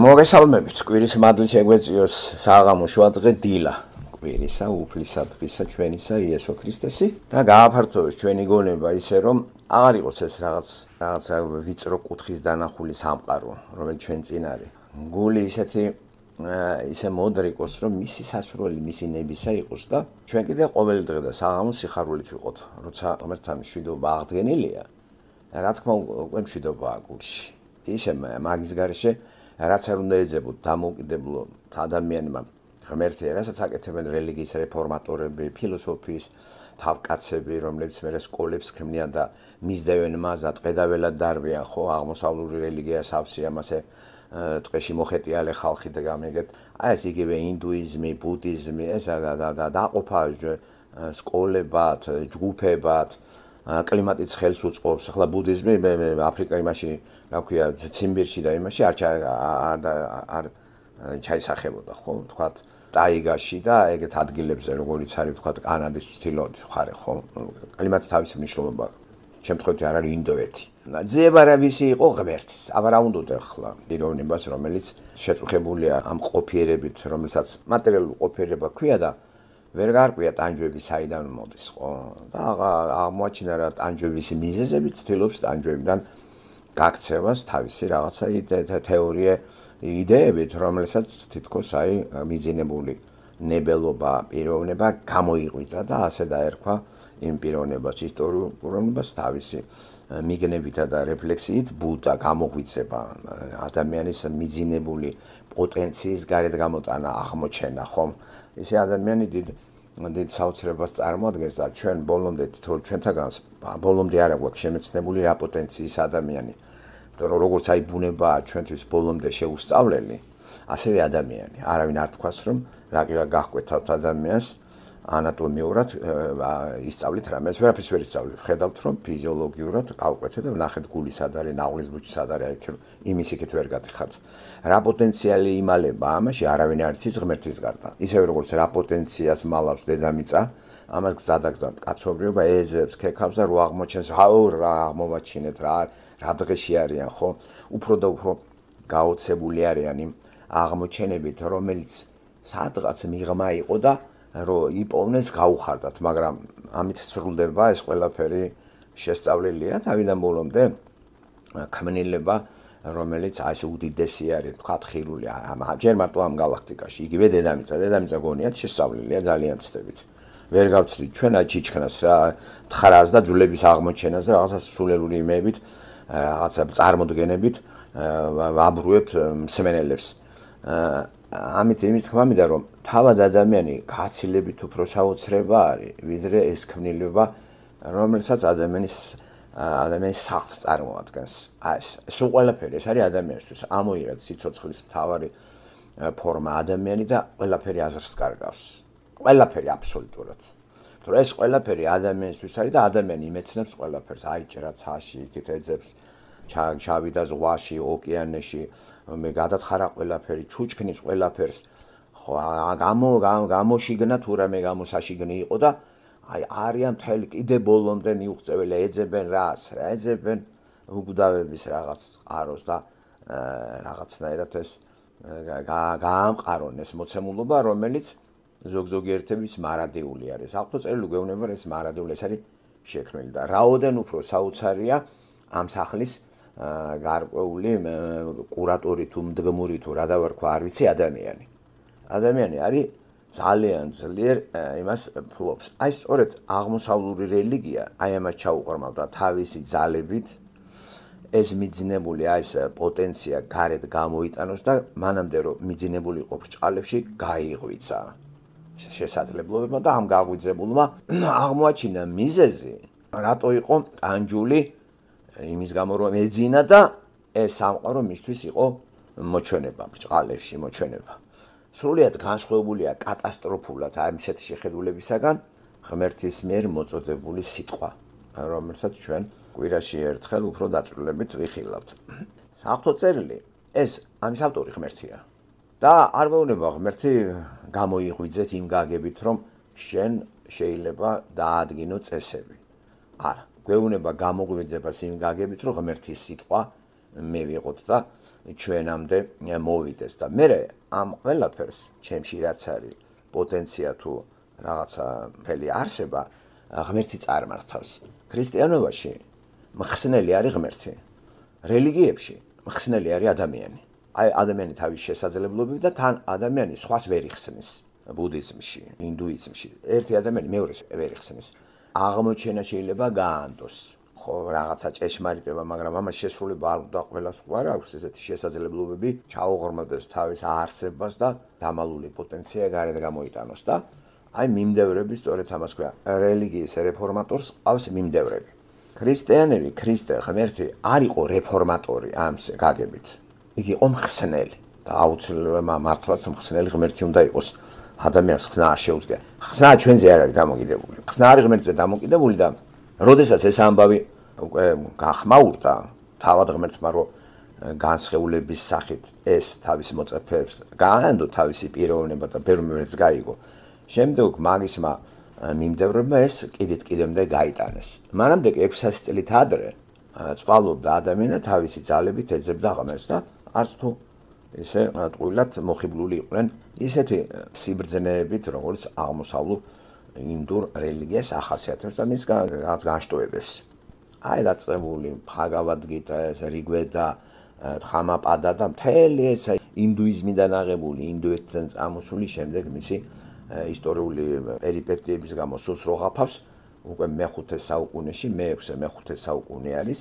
მოგესალმებით, კვირის მადლი შეგვეწიოს საღამო შუადღე დილა. კვირისა, უფლისა, დღისა, ჩვენისა იესო ქრისტესი და გააფართოვოს ჩვენი გონება ისე რომ აღარ იყოს ეს რაღაცა ვიწრო კუთხის დანახული სამყარო, რომელიც ჩვენ წინ არის. გული ისე მოდრიკოს, რომ მისი სასურველი, მისი ნებისა იყოს და ჩვენ კიდე ყოველი დღე და საღამო სიხარულით ვიყოთ, როცა ღმერთთან მშვიდობა აღდგენილია. რა თქმა უნდა, მშვიდობაა გულში. ისე მაგის გარეშე რაც არ უნდა ეძებოთ დამოუკიდებელ ადამიანმა ღმერთი, რასაც აკეთებენ რელიგიის რეფორმატორები, ფილოსოფიის თავკაცები, რომლებიც მერე სკოლებს ქმნიან და მისდევენ მას და ტყედაველად დარბიან, ხო, აღმოსავლური რელიგია სავსე ამასე ტყეში მოხეტიალე ხალხი და გამეგეთ. აი ეს იგივე ინდუიზმი, ბუდიზმი, ეს დაყოფა სკოლებად, ჯგუფებად, კლიმატიც ხელს უწყობს. ახლა ბუდიზმი აფრიკა იმაში, რა ქვია, ციმბირში და იმაში არ ჩაისახებოდა, ხო, თქვათ, ტაიგაში და ეგეთ ადგილებზე, როგორიც არის, თქვათ, კანადის ჩრდილოეთ მხარე, ხო, კლიმატს თავისი მნიშვნელობა აქვს. შემთხვევით არ არის ინდოეთი. ძიება რა ვისი იყო ღმერთის. აბა რა უნდოდა ახლა პიროვნებას, რომელიც შეწუხებულია ამ ყოფიერებით, რომელსაც მატერიალური ყოფიერება ქვია და ვერ გარკვია ტანჯვები საიდან მოდის, ხო? და აღმოაჩინა რა ტანჯვების მიზეზები ცდილობს ტანჯვებიდან გაქცევას თავისი რაღაცა თეორია იდეებით, რომელსაც თითქოს აი მიძინებული ნებელობა, პიროვნება გამოიღვიძა და ასე დაერქვა იმ პიროვნებას, ისტორიულ პიროვნებას თავისი მიგნებითა და რეფლექსიით ბუდა გამოგვიძება ადამიანის მიძინებული პოტენციის გარეთ გამოტანა აღმოჩენა, ხომ? ისე ადამიანი დიდ საოცრებას წარმოადგენს და ჩვენ ბოლომდე ჩვენთაგანს ბოლომდე არ აქვს შემეცნებული რა პოტენციის ადამიანი. როგორც აი ბუნებაა ჩვენთვის ბოლომდე შეუსწავლელი, ასევე ადამიანი. არავინ არ თქვას რომ რა გაჰკვეთავთ ადამიანს ანატომიურად ისწავლით რამეს, ვერაფერს ვერ ისწავლით. ხედავთ რომ ფიზიოლოგიურად გავკვეთეთ და ვნახეთ გული სად არის, ნაღლის ბუჩი სად არის, იმის იქით ვერ გატეხართ. რა პოტენციალი იმალება ამაში არავინ არ იცის ღმერთის გარდა. ისევე როგორც რა პოტენციას მალავს დედამიწა, ამას გზადაგზად კაცობრიობა ეძებს, ქექავს და რო აღმოჩენს, აუ რა აღმოვაჩინეთ, რა დღეში არიან, ხო? უფრო და უფრო გაოცებული არიან იმ აღმოჩენებით, რომელიც სადღაც მიღმა იყო და რომ იპოვნეს გაუხარდათ, მაგრამ ამით სრულდება ეს ყველაფერი შესწავლილია თავიდან ბოლომდე ქმნილება, რომელიც ასე უდიდესი არის, თქვათ, ხილული, ჯერ მარტო ამ გალაქტიკაში, იგივე დედამიწა გონიათ შესწავლილია ძალიან ცდებით. ვერ გავცდით ჩვენ აჩიჩქნას რა თხარას და ძვლების აღმოჩენას და რაღაცა სულელური იმეებით, რაღაცა წარმოდგენებით ვაბრუებთ მსმენელებს. ამით იმის თქმა მინდა რომ თავად ადამიანი გაცილებით უფრო საოცრება არის, ვიდრე ეს ქმნილება, რომელსაც ადამიანის სახლს წარმოადგენს. სულ ყველაფერი ეს არის ადამიანისთვის ამოიღეთ სიცოცხლის მთავარი ფორმა ადამიანი და ყველაფერი აზრს კარგავს. ყველაფერი აბსოლუტურად. თუ ეს ყველაფერი ადამიანისთვის არის და ადამიანი იმეცნებს ყველაფერს, აიჭრა ცაში, იქით ეძებს, ჩავიდა ზღვაში, ოკეანეში, მე გადათხარა ყველაფერი, ჩუჩქნის ყველაფერს. ხო, გამოშიგნა თუ რამე გამოსაშიგნი იყო და აი არიან მთელი კიდე ბოლომდე მიუღწეველი, ეძებენ რას, რა ეძებენ უგდავების რაღაც წყაროს და რაღაცნაირად ეს გაამყარონ ეს მოცემულობა, რომელიც ზოგიერთების მარადიული არის. აღწევილი გვეუბნება ეს მარადიული ეს არის შექმნილი და რაოდენ უფრო საოცარია ამ სახლის გარკვეული კურატორი თუ მდგმური თუ რა დავარქვა არ ვიცი ადამიანი. ადამიანი არის ძალიან ძლიერ იმას ფლობს. აი სწორედ აღმოსავლური რელიგია აი ამას ჩაუყრმავდა თავისი ძალებით ეს მიძინებული აი ეს პოტენცია გარეთ გამოიტანოს და მანამდე რომ მიძინებული იყო ბრჭყალებში გაიღვიძა შესაძლებლობებმა და ამ გაღვიძებულმა აღმოაჩინა მიზეზი რატო იყო ტანჯული იმის გამო რომ ეძინა და ეს სამყარო მისთვის იყო მოჩვენება, ბრჭყალებში მოჩვენება. სრულიად განსხვავებულია კატასტროფულად ამ ისეთი შეხედულებისაგან ღმერთის მიერ მოწოდებული სიტყვა, რომელსაც ჩვენ კვირაში ერთხელ უფრო დაწვრილებით ვიხილავთ. საღვთო წერილი ეს ამის ავტორი ღმერთია და არ მეუბნება ღმერთი გამოიღვიძეთ იმ გაგებით, რომ შენ შეიძლება დაადგინო წესები. არა, გვეუბნება გამოგვიძებას იმ გაგებით, რომ ღმერთის სიტყვა მე ვიყოთ და ჩვენამდე მოვიდეს და მე ამ ყველაფერს ჩემში რაც არის პოტენცია თუ რაღაცა მთელი არსება ღმერთი წარმართავს. ქრისტიანობაში მხსნელი არის ღმერთი. რელიგიებში მხსნელი არის ადამიანი. აი ადამიანი თავის შესაძლებლობებით და თან ადამიანი სხვას ვერ იხსნის. ბუდიზმში, ინდუიზმში ერთი ადამიანი მეორეს ვერ იხსნის. აღმოჩენა შეიძლება გაანდოს. ხო, რაღაცა ჭეშმარიტება, მაგრამ ამას შესრულება არ უნდა ყველა სხვა აქვს ესეთი შესაძლებლობები, ჩაუღრმავდეს თავის არსებას და დამალული პოტენცია გარეთ გამოიტანოს და აი მიმდევრები სწორედ ამას ქვია. რელიგიის რეფორმატორს ყავს მიმდევრები. ქრისტიანები, ქრისტე ღმერთი არ იყო რეფორმატორი ამის გაგებით. იგი იყო მხსნელი და აუცილებლად მართლაც მხსნელი ღმერთი უნდა იყოს. ადამიანს ხსნა არ შეუძლია. ხსნა ჩვენზე არ არის დამოკიდებული. ხსნა არის ღმერთზე დამოკიდებული და როდესაც ეს ამბავი უკვე გახმაურდა თავად ღმერთმა რომ განსხეულების სახით ეს თავის მოწაფეებს გაანდო თავისი პიროვნება და ბერმერც გაიგო. შემდეგ მაგისმა მიმდევრებმა ეს კიდემდე გაიტანეს. მანამდე 600 წლით ადრე წყალობდა ადამიანი თავისი ძალებით ეძებდა ღმერთს და არც თუ ესე ტყუილად მოხიბლული იყვნენ ისეთი სიბრძნეებით, როგორც აღმოსავლურ ინდურ რელიგიას ახასიათებს და მის რაღაც განშტოებებს. აი დაწყებული ბჰაგავად-გიტა, რიგვედა, თჰამაპადა და მთელი ეს ინდუიზმიდან აღებული, ინდოეთიდან წამოსული შემდეგ მისი ისტორიული პერიპეტიების გამო სულს რო ღაფავს, უკვე მე-5 საუკუნეში, მე-6 საუკუნე არის.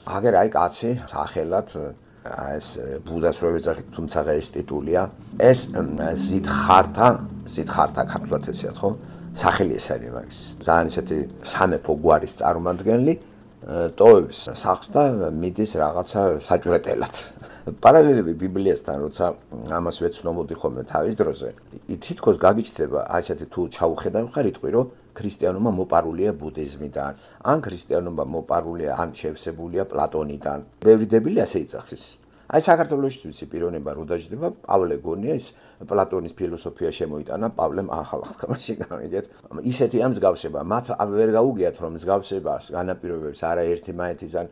აგერ აი კაცი სახელად ეს ბუდას რო ეძახით, თუმცა ეს ტიტულია, ეს ზიდხართა ქართულად ესეათ, ხო? სახელი ეს არის მაგის. ძალიან ისეთი სამეფო გვარის წარმომადგენელი ტოვებს სახს და მიდის რაღაცა საჭვრეტელად. პარალელები ბიბლიასთან, როცა ამას ვეცნობოდი ხოლმე თავის დროზე, თითქოს გაგიჩნდება აი ესეთი თუ ჩაუხედავ ხარიტყვი, რომ ქრისტიანობა მოპარულია ბუდიზმიდან, ან ქრისტიანობა მოპარულია ან შევსებულია პლატონიდან. ბევრი დებილი ასე იძახის. აი საქართველოში ვიცი პიროვნება რო დაждდება, პავლე გონია ის პლატონის ფილოსოფია შემოიტანა პავლემ ახალ აღთქმაში გამიგეთ. ისეთი ამ მსგავსება, მათ ვერ გაუგიათ რომ მსგავსებას განაპირობებს არაერთი მაეთისგან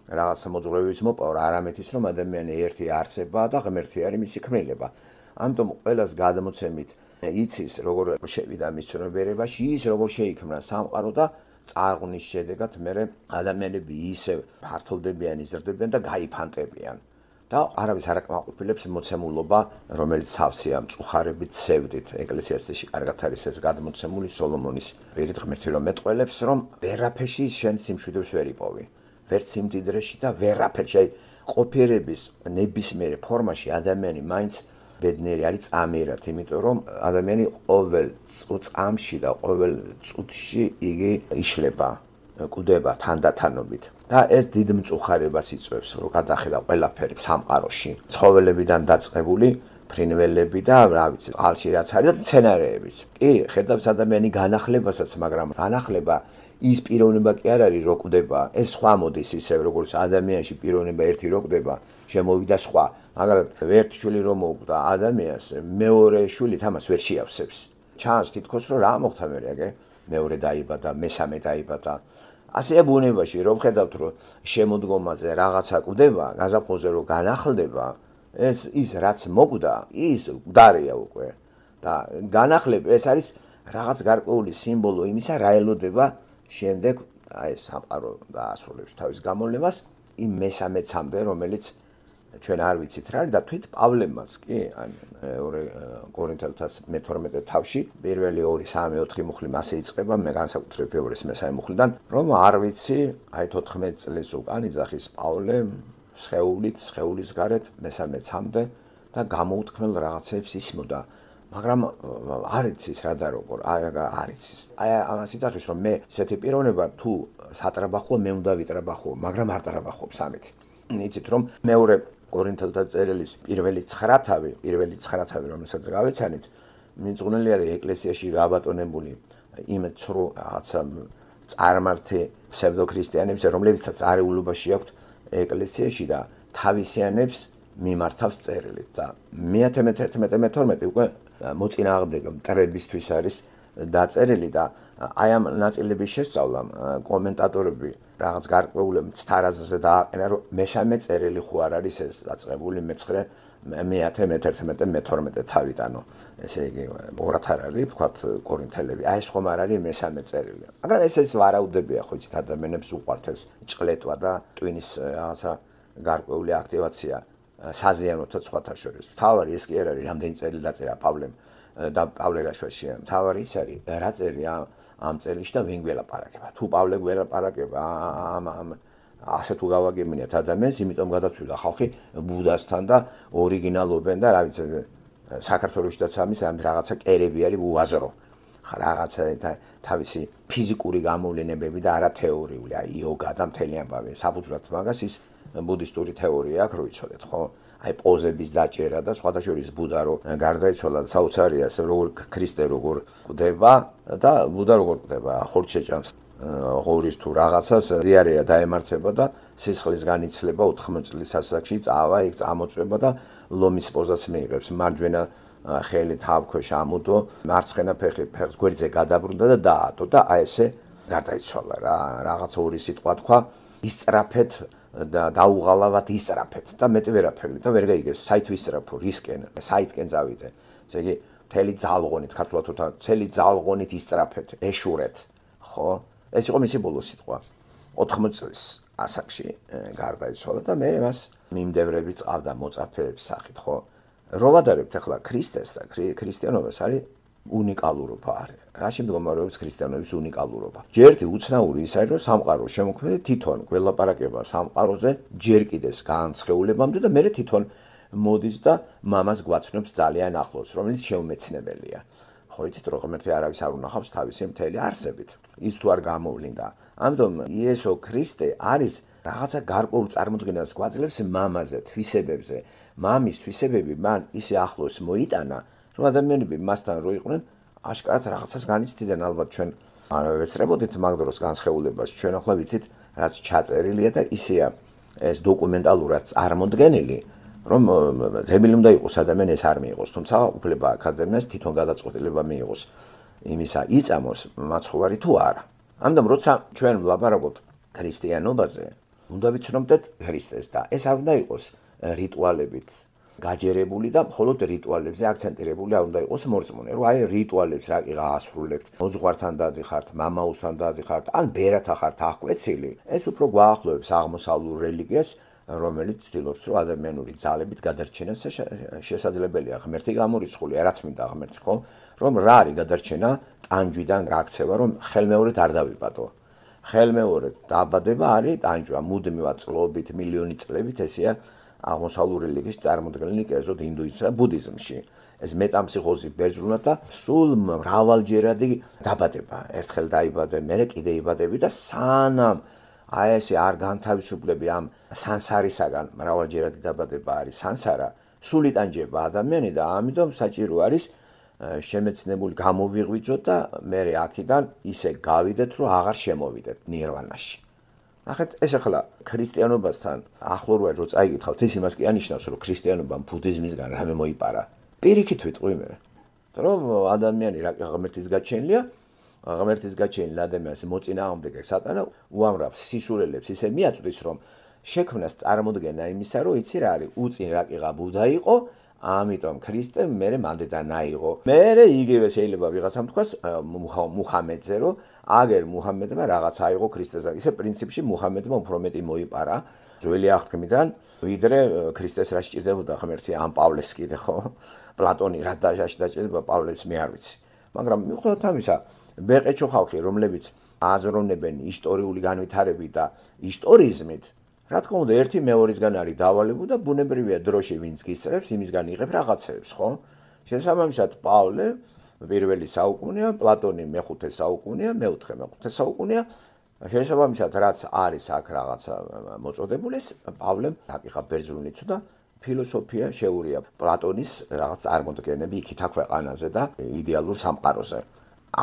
რაღაცა მოძღვრების მოპავრა, არამედ ის რომ ადამიანი ერთი არსებაა და ღმერთი არის მისი ქმნილება. ამიტომ ყველას გადმოცემით იცის როგორ შევიდა მის ცნობიერებაში, ის როგორ შეიქმნა სამყარო და წარღვნის შედეგად მე ადამიანები ისევ ფართოვდებიან, იზრდებიან და გაიფანტებიან. და არავის არ აკმაყოფილებს მოცემულობა, რომელიც სავსეა მწუხარებით სევდით. ეკლესიაში კარგად არის ეს გადმოცემული სოლომონის პირით ღმერთი რომ მეტყველებს, რომ ვერაფერში შენ სიმშვიდეებს ვერ იპოვი. ვერც სიმდიდრეში და ვერაფერში. აი ყოფიერების ნებისმიერ ფორმაში ადამიანი მაინც ბედნიერი არის წამიერად, იმიტომ რომ ადამიანი ყოველ წამში და ყოველ წუთში იგი იშლება. კვდება თანდათანობით და ეს დიდ მწუხარებას იწვევს, რომ გადახედა ყველაფერი სამყაროში, ცხოველებიდან დაწყებული ფრინველები და რა ვიცი, წყალში რაც არის და მცენარეებიც. კი, ხედავს ადამიანი განახლებასაც, მაგრამ განახლება ის პიროვნება კი არ არის, რომ კვდება. ეს სხვა მოდის ისევ, როგორც ადამიანში პიროვნება ერთი რო კვდება, შემოვიდა სხვა. მაგალითად, ერთ შვილი რომ მოკვდა ადამიანს, მეორე შვილი თამას ვერ შეავსებს. ჩანს თითქოს რომ რა მოხდა მერე, მეორე დაიბადა, მესამე დაიბადა. ასეა ბუნებაში, რომ ხედავთ, რომ შემოდგომაზე რაღაცა კვდება, გაზაფხულზე რომ განახლდება, ის რაც მოკვდა, ის გვდარია უკვე. და განახლება ეს არის რაღაც გარკვეული სიმბოლო იმისა, რა ელოდება შემდეგ აი სამყარო დაასრულებს თავის გამოვლენას იმ მესამეცამდე, რომელიც ჩვენ არ ვიცით რა არის და თვით პავლემაც კი ან 2 კორინთელთა 12 თავში პირველი 2, 3, 4 მუხლი მასე იწყება, მე განსაკუთრებით ფევრეს მესამე მუხლიდან, რომ არ ვიცი, აი 14 წლის უკან იძახის პავლე სხეულის გარეთ მესამეცამდე და გამოუთქმელ რაღაცებს ისმოდა. მაგრამ არ იცის რა და როგორ, არ იცის. აი ამას იძახის, რომ მე ესეთი პიროვნება თუ სატრაბახო, მე უნდა ვიტრაბახო, მაგრამ არ ტრაბახობს ამით. იცით რომ მეორე კორინთელთა წერილის პირველი 9 თავი, რომელსაც გავეცანით, მიძღვნილი არის ეკლესიაში გაბატონებული იმ ცრუ რაღაცა წარმართი ფსევდოქრისტიანებს, რომლებიცაც არეულობაში აქვთ ეკლესიაში და თავისიანებს მიმართავს წერილით და 11-12 უკვე მოწინააღმდეგე მტრებისთვის არის დაწერილი და აი ამ ნაწილების შესწავლამ კომენტატორები რაღაც გარკვეულ მცდარაზე დააყენა, რომ მესამე წერილი ხო არ არის ეს დაწყებული მე-9, მე-10, მე-11, მე-12 თავით, ანუ ესე იგი ორად არ არის, თქვათ კორინთელები. აი ეს ხომ არ არის მესამე წერილი. მაგრამ ეს ვარაუდებია ხო იცით ადამიანებს უყვართ ეს ჭყლეტვა და ტვინის რაღაცა გარკვეული აქტივაცია საზიანოთა სხვათა შორის. თავარი ეს კი არ არის რამდენი წერილი დაწერა პავლემ და პავლე რაშვაშია. თავარი ის არის რა წერია ამ წერილში და ვინ გველაპარაკება. თუ პავლე გველაპარაკება ამ ასე თუ გავაგებინეთ ადამიანს, იმიტომ გადაწვიდა ხალხი ბუდასთან და ორიგინალობენ და რა ვიცი საქართველოშიც ამის ამ რაღაცა კერები არის უაზრო. რაღაცა თავისი ფიზიკური გამოვლენებები და არა თეორიული, აი იოგა და მთელი ამბავი. საფუძვლად მაგას ის ბუდისტური თეორია აქვს, რო იცოდეთ, ხო? აი პოზების დაჭერა და სხვათა შორის ბუდა რო გარდაიცვალა საოცარია, ასე როგორ ქრისტე როგორ ყვდება და ბუდა როგორ ყვდება, ხორცს შეჭამს ღორის თუ რაღაცას, დიარეა დაემართება და სისხლის განიცლება 80 წლის ასაკში წავა, იქ წამოწვება და ლომის პოზას მიიღებს. მარჯვენა ხელი თავქვეშ ამუდო, მარცხენა ფეხს გვერდზე გადაბრუნდა და დაატო და აი ესე გარდაიცვალა რა. რაღაც ორი სიტყვა თქვა, ისწრაფეთ და დაუღალავად ისწრაფეთ და მეტი ვერაფერი და ვერ გაიგეს საით ვისწრაფო, რისკენ, საითკენ წავიდე. ესე იგი, მთელი ძალღონით, ქართულად თუ მთელი ძალღონით ისწრაფეთ, ეშურეთ, ხო? ეს იყო მისი ბოლო სიტყვა. 80 წლის ასაკში გარდაიცვალა და მე მას მიმდევრები წავდა მოწაფეების სახით, ხო? რო ვადარებთ ახლა ქრისტეს და ქრისტიანობას არის უნიკალურობა არის. რაში მდგომარეობს ქრისტიანობის უნიკალურობა? ჯერთი უცნაური ის არის, რომ სამყარო შემოქმედე თვითონ გველაპარაკება სამყაროზე ჯერ კიდეს განსხეულებამდე და მერე თვითონ მოდის და მამას გვაცნობს ძალიან ახლოს, რომელიც შეუმეცნებელია. ხო იცით, რომ ღმერთი არავის არ უნახავს თავისი მთელი არსებით. ის თუ არ გამოვლინდა. ამიტომ იესო ქრისტე არის რაღაცა გარკვეულ წარმოდგენას გვაძლევს მამაზე, თვისებებზე. მამის თვისებები მან ისე ახლოს მოიტანა, რომ ადამიანები მასთან რო იყვნენ, აშკარად რაღაცას განიცდიდნენ. ალბათ ჩვენ არ ვეცრებოდით მაგ დროს განსხეულებას. ჩვენ ახლა ვიცით, რაც ჩაწერილია და ისეა ეს დოკუმენტალურად წარმოდგენილი, რომ რებელი უნდა იყოს ადამიანი ეს არ მიიღოს, თუმცა უფლება აკადემიას თვითონ გადაწყვეტილება მიიღოს იმისა იწამოს მაცხოვარი თუ არა. ამიტომ როცა ჩვენ ვლაპარაკობთ ქრისტიანობაზე, უნდა ვიცნობდეთ ქრისტეს და ეს არ უნდა იყოს რიტუალებით გაჯერებული და მხოლოდ რიტუალებზე აქცენტირებული არ უნდა იყოს მორწმუნე, რომ აი რიტუალებს რაკიღა ასრულებთ, მოძღვართან დადიხართ, მამაოსთან დადიხართ, ან ბერათა ხართ აღკვეცილი, ეს უფრო გვაახლოებს აღმოსავლურ რელიგიას, რომელიც ცდილობს, რომ ადამიანური ძალებით გადარჩენა შესაძლებელია. ღმერთი გამორიცხული, რა თმინდა ღმერთი, ხო? რომ რა არის გადარჩენა ტანჯვიდან გაქცევა, რომ ხელმეორედ არ დავიბადო. ხელმეორედ დაბადება არის ტანჯვა, მუდმივად წლობით, მილიონი წლებით, ესეა აღმოსავლური რელიგიის წარმოდგენილი კერძოდ ინდუიზმსა და ბუდიზმში. ეს მეტამფსიქოზი ბერძნულად და სულ მრავალჯერადი დაბადება. ერთხელ დაიბადე, მერე კიდე იბადები და სანამ აი ესე არ განთავისუფლები ამ სანსარისაგან, მრავალჯერადი დაბადება არის სანსარა, სულ იტანჯება ადამიანი და ამიტომ საჭირო არის შემეცნებული გამოვიღვიძოთ და მერე აქედან ისე გავიდეთ, რომ აღარ შემოვიდეთ ნირვანაში. ნახეთ, ეს ახლა ქრისტიანობასთან ახლო რო წაიგითხავთ, ის იმას კი ანიშნავს, რომ ქრისტიანობამ ბუდიზმისგან რამე მოიპარა. პირიქით ვიტყვი მე, რომ ადამიანი რა ღმერთის გაჩენილია, ღმერთის გაჩენილ ადამიანს მოწინააღმდეგე სატანა უამრავ სისულელებს ისე მიაწვდის, რომ შექმნას წარმოდგენა იმისა, რომ იცი რა არის, უწინ რაკიღა ბუდა იყო, ამიტომ ქრისტე მერე მანდედან აიღო. მერე იგივე შეიძლება ვიღაცამ თქვას მუჰამედზე, რომ აგერ მუჰამედმა რაღაც აიღო ქრისტესთან. ისე პრინციპში მუჰამედმა უფრო მეტი მოიპარა ძველი აღთქმიდან, ვიდრე ქრისტეს რა სჭირდებოდა ღმერთი ამ პავლეს კიდე, ხო? პლატონი რა დაჭირდება პავლეს მე არ ვიცი. მაგრამ მიუხედავად ამისა, ბეყეჩო ხალხი, რომლებიც აზროვნებენ ისტორიული განვითარებით და ისტორიზმით, რა თქმა უნდა, ერთი მეორისგან არის დავალებული და ბუნებრივია დროში ვინც გისწრებს, იმისგან იღებ რაღაცებს, ხო? შესაბამისად, პავლე პირველი საუკუნეა, პლატონი მეხუთე საუკუნეა, მეოთხე მეხუთე საუკუნეა. შესაბამისად, რაც არის აქ რაღაცა მოწოდებული, პავლემ აკიღა ბერძნული ცუდა ფილოსოფია შეურია პლატონის რაღაც წარმოდგენები იქით აქვეყანაზე და იდეალურ სამყაროზე.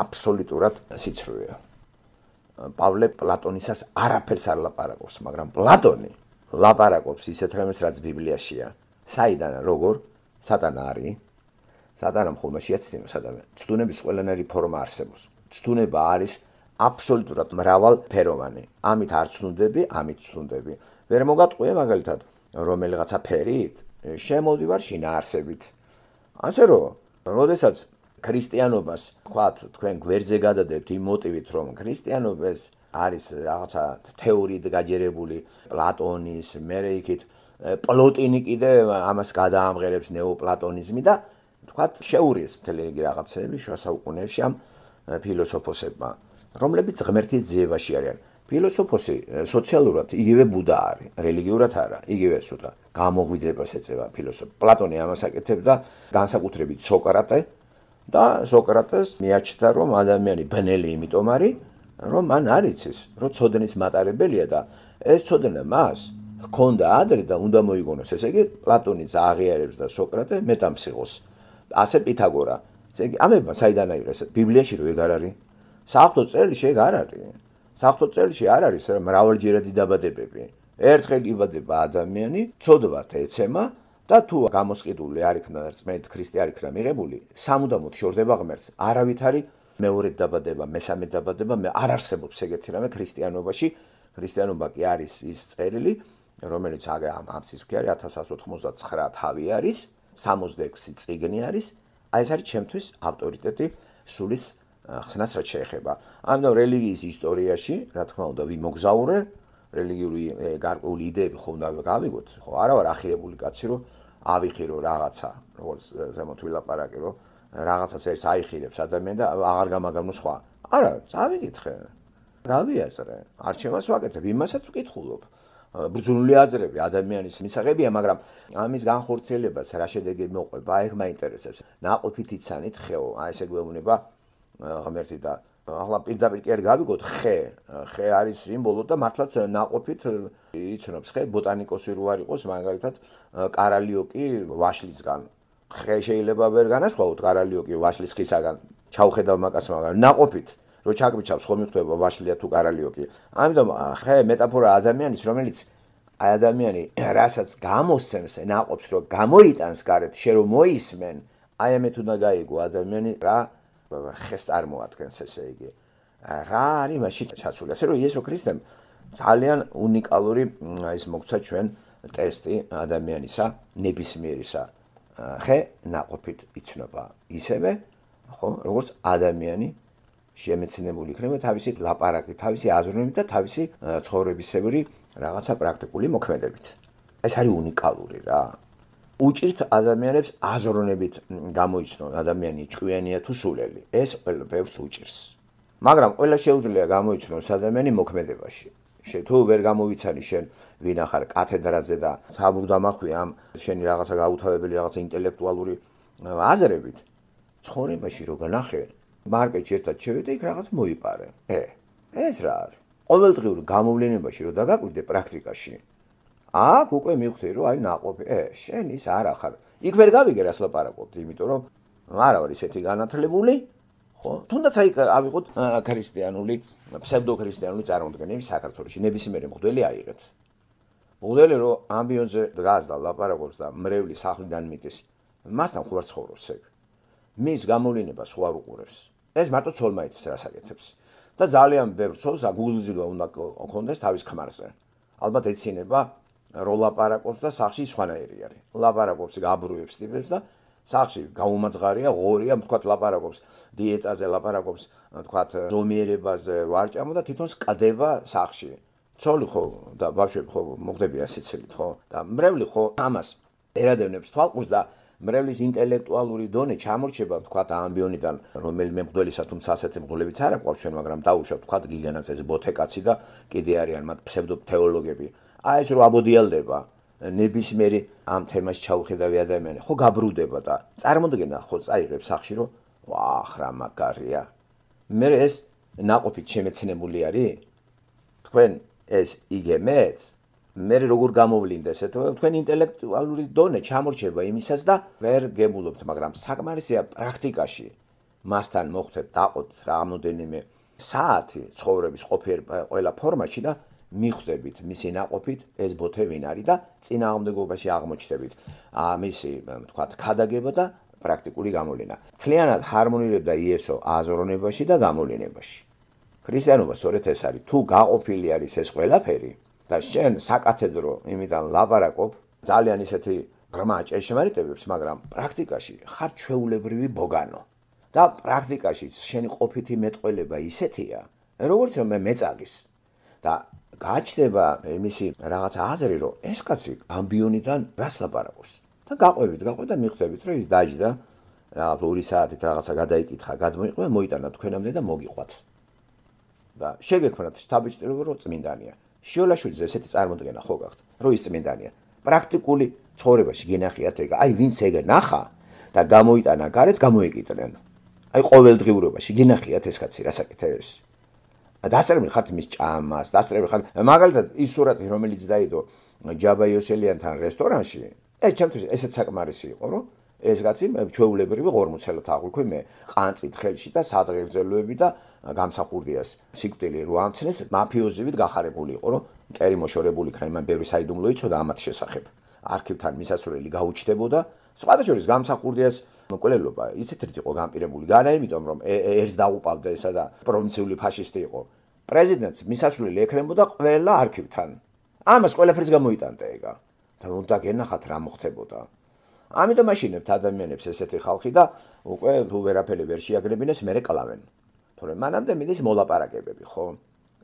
აბსოლუტურად სიცრუეა. პავლე პლატონისას არაფერს არ ლაპარაკობს, მაგრამ პლატონი ლაპარაკობს ისეთ რამეს, რაც ბიბლიაშია. საიდან, როგორ? სატანა არის. სატანამ ხომ შეაცდინოს ადამიანს. ცდუნების ყველანაირი ფორმა არსებობს. ცდუნება არის აბსოლუტურად მრავალფეროვანი. ამით არ ცდუნდები, ამით ცდუნდები. ვერ მოგატყვია მაგალითად რომელიღაცა ფერით შემოდივარ შინაარსებით. ასე რომ, როდესაც ქრისტიანობას თქვათ, თქვენ გვერდზე გადადებთ იმ მოტივით, რომ ქრისტიანობას არის რაღაცა თეორიით გაჯერებული პლატონის, მერე იქით პლოტინი კიდე ამას გადაამღერებს ნეოპლატონიზმი და თქვათ შეურიეს მთელი რიგი რაღაცები შუა საუკუნეებში ამ ფილოსოფოსებმა, რომლებიც ღმერთის ძიებაში არიან. ფილოსოფოსი სოციალურად იგივე ბუდა არის, რელიგიურად არა, იგივე სუდა გამოღვიძებას ეწევა ფილოსოფი. პლატონი ამას აკეთებდა განსაკუთრებით სოკრატე და სოკრატეს მიაჩნდა, რომ ადამიანი ბნელი იმიტომ არის, რომ მან არ იცის, რომ ცოდნის მატარებელია და ეს ცოდნა მას ჰქონდა ადრე და უნდა მოიგონოს. ესე იგი პლატონიც აღიარებს და სოკრატე მეტამფსიქოს. ასე პითაგორა. ესე იგი ამება საიდან აიღეს? ბიბლიაში რო ეგ არ არის. საღვთო წერილში ეგ არ არის. საღვთო წერილში არ არის მრავალჯერადი დაბადებები. ერთხელ იბადება ადამიანი, ცოდვათ ეცემა და თუ გამოსყიდული არ იქნა რწმენით ქრისტე არ იქნა მიღებული, სამუდამოდ შორდება ღმერთს. არავითარი მეორე დაბადება, მესამე დაბადება არ არსებობს ეგეთი რამე ქრისტიანობაში. ქრისტიანობა კი არის ის წერილი, რომელიც ამ სისქე არის 1199 თავი არის, 66 წიგნი არის. აი ეს არის ჩემთვის ავტორიტეტი სულის ხსნას რაც შეეხება. ამიტომ რელიგიის ისტორიაში, რა თქმა უნდა, ვიმოგზაურე, რელიგიური გარკვეული იდეები ხომ უნდა გავიგოთ. ხო, არა ვარ ახირებული კაცი, რომ ავიხირო რაღაცა, როგორც ზემოთ ვილაპარაკე, რომ რაღაცას ერთს აიხირებს ადამიანი და აღარ გამაგამო სხვა. არა, წავიკითხე. გავიაზრე. არჩევას ვაკეთებ, იმასაც ვკითხულობ. ბრძნული აზრები ადამიანის მისაღებია, მაგრამ ამის განხორციელებას რა შედეგი მოყვება, აი ეგ მაინტერესებს. ნაყოფით იცანით ხეო, აი ესე გვეუბნება ღმერთი და ახლა პირდაპირ კი არ გავიგოთ ხე არის სიმბოლო და მართლაც ნაყოფით იცნობს ხე ბოტანიკოსი რო არ იყოს მაგალითად კარალიოკი ვაშლისგან ხე შეიძლება ვერ განასხვაოთ კარალიოკი ვაშლის ხისაგან ჩავხედავ მაგას მაგრამ ნაყოფით რო ჩაგბიჩავს ხომ მიხვდება ვაშლია თუ კარალიოკი ამიტომ ხე მეტაფორა ადამიანის რომელიც აი ადამიანი რასაც გამოსცემს ნაყოფს რო გამოიტანს გარეთ შე რომ მოისმენ აი ამეთ უნდა გაიგო ადამიანი რა ხეს წარმოადგენს ესე იგი რა არის მასში ჩაცული ასე რომ იესო ქრისტემ ძალიან უნიკალური ის მოგცა ჩვენ ტესტი ადამიანისა ნებისმიერისა ხე ნაყოფით იცნობა ისევე ხო როგორც ადამიანი შემეცნებული იქნება თავისი ლაპარაკით თავისი აზროვნებით და თავისი ცხოვრებისებური რაღაცა პრაქტიკული მოქმედებით ეს არის უნიკალური რა უჭირთ ადამიანებს აზროვნებით გამოიცნონ ადამიანი ჭკვიანია თუ სულელი ეს ყველაფერს უჭირს მაგრამ ყველა შეუძლია გამოიცნოს ადამიანი მოქმედებაში თუ ვერ გამოვიცანი შენ ვინ ახარ კათედრაზე და თაბურდამახვი ამ შენი რაღაცა გაუთავებელი რაღაცა ინტელექტუალური აზრებით ცხოვრებაში რო განახე მარკეტში ერთად შევიდე იქ რაღაც მოიპარე ეს რა არის ყოველდღიურ გამოვლენებაში რო დაგაკვირდე პრაქტიკაში აქ უკვე მივხვდი რომ აი ნაყოფი შენ ის არ ახარ იქ ვერ გავიგე რას ლაპარაკობდი იმიტომ რომ არა ვარ ისეთი განათლებული ხო თუნდაც აი ავიღოთ ქრისტიანული ფსევდოქრისტიანული წარმოდგენები საქართველოში ნებისმიერი მღვდელი აიღეთ მღვდელი რომ ამბიონზე დგას და ლაპარაკობს და მრევლის სახლიდან მიდის მასთან ხوار ცხოვრობს ეგ მის გამოვლენებას ხوار უყურებს ეს მარტო ცოლმაიც რას აკეთებს და ძალიან ბევრ ცოლს აგულზილვა უნდა კონდეს თავის ქმარზე ალბათ ეცინება რო ლაპარაკობს და სახში სხვანაირი არის ლაპარაკობს გაბრუებს ტიპებს და სახში გაუმაძღარია ღორია თქვათ ლაპარაკობს დიეტაზე ლაპარაკობს თქვათ ზომიერებაზე ვარ ჭამო და თვითონ სკდება სახში ცოლი ხო და ბავშვები ხო მოგდებიან სიცილით ხო და მრევლი ხო ამას ერადევნებს თვალყურს და მრევლის ინტელექტუალური დონე ჩამორჩება თქვათ ამბიონიდან რომელიმე მღვდელისა თუმცა ასეთი მღვდლებიც არ აქვს ჩვენ მაგრამ დაუშვათ თქვათ გიგენაც ეს ბოთეკაცი და კიდე არიან მათ ფსევდოთეოლოგები აი ეს რო აბოდიალდება ნებისმიერი ამ თემას ჩაუხედავი ადამიანი ხო გაბრუდება და წარმოდგენა ხო წაიღებს სახში რომ ვახ რა მაგარია მე ეს ნაყოფით შემეცნებული არის თქვენ ეს იგემეთ მე როგორ გამოვლინდეს თქვენ ინტელექტუალური დონე ჩამორჩება იმისას და ვერ გებულობთ მაგრამ საკმარისია პრაქტიკაში მასთან მოხდეთ დაყოთ რამოდენიმე საათი ცხოვრების ყოფიერ ყველა ფორმაში და მიხვდებით მისი ნაყოფით ეს ბოთე ვინ არის და წინააღმდეგობაში აღმოჩნდებით მისი თქვათ ქადაგება და პრაქტიკული გამოვლენა. მთლიანად ჰარმონირებდა იესო აზროვნებაში და გამოვლენებაში. ქრისტიანობა სწორედ ეს არის. თუ გაყოფილი არის ეს ყველაფერი და შენ საკათედრო იმიდან ლაპარაკობ ძალიან ისეთი ღრმა ჭეშმარიტებებს, მაგრამ პრაქტიკაში ხარ ჩვეულებრივი ბოგანო. და პრაქტიკაში შენი ყოფითი მეტყველება ისეთია, როგორც მე მეწაგის და გაჩნდება იმისი რაღაცა აზრი, რომ ეს კაცი ამბიონიდან რას ლაპარაკობს. და გაყვებით და მიხვდებით, რომ ის დაჯდა, რაღაც 2 საათით რაღაცა გადაიკითხა, გადმოიყვება, მოიტანა თქვენამდე და მოგიყვათ. და შეგექმნათ შთაბეჭდილება, რომ წმინდანია. შიოლაშვილის ესეთი წარმოდგენა ხო გაქვთ, რომ ის წმინდანია. პრაქტიკული ცხოვრებაში გენახიათ ეგ. აი ვინც ეგ ნახა და გამოიტანა გარეთ, გამოეკიდნენ. აი ყოველდღიურობაში გენახიათ ეს კაცი რასაკეთებს. დასწრებული ხართ მის ჭამას, დასწრებული ხართ. მაგალითად ის სურათი, რომელიც დაიდო ჯაბა იოსელიანთან რესტორანში, ჩემთვის ესეც საკმარისი იყო, რომ ეს კაცი ჩვეულებრივი ღორმოცელად აღვიქვი მე ყანწით ხელში და სადღეგრძელოები და გამსახურდიას სიკვდილი რო ამცნეს მაფიოზივით გახარებული იყო, რომ მტერი მოშორებული იქნა, იმან ბევრი საიდუმლო იცოდა ამათ შესახებ. არქივთან მისასვლელი გაუჩნდებოდა, სხვათა შორის გამსახურდიას მკვლელობა იცით რით იყო განპირებული განა, იმიტომ რომ ერს დაუყავდა ესა და პროვინციული ფაშისტი იყო. პრეზიდენტს მისასვლელი ექნებოდა ყველა არქივთან. ამას ყველაფერს გამოიტანდა ეგა. და უნდა გენახათ რა მოხდებოდა. ამიტომ მაშინებთ ადამიანებს ესეთი ხალხი და უკვე თუ ვერაფერი ვერ შეაგრებინეს, მერე კლავენ. თორემ მანამდე მიდის მოლაპარაკებები, ხო?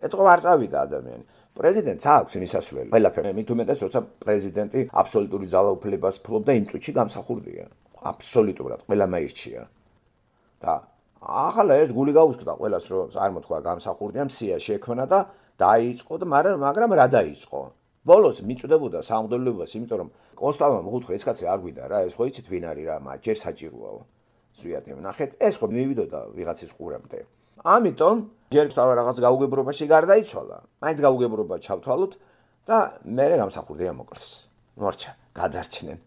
ეთყო არ წავიდა ადამიანი. პრეზიდენტს აქვს მისასვლელი. ყველაფერი, მით უმეტეს, როცა პრეზიდენტი აბსოლუტური ძალაუფლებას ფლობდა, იმ წუთში გამსახურდია. აბსოლუტურად ყველა მაირჩია. და ახლა ეს გული გაუსკდა ყველას, რომ არ მოთქვა გამსახურდია, მსია შექმნა და დაიწყო და მაგრამ რა დაიწყო? ბოლოს მიწვდებოდა სამღვდელოებას, იმიტომ რომ კონსტანტინე მოხუთხა ეს კაცი არ გვიდა რა, ეს ხო იცით ვინ არის რა, მათ ჯერ საჭიროაო. ზვიად ნახეთ, ეს ხო მივიდოდა ვიღაცის ყურამდე. ამიტომ ჯერ რაღაც გაუგებრობაში გარდაიცვალა. მაინც გაუგებრობა ჩავთვალოთ და მერე გამსახურდია მოკლეს. მორჩა, გადარჩნენ.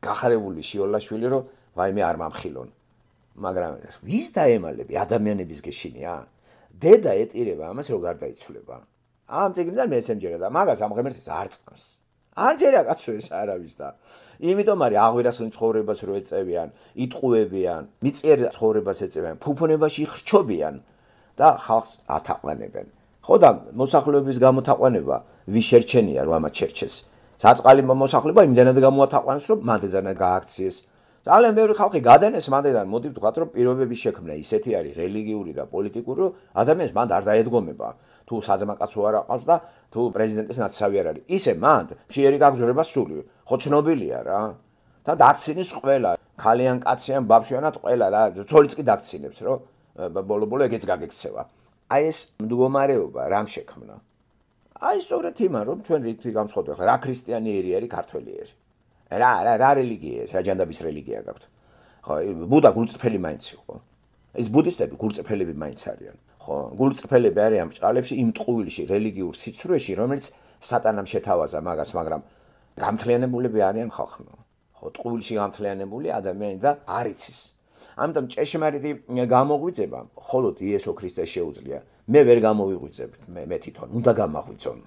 გახარებული შიოლაშვილი, რომ ვაიმე არ მამხილონ. მაგრამ ვის დაემალები ადამიანების გეშინია? დედა ეტირება ამას რომ გარდაიცვლება. ამ წიგნიდან მესენჯერა და მაგას ამ ღმერთის არ წამს. არ ჯერა კაცო ეს არავის და იმიტომ არის აღვირასლ ცხოვრებას რო ეწევიან, იტყუებიან, მიწიერ ცხოვრებას ეწევიან, ფუფუნებაში ხრჩობიან და ხალხს ათაყვანებენ. ხო და მოსახლეობის გამოთაყვანება ვის შერჩენია რომ ამათ შერჩეს. საწყალი მოსახლეობა იმდენად გამოათაყვანეს რომ მანდედან გააქციეს. ძალიან ბევრი ხალხი გადანეს მანდედან, მოდი ვთქვათ რომ პირობების შექმნა ისეთი არის რელიგიური და პოლიტიკური, რომ ადამიანს მანდ არ დაედგომება. თუ საძმაკაცო არ აყავს და თუ პრეზიდენტის ნაცსავი არ არის. ისე მანდ ფშიერი გაგზურება სული, ხო ცნობილია რა. და დაქცინის ყველა, ქალიან კაციან ბავშვიანად ყველა რა, ცოლიც კი დაქცინებს, რომ ბოლო-ბოლო ეგეც გაგექცევა. აი ეს მდგომარეობა რამ შექმნა? აი სწორედ იმან, რომ ჩვენ რითი გამსხვავდება, რა ქრისტიანიერი არის ქართველიერი. რა რელიგია ეს, რა ჯანდაბის რელიგია გაქვთ. ხო, ბუდა გულწრფელი მაინც იყო. ეს ბუდისტები გულწრფელები მაინც არიან. ხო, გულწრფელები არიან ამ ჭყალებში, იმ ტყუილში, რელიგიურ სიცრუეში, რომელიც სატანამ შეთავაზა მაგას, მაგრამ გამთლიანებულები არიან ხალხმა. ხო, ტყუილში გამთლიანებული ადამიანი და არ იცის. ამიტომ ჭეშმარიტი გამოგვიძება, მხოლოდ იესო ქრისტეს შეუძლია. მე ვერ გამოვიღვიძებ, მე თვითონ უნდა გამაღვიძონ.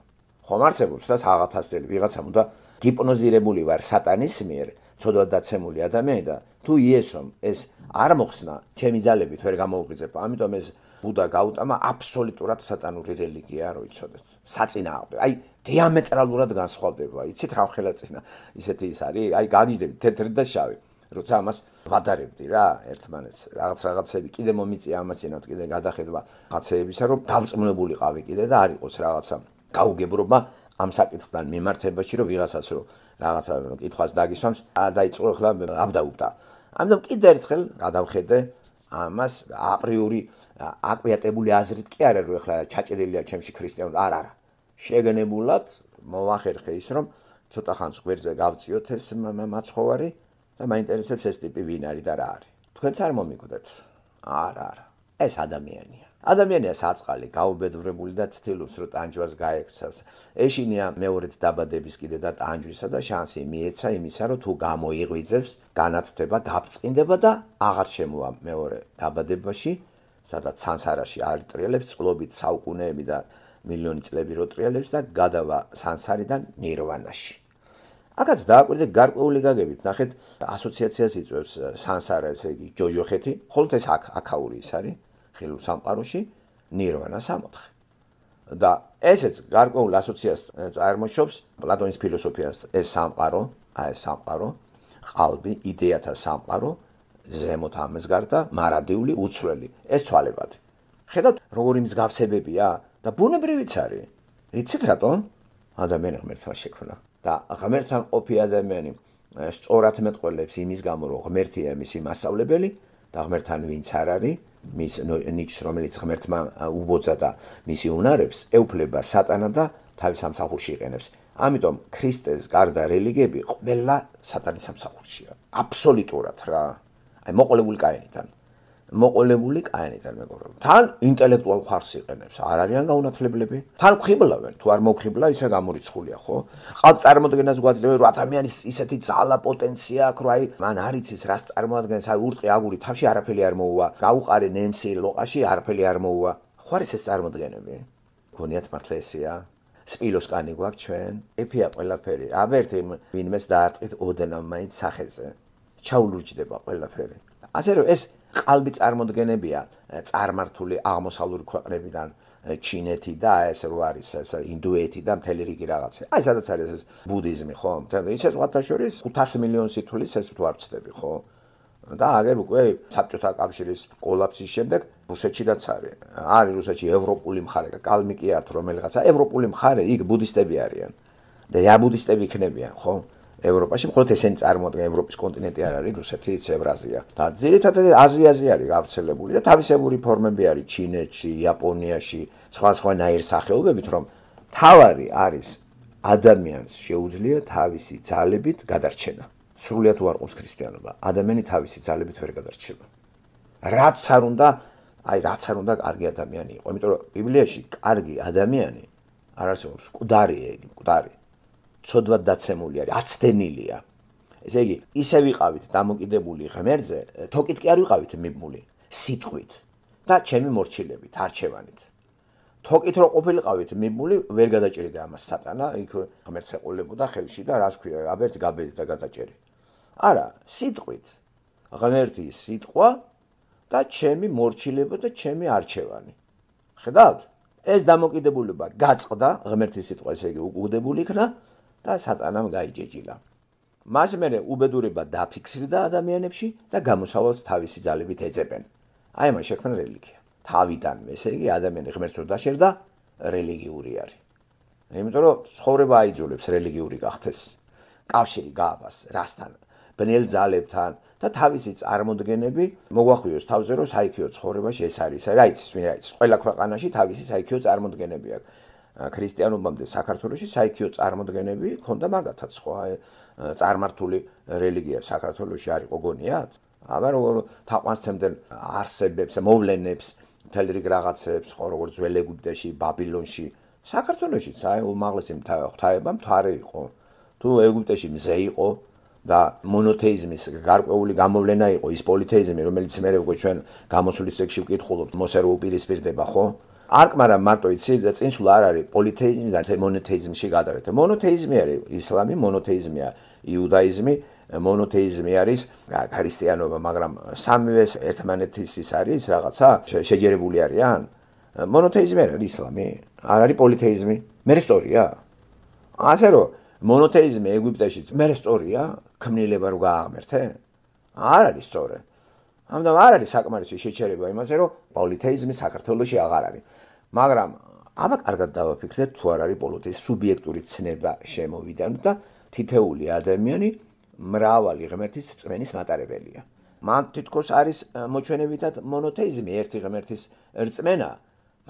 ხომ არსებობს რა საღათასწელი ვიღაცამ უნდა გიპნოზირებული ვარ სატანის მიერ, ცოდვად დაცემული ადამიანი და თუ იესომ ეს არ მოხსნა, ჩემი ძალებით ვერ გამოვიღვიძებ. ამიტომ ეს ბუდა გაუტამა აბსოლუტურად სატანური რელიგია, რო იცოდეთ. საწინააღმდეგო. აი დიამეტრალურად განსხვავდება. იცით რა ხელაწინა ისეთი ის არის? აი გაგიჟდები თეთრი და შავი. როცა ამას ვადარებდი რა ერთმანეთს რაღაცები კიდე მომიწია ამაცინოთ კიდე გადახედვა რაღაცეებისა რომ დავწმუნებულიყავი კიდე და არ იყოს რაღაცა გაუგებრობა ამ საკითხთან მიმართებაში რომ ვიღაცას რომ რაღაცა კითხვას დაგისვამს დაიწყო ახლა აბდაუბდა. ამიტომ კიდე ერთხელ გადავხედე ამას აპრიორი აკვიატებული აზრით კი არა რომ ახლა ჩაჭედილია ჩემში ქრისტიანობა არა შეგნებულად მოვახერხე ის რომ ცოტა ხანს გვერდზე გავწიოთ ეს მაცხოვარი და მაინტერესებს ეს ტიპი ვინ არის და რა არის. თქვენც არ მომიკვდეთ? არა. ეს ადამიანია. ადამიანია საწყალი, გაუბედურებული და ცდილობს, რომ ტანჯვას გაექცას. ეშინია მეორედ დაბადების კიდე და ტანჯვისა და შანსი მიეცა იმისა, რომ თუ გამოიღვიძებს, განათდება, გაბწყინდება და აღარ შემოვა მეორე დაბადებაში, სადაც სანსარაში არ ტრიალებს, წყლობით საუკუნეები და მილიონი წლები რო ტრიალებს და გადავა სანსარიდან ნირვანაში. აქაც დააკვირდე გარკვეული გაგებით, ნახეთ, ასოციაციას იწვევს სანსარა, ესე იგი, ჯოჯოხეთი, ხოლო ეს აქაური ის არის, ხილულ სამყაროში, ნირვანა 64. და ესეც გარკვეულ ასოციაციას წარმოშობს პლატონის ფილოსოფიას, ეს სამყარო, ეს სამყარო, ყალბი, იდეათა სამყარო, ზემოთ ამას გარდა მარადიული, უცვლელი, ეს ცვალებადი. ხედავთ, როგორი მსგავსებებია და ბუნებრივიც არის. იცით რატომ? ადამიანი ღმერთთან შექმნა და ღმერთთან ყოფი ადამიანი სწორად მეტყველებს იმის გამო, რომ ღმერთია მისი მასწავლებელი და ღმერთთან ვინც არ არის, მის ნიჭს, რომელიც ღმერთმა უბოძა და მისი უნარებს, ეუფლება სატანა და თავის სამსახურში იყენებს. ამიტომ ქრისტეს გარდა რელიგიები ყველა სატანის სამსახურშია. აბსოლუტურად რა. აი მოყოლებული კაინიდან. მოყოლებული კაინიდან მეგობრებო. თან ინტელექტუალ ხარს იყენებს. არ არიან გაუნათლებლები. თან ხიბლავენ, თუ არ მოხიბლა, ისე გამორიცხულია, ხო? ყალბ წარმოადგენას გვაძლევენ, რომ ადამიანის ისეთი ძალა, პოტენცია აქვს, რომ აი მან არ იცის რას წარმოადგენს, აი ურტყი აგური თავში არაფერი არ მოუვა. გაუყარე ნემსი ლოყაში არაფერი არ მოუვა. ხო არის ეს წარმოდგენები? გონიათ მართლა ესეა? სპილოს კანი გვაქვს ჩვენ? ეფია ყველაფერი. აბერტი ვინმეს დაარტყით ოდნავ მაინც სახეზე. ჩაულურჯდება ყველაფერი. ასე რომ ეს ყალბი წარმოდგენებია წარმართული აღმოსავლური ქვეყნებიდან, ჩინეთი და ეს რო არის ეს ინდუეთი და მთელი რიგი რაღაცა. აი სადაც არის ეს ბუდიზმი, ხო? ისე სხვათა შორის 500 მილიონი სიტულის ეს თუ არ ვწდები, ხო? და აგერ უკვე საბჭოთა კავშირის კოლაფსის შემდეგ რუსეთშიდაც არის. არის რუსეთში ევროპული მხარე, კალმიკია თუ რომელიღაცა ევროპული მხარე, იქ ბუდისტები არიან. და რა ბუდისტები იქნებიან, ხო? ევროპაში მხოლოდ ესენი წარმოადგენენ ევროპის კონტინენტი არ არის რუსეთი, ევრაზია. და ძირითადად აზიაზე არის გავრცელებული და თავისებური ფორმები არის ჩინეთში, იაპონიაში, სხვა ნაირსახეობებით, რომ თავარი არის ადამიანს შეუძლია თავისი ძალებით გადარჩენა. სრულიად უარყოფს ქრისტიანობა. ადამიანი თავისი ძალებით ვერ გადარჩება. რაც არ უნდა კარგი ადამიანი იყო. იმიტომ რომ ბიბლიაში კარგი ადამიანი არ არსებობს, მკვდარია იგი, მკვდარი. ცოდვად დაცემული არის, აცდენილია. ესე იგი, ისე ვიყავით დამოკიდებული ღმერთზე, თოკით კი არ ვიყავით მიბმული, სიტყვით და ჩემი მორჩილებით, არჩევანით. თოკით რო ყოფილიყავით მიბმული, ვერ გადაჭერიდა ამას სატანა, იქ ღმერთს ეყოლებოდა ხელში და რას ქვია, აბერტი გაბედი და გადაჭერი. არა, სიტყვით. ღმერთი სიტყვა და ჩემი მორჩილება და ჩემი არჩევანი. ხედავთ? ეს დამოკიდებულება გაწყდა, ღმერთის სიტყვა ესე იგი უკუგდებული იქნა და სატანამ გაიჯეჯილა. მას მერე უბედურება დაფიქსირდა ადამიანებში და გამოსავალს თავისი ძალებით ეძებენ. აი ამან შექმნა რელიგია. თავიდანვე, ესე იგი ადამიანი ღმერთს რო დაშერდა, რელიგიური არის. იმიტომ რომ ცხოვრება აიძულებს რელიგიური გახდეს. კავშირი გააბას რასთან? ბნელ ძალებთან და თავისი წარმოდგენები მოგვახვიოს თავზე, რომ საიქიო ცხოვრებაში ეს არის. რა იცის, ვინ რა იცის? ყველა ქვეყანაში თავისი საიქიო წარმოდგენები აქვს. ქრისტიანობამდე საქართველოში საიქიო წარმოდგენები ქონდა მაგათაც, ხო? წარმართული რელიგია საქართველოში არ იყო გონიათ? აბა როგორ თაყვანისცემდნენ არსებებს, მოვლენებს, მთელი რიგ რაღაცებს, ხო, როგორც ძველ ეგვიპტეში, ბაბილონში, საქართველოშიც აი უმაღლესი ღვთაება მთვარე იყო. თუ ეგვიპტეში მზე იყო და მონოთეიზმის გარკვეული გამოვლენა იყო ის პოლითეიზმი, რომელიც მე უკვე ჩვენ გამოსulis წიგნში ვკითხულობთ, მოსე რო უპირისპირდება, ხო? არკმარა მარტო იცი და წინსვლა არ არის პოლითეიზმი და მონოთეიზმში გადავეთ. მონოთეიზმი არის ისლამი, მონოთეიზმია იუდაიზმი, მონოთეიზმი არის ქრისტიანობა, მაგრამ სამივე ერთმანეთის ის არის რაღაცა შეჯერებული არიან. მონოთეიზმი არის ისლამი, არ არის პოლითეიზმი. მე სწორია. ასე რომ მონოთეიზმი ეგვიპტეშიც მე სწორია, ქმნილება რო გააღმერთე? არ არის სწორი. ამიტომ არ არის საკმარისი შეჩერება იმაზე, რომ პოლითეიზმი საქართველოში აღარ არის. მაგრამ აბა კარგად დავაფიქრეთ, თუ არ არის პოლითეიზმის სუბიექტური ცნება შემოვიდა და თითეული ადამიანი მრავალი ღმერთის რწმენის მატარებელია. მან თითქოს არის მოჩვენებითად მონოთეიზმი, ერთი ღმერთის რწმენა,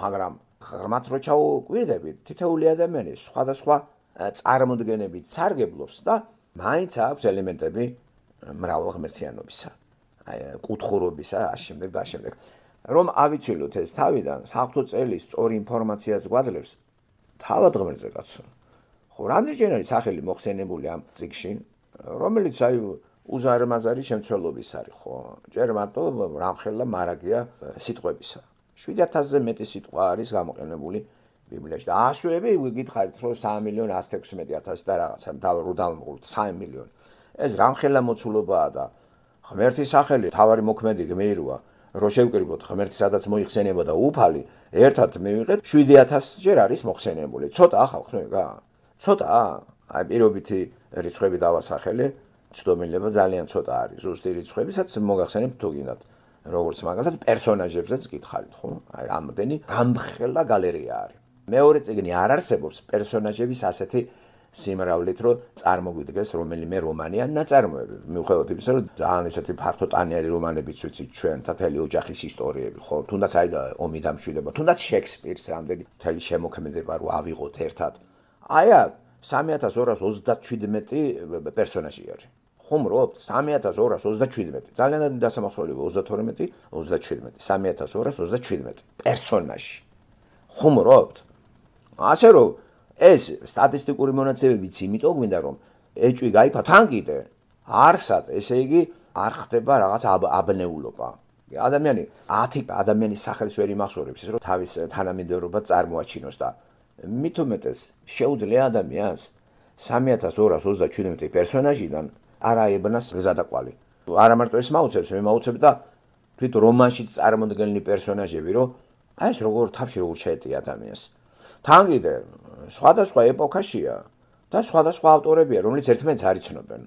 მაგრამ ღრმად რო ჩაუკვირდებით, თითეული ადამიანი სხვადასხვა წარმოდგენებით სარგებლობს და მაინც აქვს ელემენტები მრავალღმერთიანობისა. კუთხურობისა, ამავდროულად და ამავდროულად. რომ ავიცილოთ ეს თავიდან, საღვთო წელი სწორი ინფორმაციას გვაძლევს თავად ღმერთზე კაცო. ხო, რამდენჯერ არის სახელი მოხსენებული ამ წიგნში, რომელიც აი უზარმაზარი შემცველობის არის, ხო? ჯერ მარტო რამხელა მარაგია სიტყვებისა. 7000-ზე მეტი სიტყვა არის გამოყენებული ბიბლიაში და ასოები გითხარით რომ 3,116,000 და რაღაცა დავამყუროთ 3 მილიონი. ეს რამხელა მოცულობაა და ღმერთის სახელი თავარი მოქმედი გმირია რომ შევკრიბოთ ღმერთი სადაც მოიხსენებოდა უფალი ერთად მივიღეთ 7,000 ჯერ არის მოხსენებული. ცოტა ხალხს რა? ცოტა? აი პირობითი რიცხვები დავასახელე, ცდომილება ძალიან ცოტა არის. ზუსტი რიცხვებისაც მოგახსენებთ თუ გინდათ. როგორც მაგალითად პერსონაჟებზეც გითხარით, ხო? აი რამდენი რამხელა გალერეა არის. მეორე წიგნი არ არსებობს პერსონაჟების ასეთი სიმრავლით, რომ წარმოგვიდგეს რომელიმე რომანი ან ნაწარმოები. მიუხედავად იმისა, რომ ძალიან ისეთი ფართოტანიანი რომანებიც ვიცით ჩვენ, მთელი ოჯახის ისტორიები, ხო? თუნდაც აი ომი დამშვიდება, თუნდაც შექსპირს რამდენი მთელი შემოქმედება რო ავიღოთ ერთად. აი 3,227 პერსონაჟი არის. ხუმრობთ 3,227. ძალიან დასამახსოვრებელი 32, 37, 3,227 პერსონაჟი. ხუმრობთ. ასე რომ ეს სტატისტიკური მონაცემებიც იმიტომ გვინდა რომ ეჭვი გაიფა თან კიდე არსად, ესე იგი არ ხდება რაღაც აბნეულობა. ადამიანი 10 ადამიანის სახელს ვერ იმახსოვრებს ის რომ თავის თანამიმდევრობა წარმოაჩინოს და მით უმეტეს შეუძლია ადამიანს 3,227 პერსონაჟიდან არ აებნას გზადაკვალი. არა მარტო ეს მაუცებს, მე მაუცებ და თვით რომანშიც წარმოდგენილი პერსონაჟები რომ აი ეს როგორ თავში როგორ შეეტია ადამიანს. თან კიდე სხვადასხვა ეპოქაშია და სხვადასხვა ავტორებია, რომლებიც ერთმანეთს არ იცნობენ.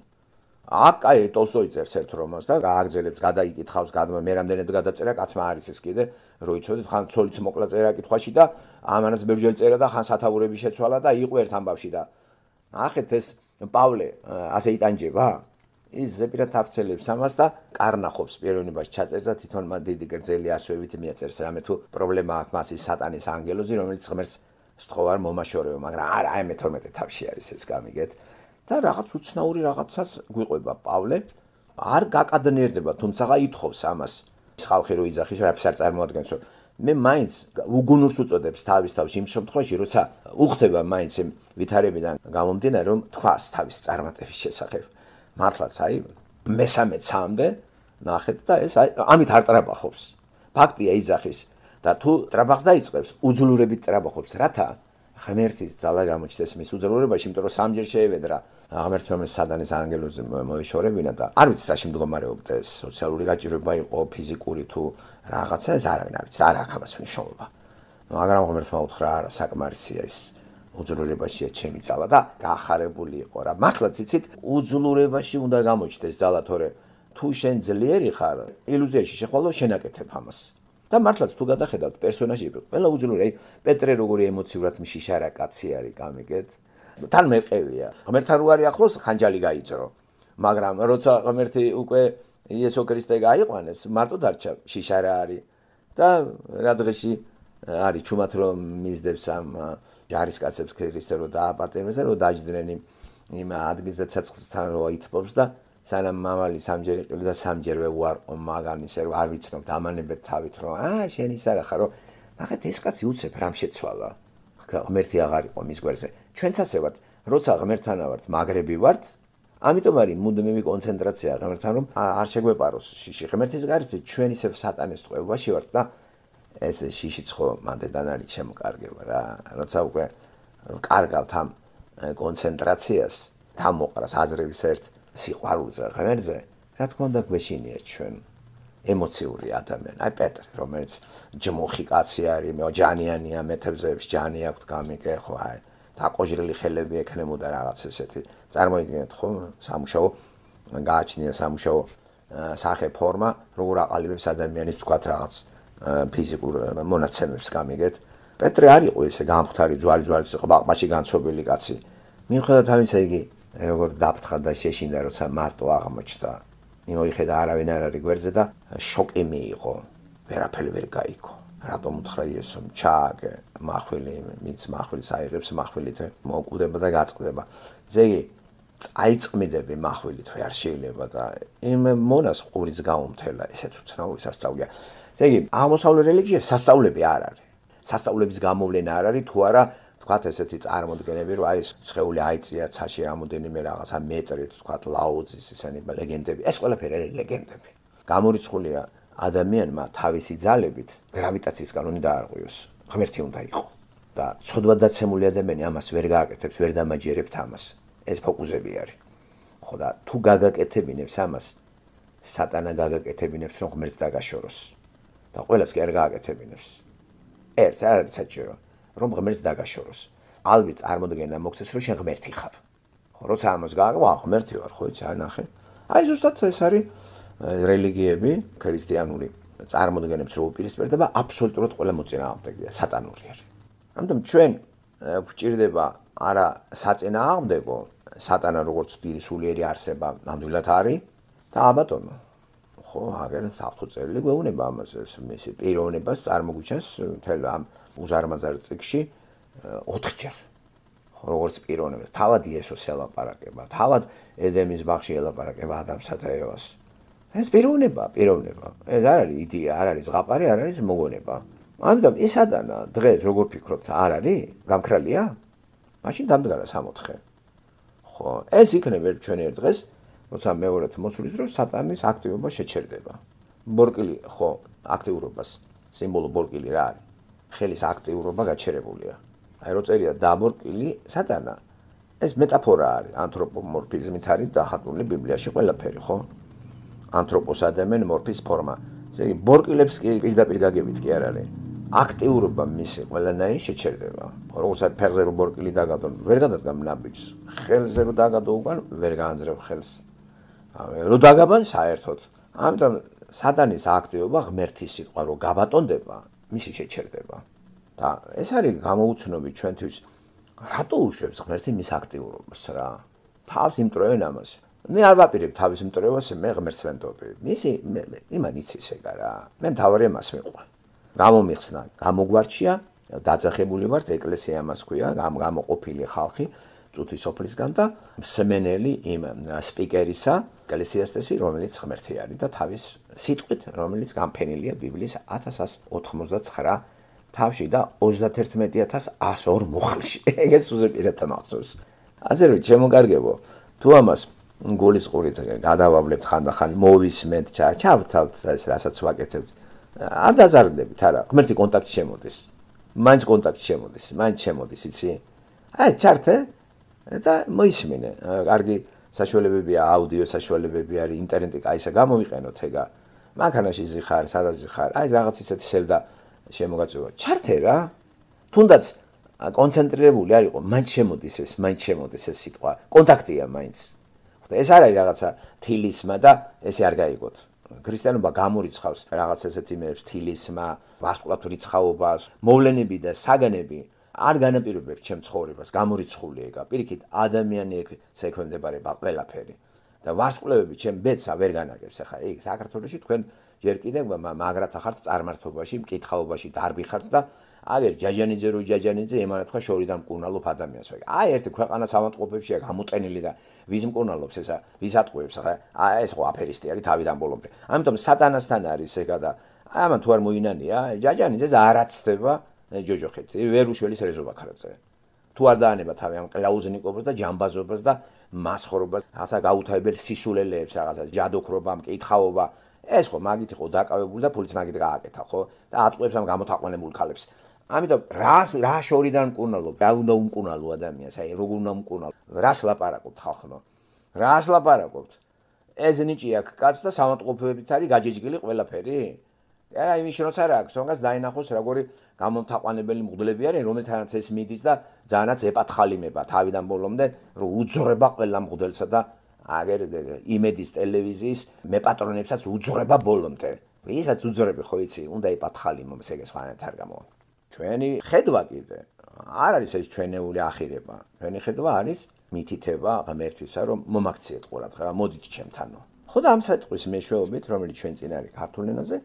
აქ აი ტოლსტოი წერს ერთ რომანს და გააგრძელებს, გადაიკითხავს, მე რამდენად გადაწერა, კაცმა არის ეს კიდე, რო იცოდეთ, ხან ცოლიც მოკლა წერა კითხვაში და ამანაც ბევრჯერ წერა და ხან სათაურები შეცვალა და იყო ერთ ამბავში და ნახეთ ეს პავლე ასე იტანჯება? ის ზეპირად აფცელებს ამას და კარნახობს პიროვნებაში ჩაწერს და თვითონ მან დიდი გრძელი ასოებით მიაწერს რამე თუ პრობლემა აქვს მას ის სატანის ანგელოზი, რომელიც ღმერთს სთხოვარ მომაშორეო, მაგრამ არა, აი მე-12 თავში არის ეს გამიგეთ. და რაღაც უცნაური რაღაცას გვიყვება პავლე, არ გაკადნიერდება, თუმცა ითხოვს ამას. ის ხალხი რო იძახის, რაფის არ წარმოადგენსო. მე მაინც უგუნურს უწოდებს თავის თავში იმ შემთხვევაში, როცა უხდება მაინც იმ ვითარებიდან გამომდინარე, რომ თქვას თავის წარმატების შესახებ. მართლაც აი მესამე-3-მდე ნახეთ და ეს აი ამით არ ტრაბახობს. ფაქტია იძახის და თუ ტრაბახს დაიწყებს, უძლურებით ტრაბახობს, რათა ღმერთის ძალა გამოჩნდეს მის უძლურებაში, იმიტომ რომ სამჯერ შეევედრა ღმერთს რომელიც სატანის ანგელოზი მოეშორებინა და არ ვიცი რა შემდგომარეობდა ეს სოციალური გაჭირვება იყო, ფიზიკური თუ რაღაცა, ეს არავინ არ ვიცი, არ აქვს ამას მნიშვნელობა. მაგრამ ღმერთს მოუთხრა, არა საკმარისია ის უძლურებაშია ჩემი ძალა და გაახარებული იყო რა. მართლაც იცით, უძლურებაში უნდა გამოჩნდეს ძალა, თორე თუ შენ ძლიერი ხარ, ილუზიაში შეხვალო შენაკეთებ ამას. და მართლაც თუ გადახედავთ პერსონაჟები, ყველა უძლური, აი პეტრე როგორი ემოციურად მშიშარა კაცი არის, გამიგეთ? თან მეყევია. ღმერთთან რო არის ახლოს, ხანჯალი გაიძრო. მაგრამ როცა ღმერთი უკვე იესო ქრისტე გაიყვანეს, მარტო დარჩა შიშარა არის და რა დღეში არის ჩუმად რომ მისდევს ამ ჯარისკაცებს ქრისტე რო დააპატიმრეს და რო დაჯდნენ იმ ადგილზე ცეცხლთან რო ითბობს და სანამ მამალი სამჯერ იყილა და სამჯერვე უარყო მაგანისე რომ არ ვიცნობ დამანებეთ თავით რომ შენ ის არა ხარო ნახეთ ეს კაცი უცებ რამ შეცვალა ღმერთი აღარ იყო მის გვერდზე ჩვენცაც ვართ როცა ღმერთთან ვართ მაგრები ვართ ამიტომ არის მუდმივი კონცენტრაცია ღმერთთან რომ არ შეგვეპაროს შიში ღმერთის გარშე ჩვენ ისევ სატანის ტყვეობაში ვართ და ეს შიშიც ხო მანდედან არის შემოკარგება რა როცა უკვე კარგავთ ამ კონცენტრაციას თამოყრას აზრების ერთ სიყვარულზე ღმერთზე რა თქმა უნდა გვეშინია ჩვენ ემოციური ადამიანი აი პეტრე რომელიც ჯმუხი კაცი არის მე ჯანიანია მეთევზეებს ჯანი აქვს გამიგე ხო აი დაკოჟრილი ხელები ექნებოდა რაღაც ესეთი წარმოიდგინეთ ხო სამუშაო გააჩნია სამუშაო სახე ფორმა როგორ აყალიბებს ადამიანის თქვათ რაღაც ფიზიკურ მონაცემებს გამიგეთ პეტრე არ იყო ესე გამხდარი ძვალი ყბაყბაში განცობილი კაცი მიუხედავად ამისა იგი როგორ დაფრთხა და შეშინდა როცა მარტო აღმოჩნდა მოიხედა არავინ არ არის გვერდზე და შოკი მიიღო ვერაფერი ვერ გაიგო რატომ უთხრა იესომ ჩააგე მახვილი მიც მახვილს აიღებს მახვილით მოკვდება და გაწყდება ზეგი წაიწმიდები მახვილით ვერ შეიძლება და იმ მონას ყურიც გაუმთელა ესეც უცნაური სასწაულია ზეგი აღმოსავლეთ რელიგია სასწაულები არ არის სასწაულების გამოვლენა არ არის თუ არა თქვათ ესეთი წარმოდგენები რომ აი სხეული აიწია ცაში რამოდენიმე რაღაცა მეტრი თქვათ ლაუძის ესენი ლეგენდები ეს ყველაფერი არის ლეგენდები გამორიცხულია ადამიანმა თავისი ძალებით გრავიტაციის კანონი დაარღვიოს ღმერთი უნდა იყო და ცოდვადაცემული ადამიანი ამას ვერ გააკეთებს, ვერ დამაჯერებთ ამას. ეს ფოკუსები არის. ხო და თუ გაგაკეთებინებს ამას, სატანა გაგაკეთებინებს, რომ ღმერთს დაგაშოროს. და ყველას კი არ გააკეთებინებს. ერთს არ არის საჭირო, რომ ღმერთს დაგაშოროს. ალბათ წარმოდგენა მოქცეს, რომ შენ ღმერთი ხარ. ხო, როცა ამას გააკვა, ღმერთი ვარ, ხო, იცი, ნახე. აი ზუსტად ეს არის რელიგიები, ქრისტიანული წარმოდგენებს რო უპირისპირდება, აბსოლუტურად ყველა მოწინააღმდეგეა, სატანური არის. ამიტომ ჩვენ გვჭირდება არა საწინააღმდეგო, სატანა როგორც დიდი სულიერი არსება ნამდვილად არის და აბატონო. ხო, აგერ საფრთხო წერილი გვეუბნება ამას, მისი პიროვნებას წარმოგვიჩენს მთელ ამ უზარმაზარ წიგში 4-ჯერ. ხო, როგორც პიროვნებას, თავად იესოს ელაპარაკება, თავად ედემის ბაღში ელაპარაკება ადამსა და ევას. ეს პიროვნება. ეს არ არის იდეა, არ არის ზღაპარი, არ არის მოგონება. ამიტომ ეს სატანა დღეს როგორ ფიქრობთ, არ არის? გამქრალია? მაშინ დამდგარა 64. ხო, ეს იქნება ჩვენ ერთ დღეს, როცა მეორედ მოსulis, რომ სატანის აქტივობა შეჩერდება. ბორკილი, ხო, აქტიურობას, სიმბოლო ბორკილი რა არის? ხელის აქტიურობა გაჩერებულია. აი რო წერია დაბორკილი სატანა. ეს მეტაფორა არის, ანთროპომორფიზმით არის დახატული ბიბლიაში ყველაფერი, ხო? ანთროპოს ადამენ მორფის ფორმა. ესე იგი ბორკილებს კი პირდაპირ გაგებით კი არ არის. აქტიურობა მისი ყველანაირი შეჩერდება. როგორც აი ფეხზე რო ბორკილი დაგადო, ვერ გადადგამ ნაბიჯს. ხელზე რო დაგადო უკან, ვერ გაანძრევ ხელს. რო დაგაბან საერთოდ. ამიტომ სატანის აქტივობა ღმერთის სიტყვა რო გაბატონდება, მისი შეჩერდება. და ეს არის გამოუცნობი ჩვენთვის. რატო უშვებს ღმერთი მის აქტიურობას რა? თავს იმტრევენ ამას. მე არ ვაპირებ თავის მტრევას, მე ღმერთს ვენდობი. მისი იმან იცის ეგა რა. მე მთავარი მას მიყვარ. გამომიხსნა, გამოგვარჩია, დაძახებული ვართ, ეკლესია ამას ქვია, გამოყოფილი ხალხი წუთი სოფლისგან და მსმენელი იმ სპიკერისა, ეკლესიასტესი, რომელიც ღმერთი არის და თავის სიტყვით, რომელიც გამფენილია ბიბლიის 1189 თავში და 31102 მუხლში. ეგეც უზეპირად მახსოვს. ასე რომ ჩემოგარგებო, თუ ამას გულისყურით გადავავლებთ ხანდახან მოვისმენთ, ჩავთავთ ეს რასაც ვაკეთებთ. არ დაზარდებით, არა, ღმერთი კონტაქტი შემოდის. მაინც კონტაქტი შემოდის, მაინც შემოდის, იცი? აი, ჩართე და მოისმინე. კარგი საშუალებებია, აუდიო საშუალებები არის, ინტერნეტი კაისა გამოვიყენოთ ეგა. მანქანაში ზიხარ, სადაც ზიხარ, აი რაღაც ისეთი სევდა შემოგაწვევა. ჩართე რა. თუნდაც კონცენტრირებული არ იყო, მაინც შემოდის ეს სიტყვა. კონტაქტია მაინც. ეს არ არის რაღაცა თილისმა და ესე არ გაიგოთ. ქრისტიანობა გამორიცხავს რაღაც ესეთ იმებს, თილისმა, ვარსკვლავთვრიცხაობას, მოვლენები და საგანები არ განაპირობებს ჩემ ცხოვრებას, გამორიცხული ეგა. პირიქით, ადამიანი ექვემდებარება ყველაფერი. და ვარსკვლავები ჩემ ბედსა ვერ განაგებს. ახლა ეგ საქართველოში თქვენ ჯერ კიდევ მაგრათა ხართ წარმართობაში, მკითხაობაში დარბი ხართ და აგერ ჯაჯანიძე რო ჯაჯანიძე ემანა თქვა შორიდან მკურნალობ ადამიანს. აი ერთი ქვეყანა სამატყობებშია გამოტენილი და ვის მკურნალობს ესა, ვის ატყუებს ახლა. ეს ხო აფერისტი არის თავიდან ბოლომდე. ამიტომ სატანასთან არის ეგა და ამან თუ არ მოინანია, ჯაჯანიძეს არ აცდება ჯოჯოხეთ. ვერ უშველის რეზობა ქარაძე. თუ არ დაანება თავი ამ კлауზნიკობას და ჯამბაზობას და მასხორობას, ასა გაუთავებელ სისულელეებს, რაღაცა ჯადოქრობა, მკითხაობა. ეს ხო მაგით იყო დაკავებული და ფულიც მაგით გააკეთა, ხო? და ატყუებს ამ გამოთაყვანებულ ქალებს. ამიტომ რა შორიდან მკურნალობ, რა უნდა უმკურნალო ადამიანს, აი როგორ უნდა უმკურნალო? რას ლაპარაკობთ ხალხო? რას ლაპარაკობთ? ეს ნიჭი აქ კაც და სამატყობებით არის გაჯეჯგილი ყველაფერი? აი იმის შროც არ აქვს, თუნდაც დაინახოს როგორი გამომთაყვანებელი მღვდლები არიან, რომელთანაც ეს მიდის და ძალიანაც ეპათხალიმება თავიდან ბოლომდე, რომ უძღრება ყველა მღვდელსა და აგერ იმედის ტელევიზიის მეპატრონებსაც უძღრება ბოლომდე. ვისაც უძღრები ხო იცი, უნდა ეპათხალიმოს ეგ სხვანაირად არ გამოვა. ჩვენი ხედვა კიდე არ არის ეს ჩვენეული ახირება. ჩვენი ხედვა არის მითითება ღმერთისა, რომ მომაქციეთ ყურადღება, მოდით ჩემთანო. ხო და ამ სიტყვის მეშვეობით, რომელიც ჩვენ წინ არის ქართულ ენაზე,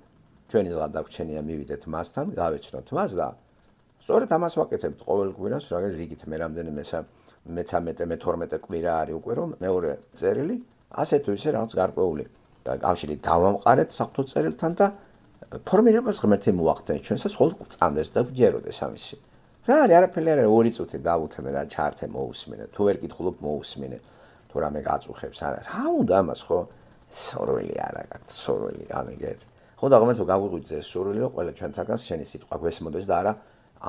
ჩვენი ზღა დაგვრჩენია მივიდეთ მასთან, გავეცნოთ მას და სწორედ ამას ვაკეთებთ ყოველ კვირას, რა რიგით მე რამდენი მე-12 კვირა არის უკვე რომ მეორე წერილი, ასე თუ ისე რაღაც გარკვეული კავშირი დავამყარეთ საფრთხო წერილთან და ფორმირებას ღმერთი მოახდენს ჩვენსაც ხოლმე წამდეს და გვჯეროდეს ამისი. რა არის არაფერი არ არის 2 წუთი დავუთმე რა ჩართე მოусმინე, თუ ვერ კითხულობ მოусმინე, თუ რამე გაწუხებს არა. რა უნდა ამას ხო? სორველი არა გაქვთ, სორველი ამიგეთ. ხო და ღმერთო გაგვიღვიძე ეს სურვილი, რომ ყველა ჩვენთაგანს შენი სიტყვა გვესმოდეს და არა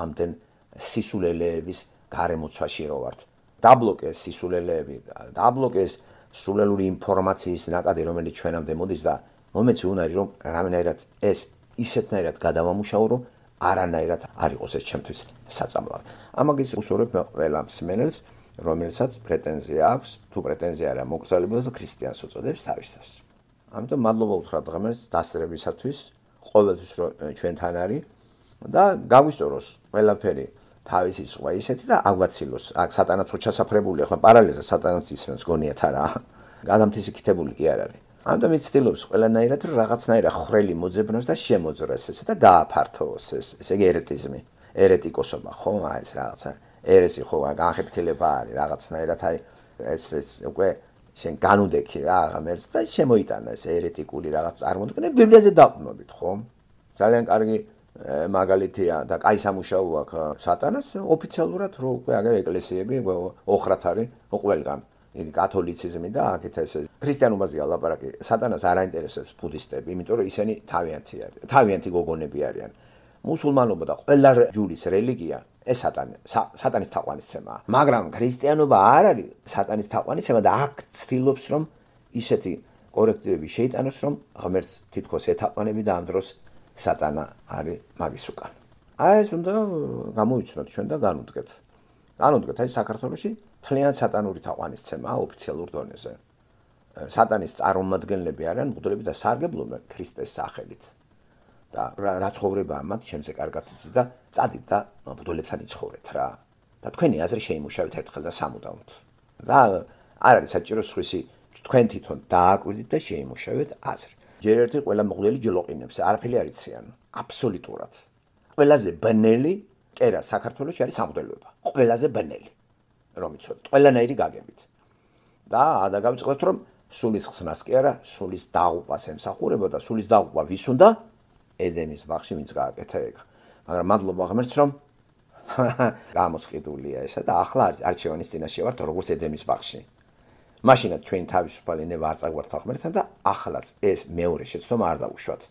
ამდენ სისულელეების გარემოცვაში რო ვართ. დაბლოკეს სისულელეები, დაბლოკეს სულელური ინფორმაციის ნაკადი, რომელიც ჩვენამდე მოდის და მომეცი უნარი რომ რამენაირად ეს ისეთნაირად გადავამუშავო, რომ არანაირად არ იყოს ეს ჩემთვის საწამლავი. ამაგის უსურვებ მე ყველა მსმენელს, რომელსაც პრეტენზია აქვს, თუ პრეტენზია არა მოგზაურობებს და ქრისტიანს უწოდებს თავის თავს. ამიტომ მადლობა უთხრა დღემდე დასწრებისათვის, ყოველთვის რომ ჩვენთან არის და გავისწოროს ყველაფერი თავისი სხვა ისეთი და აგვაცილოს. აქ სატანაც უჩასაფრებული, ახლა პარალელზე სატანაც ისმენს გონიათ არა. გადამთისიქითებული კი არ არის. ამიტომ იცდილობს ყველანაირად რომ რაღაცნაირად ხრელი მოძებნოს და შემოძრეს ესე და გააფართოოს ესე იგი ერეტიზმი, ერეტიკოსობა, ხო? აი ეს რაღაცა ერესი ხო, განხეთქილება არის რაღაცნაირად აი ეს უკვე შენ განუდექი რა ღამერს და შემოიტანა ეს ერეტიკული რაღაც წარმოდგენა ბიბლიაზე დაყრდნობით, ხო? ძალიან კარგი მაგალითია და კაი სამუშაო აქვს სატანას ოფიციალურად რო უკვე აგერ ეკლესიები ოხრათ არის ყველგან. იგი კათოლიციზმი და აქეთ ეს ქრისტიანობაზეა ლაპარაკი. სატანას არ აინტერესებს ბუდისტები, იმიტომ რომ ისინი თავიანთი გოგონები არიან. მუსულმანობა და ყველა ჯურის რელიგია ეს სატანის თაყვანისცემაა. მაგრამ ქრისტიანობა არ არის სატანის თაყვანისცემა და აქ ცდილობს რომ ისეთი კორექტივები შეიტანოს, რომ ღმერთს თითქოს ეთაყვანები და ამ დროს სატანა არის მაგის უკან. აი ეს უნდა გამოვიცნოთ ჩვენ და განუდგეთ. განუდგეთ, აი საქართველოში თლიან სატანური თაყვანისცემაა ოფიციალურ დონეზე. სატანის წარმომადგენლები არიან მღვდლები და სარგებლობენ ქრისტეს სახელით. და რა ცხოვრებაა მათ ჩემზე კარგად იცი და წადით და მღვდლებთან იცხოვრეთ რა. და თქვენი აზრი შეიმუშავეთ ერთხელ და სამუდამოდ. და არ არის საჭირო სხვისი თქვენ თვითონ დააკვირდით და შეიმუშავეთ აზრი. ჯერ ერთი ყველა მღვდელი ჯლოყინებს, არაფერი არ იციან, აბსოლუტურად. ყველაზე ბნელი კერა საქართველოში არის სამღვდელოება. ყველაზე ბნელი. რომ იცოდეთ, ყველანაირი გაგებით. და გადავიწყოთ რომ სულის ხსნას კი არა, სულის დაღუპვას ემსახურება და სულის დაღუპვა ვის უნდა? ედემის ბაღში ვინც გააკეთა ეგ. მაგრამ მადლობა ღმერთს რომ გამოსყიდულია ესა და ახლა არჩევანის წინაშე ვართ როგორც ედემის ბაღში. მაშინაც ჩვენ თავისუფალი ნება არ წაგვართ ღმერთთან და ახლაც ეს მეორე შეცდომა არ დავუშვათ.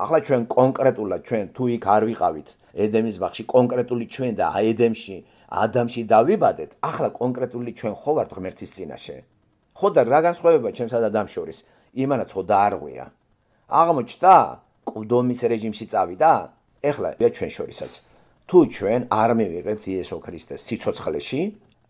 ახლა ჩვენ კონკრეტულად ჩვენ თუ იქ არ ვიყავით ედემის ბაღში კონკრეტული ჩვენ და ედემში ადამში დავიბადეთ, ახლა კონკრეტული ჩვენ ხო ვართ ღმერთის წინაშე. ხო და რა განსხვავება ჩემსა და ადამიანს შორის? იმანაც ხო დაარღვია. აღმოჩნდა ყდომის რეჟიმში წავიდა? ეხლა ჩვენ შორისაც თუ ჩვენ არ მივიღებთ იესო ქრისტეს სიცოცხლეში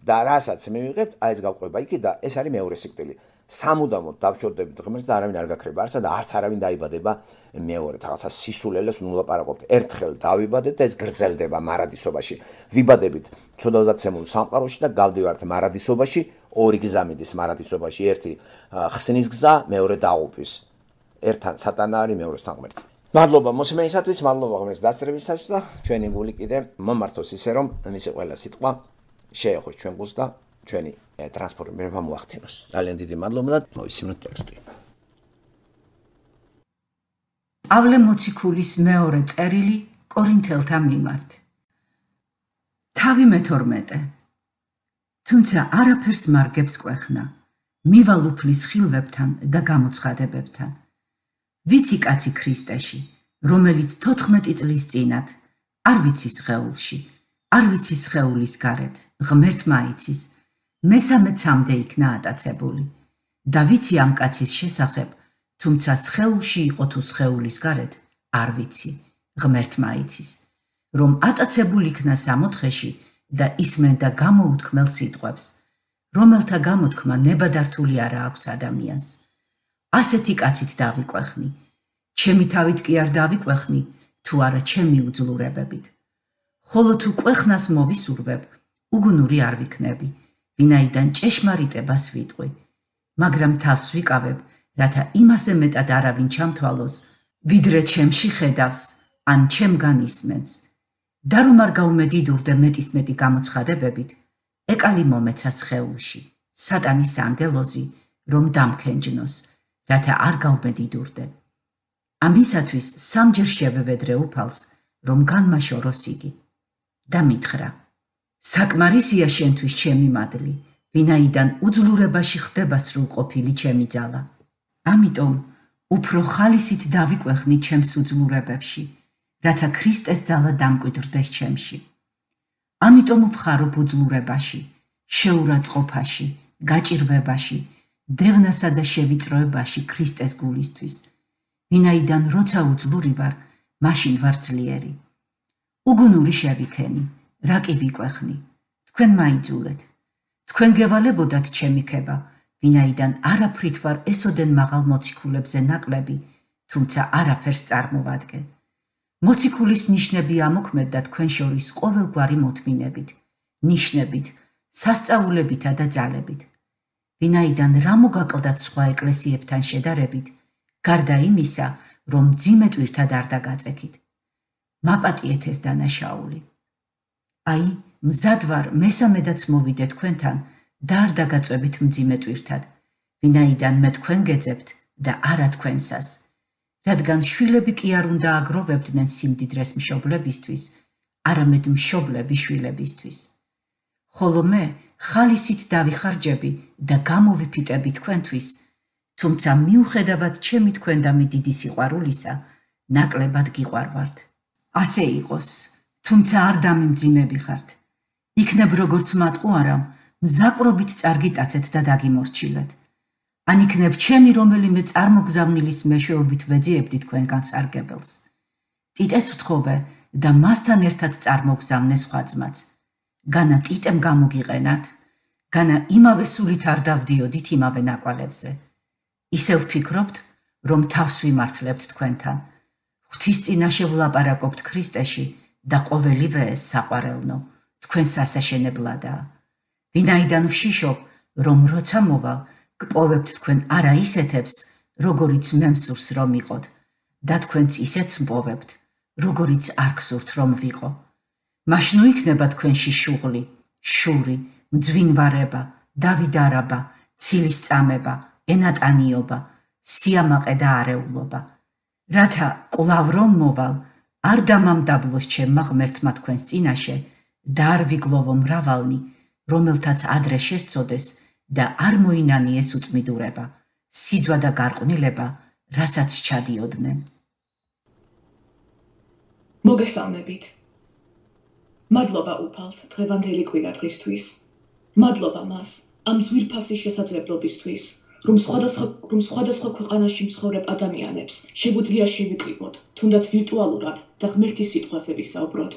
და რასაც მივიღებთ, აი ეს გავყვება იქ და ეს არის მეორე სიკვდილი. სამუდამოდ დავშორდებით ღმერთს და არავინ არ გაქრება არსა და არც არავინ დაიბადება მეორედ. რაღაცა სისულელეს ვნულაპარაკობთ. ერთხელ დავიბადეთ და ეს გრძელდება მარადისობაში. ვიბადებით ცოდავდაცემულ სამყაროში და გავდივართ მარადისობაში, ორი გზა მიდის მარადისობაში, ერთი ხსნის გზა, მეორე დაღუპვის. ერთთან სატანა არის, მეორესთან ღმერთი. მადლობა მოსმენისათვის, მადლობა ღმერთს დასწრებისათვის და ჩვენი გული კიდე მომართოს ისე რომ მისი ყველა სიტყვა შეეხოს ჩვენ გულს და ჩვენი ტრანსფორმირება მოახდინოს. ძალიან დიდი მადლობა და მოვისმინოთ ტექსტი. პავლე მოციქულის მეორე წერილი კორინთელთა მიმართ. თავი მე-12. თუმცა არაფერს მარგებს კვეხნა, მივალ უფლის ხილვებთან და გამოცხადებებთან. ვიცი კაცი ქრისტეში, რომელიც 14 წლის წინათ, არ ვიცი სხეულში, არ ვიცი სხეულის გარეთ, ღმერთმა იცის, მესამე ცამდე იქნა ატაცებული. და ვიცი ამ კაცის შესახებ, თუმცა სხეულში იყო თუ სხეულის გარეთ, არ ვიცი, ღმერთმა იცის, რომ ატაცებული იქნა სამოთხეში და ისმენდა გამოუთქმელ სიტყვებს, რომელთა გამოთქმა ნებადართული არა აქვს ადამიანს. ასეთი კაცით დავიკვეხნი, ჩემი თავით კი არ დავიკვეხნი, თუ არა ჩემი უძლურებებით. ხოლო თუ კვეხნას მოვისურვებ, უგუნური არ ვიქნები, ვინაიდან ჭეშმარიტებას ვიტყვი, მაგრამ თავს ვიკავებ, რათა იმასე მეტად არავინ ჩამთვალოს, ვიდრე ჩემში ხედავს, ან ჩემგან ისმენს. და რომ არ გაუმედიდურდე მეტისმეტი გამოცხადებებით, ეკალი მომეცა სხეულში, სატანის ანგელოზი, რომ დამქენჯნოს, რათა არ გავმედიდურდე. ამისათვის სამჯერ შევევედრე უფალს, რომ განმაშოროს იგი. და მითხრა, საკმარისია შენთვის ჩემი მადლი, ვინაიდან უძლურებაში ხდება სრულყოფილი ჩემი ძალა. ამიტომ უფრო ხალისით დავიკვეხნი ჩემს უძლურებებში, რათა ქრისტეს ძალა დამკვიდრდეს ჩემში. ამიტომ ვხარობ უძლურებაში, შეურაცხყოფაში, გაჭირვებაში, დევნასა და შევიწროებაში ქრისტეს გულისთვის. ვინაიდან როცა უძლური ვარ, მაშინ ვარ ძლიერი. უგუნური შევიქენი, რა კი ვიკვეხნი, თქვენ მაიძულეთ. თქვენ გევალებოდათ ჩემი ქება, ვინაიდან არაფრით ვარ ესოდენ მაღალ მოციქულებზე ნაკლები, თუმცა არაფერს წარმოვადგენ. მოციქულის ნიშნები ამოქმედდა თქვენ შორის ყოველგვარი მოთმინებით, ნიშნებით, სასწაულებითა და ძალებით. ვინაიდან რა მოგაკლდათ სხვა ეკლესიებთან შედარებით, გარდა იმისა, რომ მძიმე ტვირთად არ დაგაწექით. მაპატიეთ ეს დანაშაული. აი, მზად ვარ მესამედაც მოვიდე თქვენთან და არ დაგაწვევით მძიმე ტვირთად, ვინაიდან მე თქვენ გეძებთ და არა თქვენსას. რადგან შვილები კი არ უნდა აგროვებდნენ სიმდიდრეს მშობლებისთვის, არამედ მშობლები შვილებისთვის. ხოლო მე ხალისით დავიხარჯები და გამოვიფიტები თქვენთვის, თუმცა მიუხედავად ჩემი თქვენდამი დიდი სიყვარულისა, ნაკლებად გიყვარვართ. ასე იყოს, თუმცა არ დამიმძიმები ხართ. იქნებ როგორც მატყუარამ, მზაკრობით წარგიტაცეთ და დაგიმორჩილეთ. ან იქნებ ჩემი რომელიმე წარმოგზავნილის მეშვეობით ვეძიებდი თქვენგან სარგებელს. ტიტეს ვთხოვე და მასთან ერთად წარმოგზავნე სხვა ძმაც. განა ტიტემ გამოგიყენათ, განა იმავე სულით არ დავდიოდით იმავე ნაკვალევზე. ისევ ვფიქრობთ, რომ თავს ვიმართლებთ თქვენთან. ღვთის წინაშე ვლაპარაკობთ ქრისტეში და ყოველივე ეს საყვარელნო თქვენ სასაშენებლადაა. ვინაიდან ვშიშობ, რომ როცა მოვალ, გპოვებთ თქვენ არა ისეთებს, როგორიც მე მსურს რომ იყოთ, და თქვენც ისეთს მპოვებთ, როგორიც არ გსურთ რომ ვიყო. მაშინ იქნება თქვენში შუღლი, შური, მძვინვარება, დავიდარება, ცილის წამება, ენატანიობა, სიამაყე და არეულობა. რათა კვლავ რომ მოვალ, არ დამამდაბლოს ჩემმა ღმერთმა თქვენს წინაშე და არ ვიგლოვო მრავალნი, რომელთაც ადრე შესწოდეს და არ მოინანიეს უწმიდურება, სიძვა და გარყვნილება, რასაც ჩადიოდნენ. მოგესალმებით. მადლობა უფალს დღევანდელი კვირა დღისთვის. მადლობა მას ამ ძვირფასი შესაძლებლობისთვის, რომ სხვადასხვა ქვეყანაში მცხოვრებ ადამიანებს შეგვიძლია შევიკრიბოთ, თუნდაც ვირტუალურად და ღმერთის სიტყვაზე ვისაუბროთ.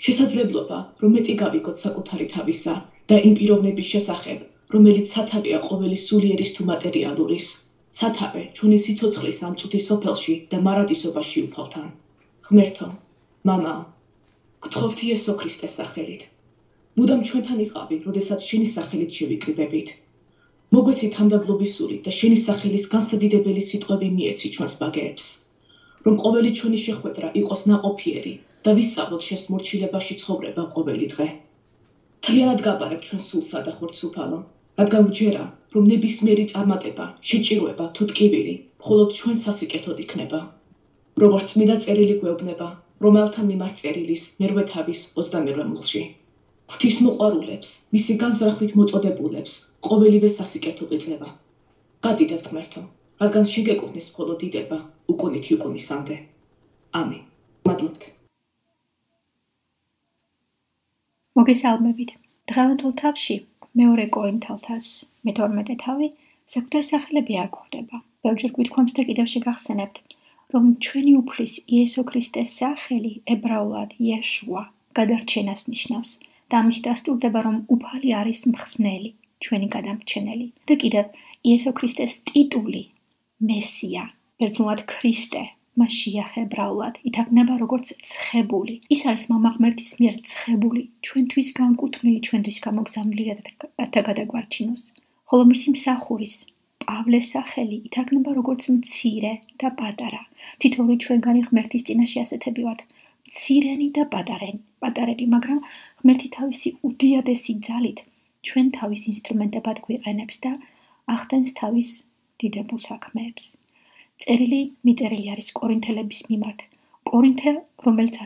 შესაძლებლობა, რომ მეტი გავიგოთ საკუთარი თავისა და იმ პიროვნების შესახებ, რომელიც სათავეა ყოველი სულიერის თუ მატერიალურის, სათავე ჩვენი სიცოცხლის ამ წუთის სოფელში და მარადისობაში უფალთან. ღმერთო, მამა, გთხოვთ იესო ქრისტეს სახელით. მუდამ ჩვენთან იყავი, როდესაც შენი სახელით შევიკრიბებით. მოგვეცი თანდაბლობის სული და შენი სახელის განსადიდებელი სიტყვები მიეცი ჩვენს ბაგეებს. რომ ყოველი ჩვენი შეხვედრა იყოს ნაყოფიერი და ვისწავლოთ შესმორჩილებაში ცხოვრება ყოველი დღე. მთლიანად გაბარებ ჩვენ სულსა და ხორცუფალო, რადგან ვჯერა, რომ ნებისმიერი წარმატება, შეჭირვება თუ ტკივილი მხოლოდ ჩვენ სასიკეთოდ იქნება. როგორც წმინდა წერილი გვეუბნება, რომელთა მიმართ წერილის მერვე თავის 21 მუხლში. ღვთისმოყვარულებს, მისი განზრახვით მოწოდებულებს, ყოველივე სასიკეთო ეწევა. გადიდევთ ღმერთო, რადგან შენ გეკუთვნის მხოლოდ დიდება, უკუნითი უკუნისამდე. ამინ. მადლობთ. მოგესალმებით. დღევანდელ თავში მეორე კორინთელთას მე-12 თავი საკუთარ სახელები არ გვხვდება. ბევრჯერ გვითქვამს და კიდევ შეგახსენებთ, რომ ჩვენი უფლის იესო ქრისტეს სახელი ებრაულად იეშუა გადარჩენას ნიშნავს და ამით დასტურდება, რომ უფალი არის მხსნელი, ჩვენი გადამრჩენელი. და კიდევ იესო ქრისტეს ტიტული მესია, ბერძნულად ქრისტე, მაშიახ ებრაულად ითარგმნება როგორც ცხებული. ის არის მამა ღმერთის მიერ ცხებული, ჩვენთვის განკუთვნილი, ჩვენთვის გამოგზავნილი რათა გადაგვარჩინოს. ხოლო მისი მსახურის პავლეს სახელი ითარგმნება როგორც მცირე და პატარა. თითოეული ჩვენგანი ღმერთის წინაშე ასეთები ვართ, მცირენი და პატარები, მაგრამ ღმერთი თავისი უდიადესი ძალით ჩვენ თავის ინსტრუმენტებად გვიყენებს და ახდენს თავის დიდებულ საქმეებს. წერილი მიწერილი არის კორინთელების მიმართ. კორინთე, რომელიც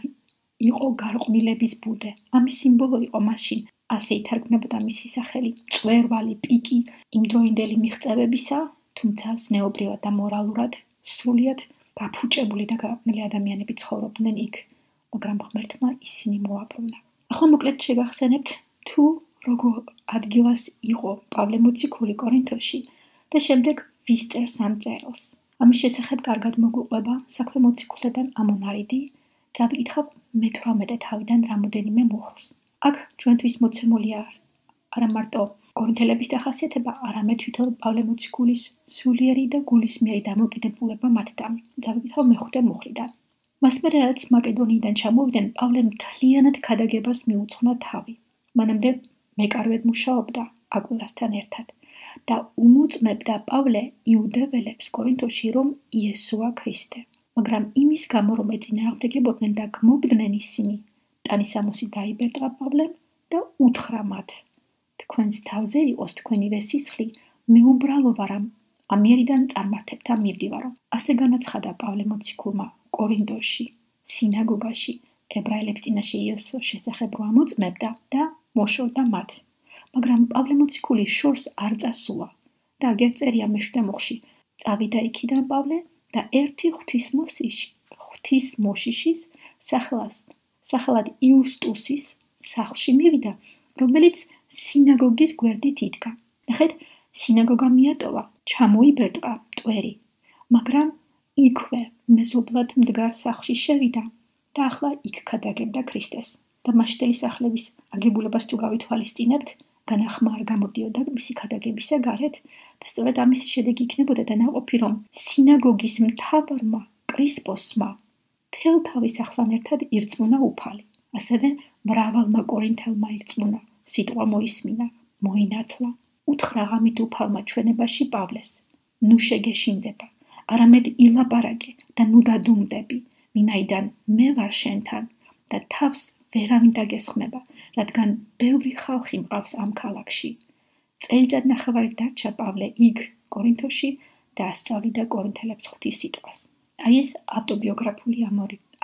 იყო გარყვნილების ბუდე, ამის სიმბოლო იყო მაშინ. ასე ითარგმნებოდა მისი სახელი მწვერვალი პიკი იმდროინდელი მიღწევებისა, თუმცა ზნეობრივად და მორალურად სრულიად გაფუჭებული და გარყვნილი ადამიანები ცხოვრობდნენ იქ, მაგრამ ღმერთმა ისინი მოაბრუნა. ახლა მოკლედ შეგახსენებთ თუ როგორ ადგილას იყო პავლე მოციქული კორინთოში და შემდეგ ვის წერს ამ წერილს. ამის შესახებ კარგად მოგვიყვება საქმე მოციქულთაგან ამონარიდი, წავიკითხავ მე-18 თავიდან რამოდენიმე მუხლს. აქ ჩვენთვის მოცემულია არა მარტო კორინთელების დახასიათება, არამედ თვითონ პავლე მოციქულის სულიერი და გულისმიერი დამოკიდებულება მათთან. წავიკითხავ მე-5 მუხლიდან. მას მერე რაც მაკედონიიდან ჩამოვიდნენ, პავლემ მთლიანად ქადაგებას მიუძღვნა თავი. მანამდე მეკარვედ მუშაობდა აკვილასთან ერთად და უმოწმებდა პავლე იუდეველებს კორინთოში, რომ იესოა ქრისტე. მაგრამ იმის გამო, რომ ეწინააღმდეგებოდნენ და გმობდნენ ისინი, ტანისამოსი დაიბერტყა პავლემ და უთხრა მათ: თქვენს თავზე იყოს თქვენივე სისხლი, მეუბრალო ვარ ამიერიდან წარმართებთან მივდივარო. ასე განაცხადა პავლე მოციქულმა კორინთოში, სინაგოგაში, ებრაელების წინაშე იესოს შესახებ რო ამოწმებდა და მოშორდა მათ. მაგრამ პავლე მოციქული შორს არ წასულა და აგერ წერია მე-7 მუხლში. წავიდა იქიდან პავლე და ერთი ღვთისმოშიშის სახელად იუსტუსის სახლში მივიდა, რომელიც სინაგოგის გვერდით იდგა. ნახეთ, სინაგოგა მიატოვა, ჩამოიბერტყა მტვერი, მაგრამ იქვე მეზობლად მდგარ სახლში შევიდა და ახლა იქ ქადაგებდა ქრისტეს. და მასშტელი სახლების აგებულებას თუ გავითვალისწინებთ, განახმა არ გამოდიოდა მისი ქადაგებისა გარეთ და სწორედ ამისი შედეგი იქნებოდა დანაყოფი, რომ სინაგოგის მთავარმა კრისპოსმა მთელ თავის ახლთან ერთად ირწმუნა უფალი. ასევე მრავალმა კორინთელმა ირწმუნა, სიტყვა მოისმინა, მოინათლა. უთხრა ღამით უფალმა ჩვენებაში პავლეს: ნუ შეგეშინდება, არამედ ილაპარაკე და ნუ დადუმდები, ვინაიდან მე ვარ შენთან და თავს ვერავინ დაგესხმება, რადგან ბევრი ხალხი მყავს ამ ქალაქში. წელიწადნახევარი დარჩა პავლე იქ კორინთოში და ასწავლიდა კორინთელებს ღვთის სიტყვას. აი ეს ავტობიოგრაფიული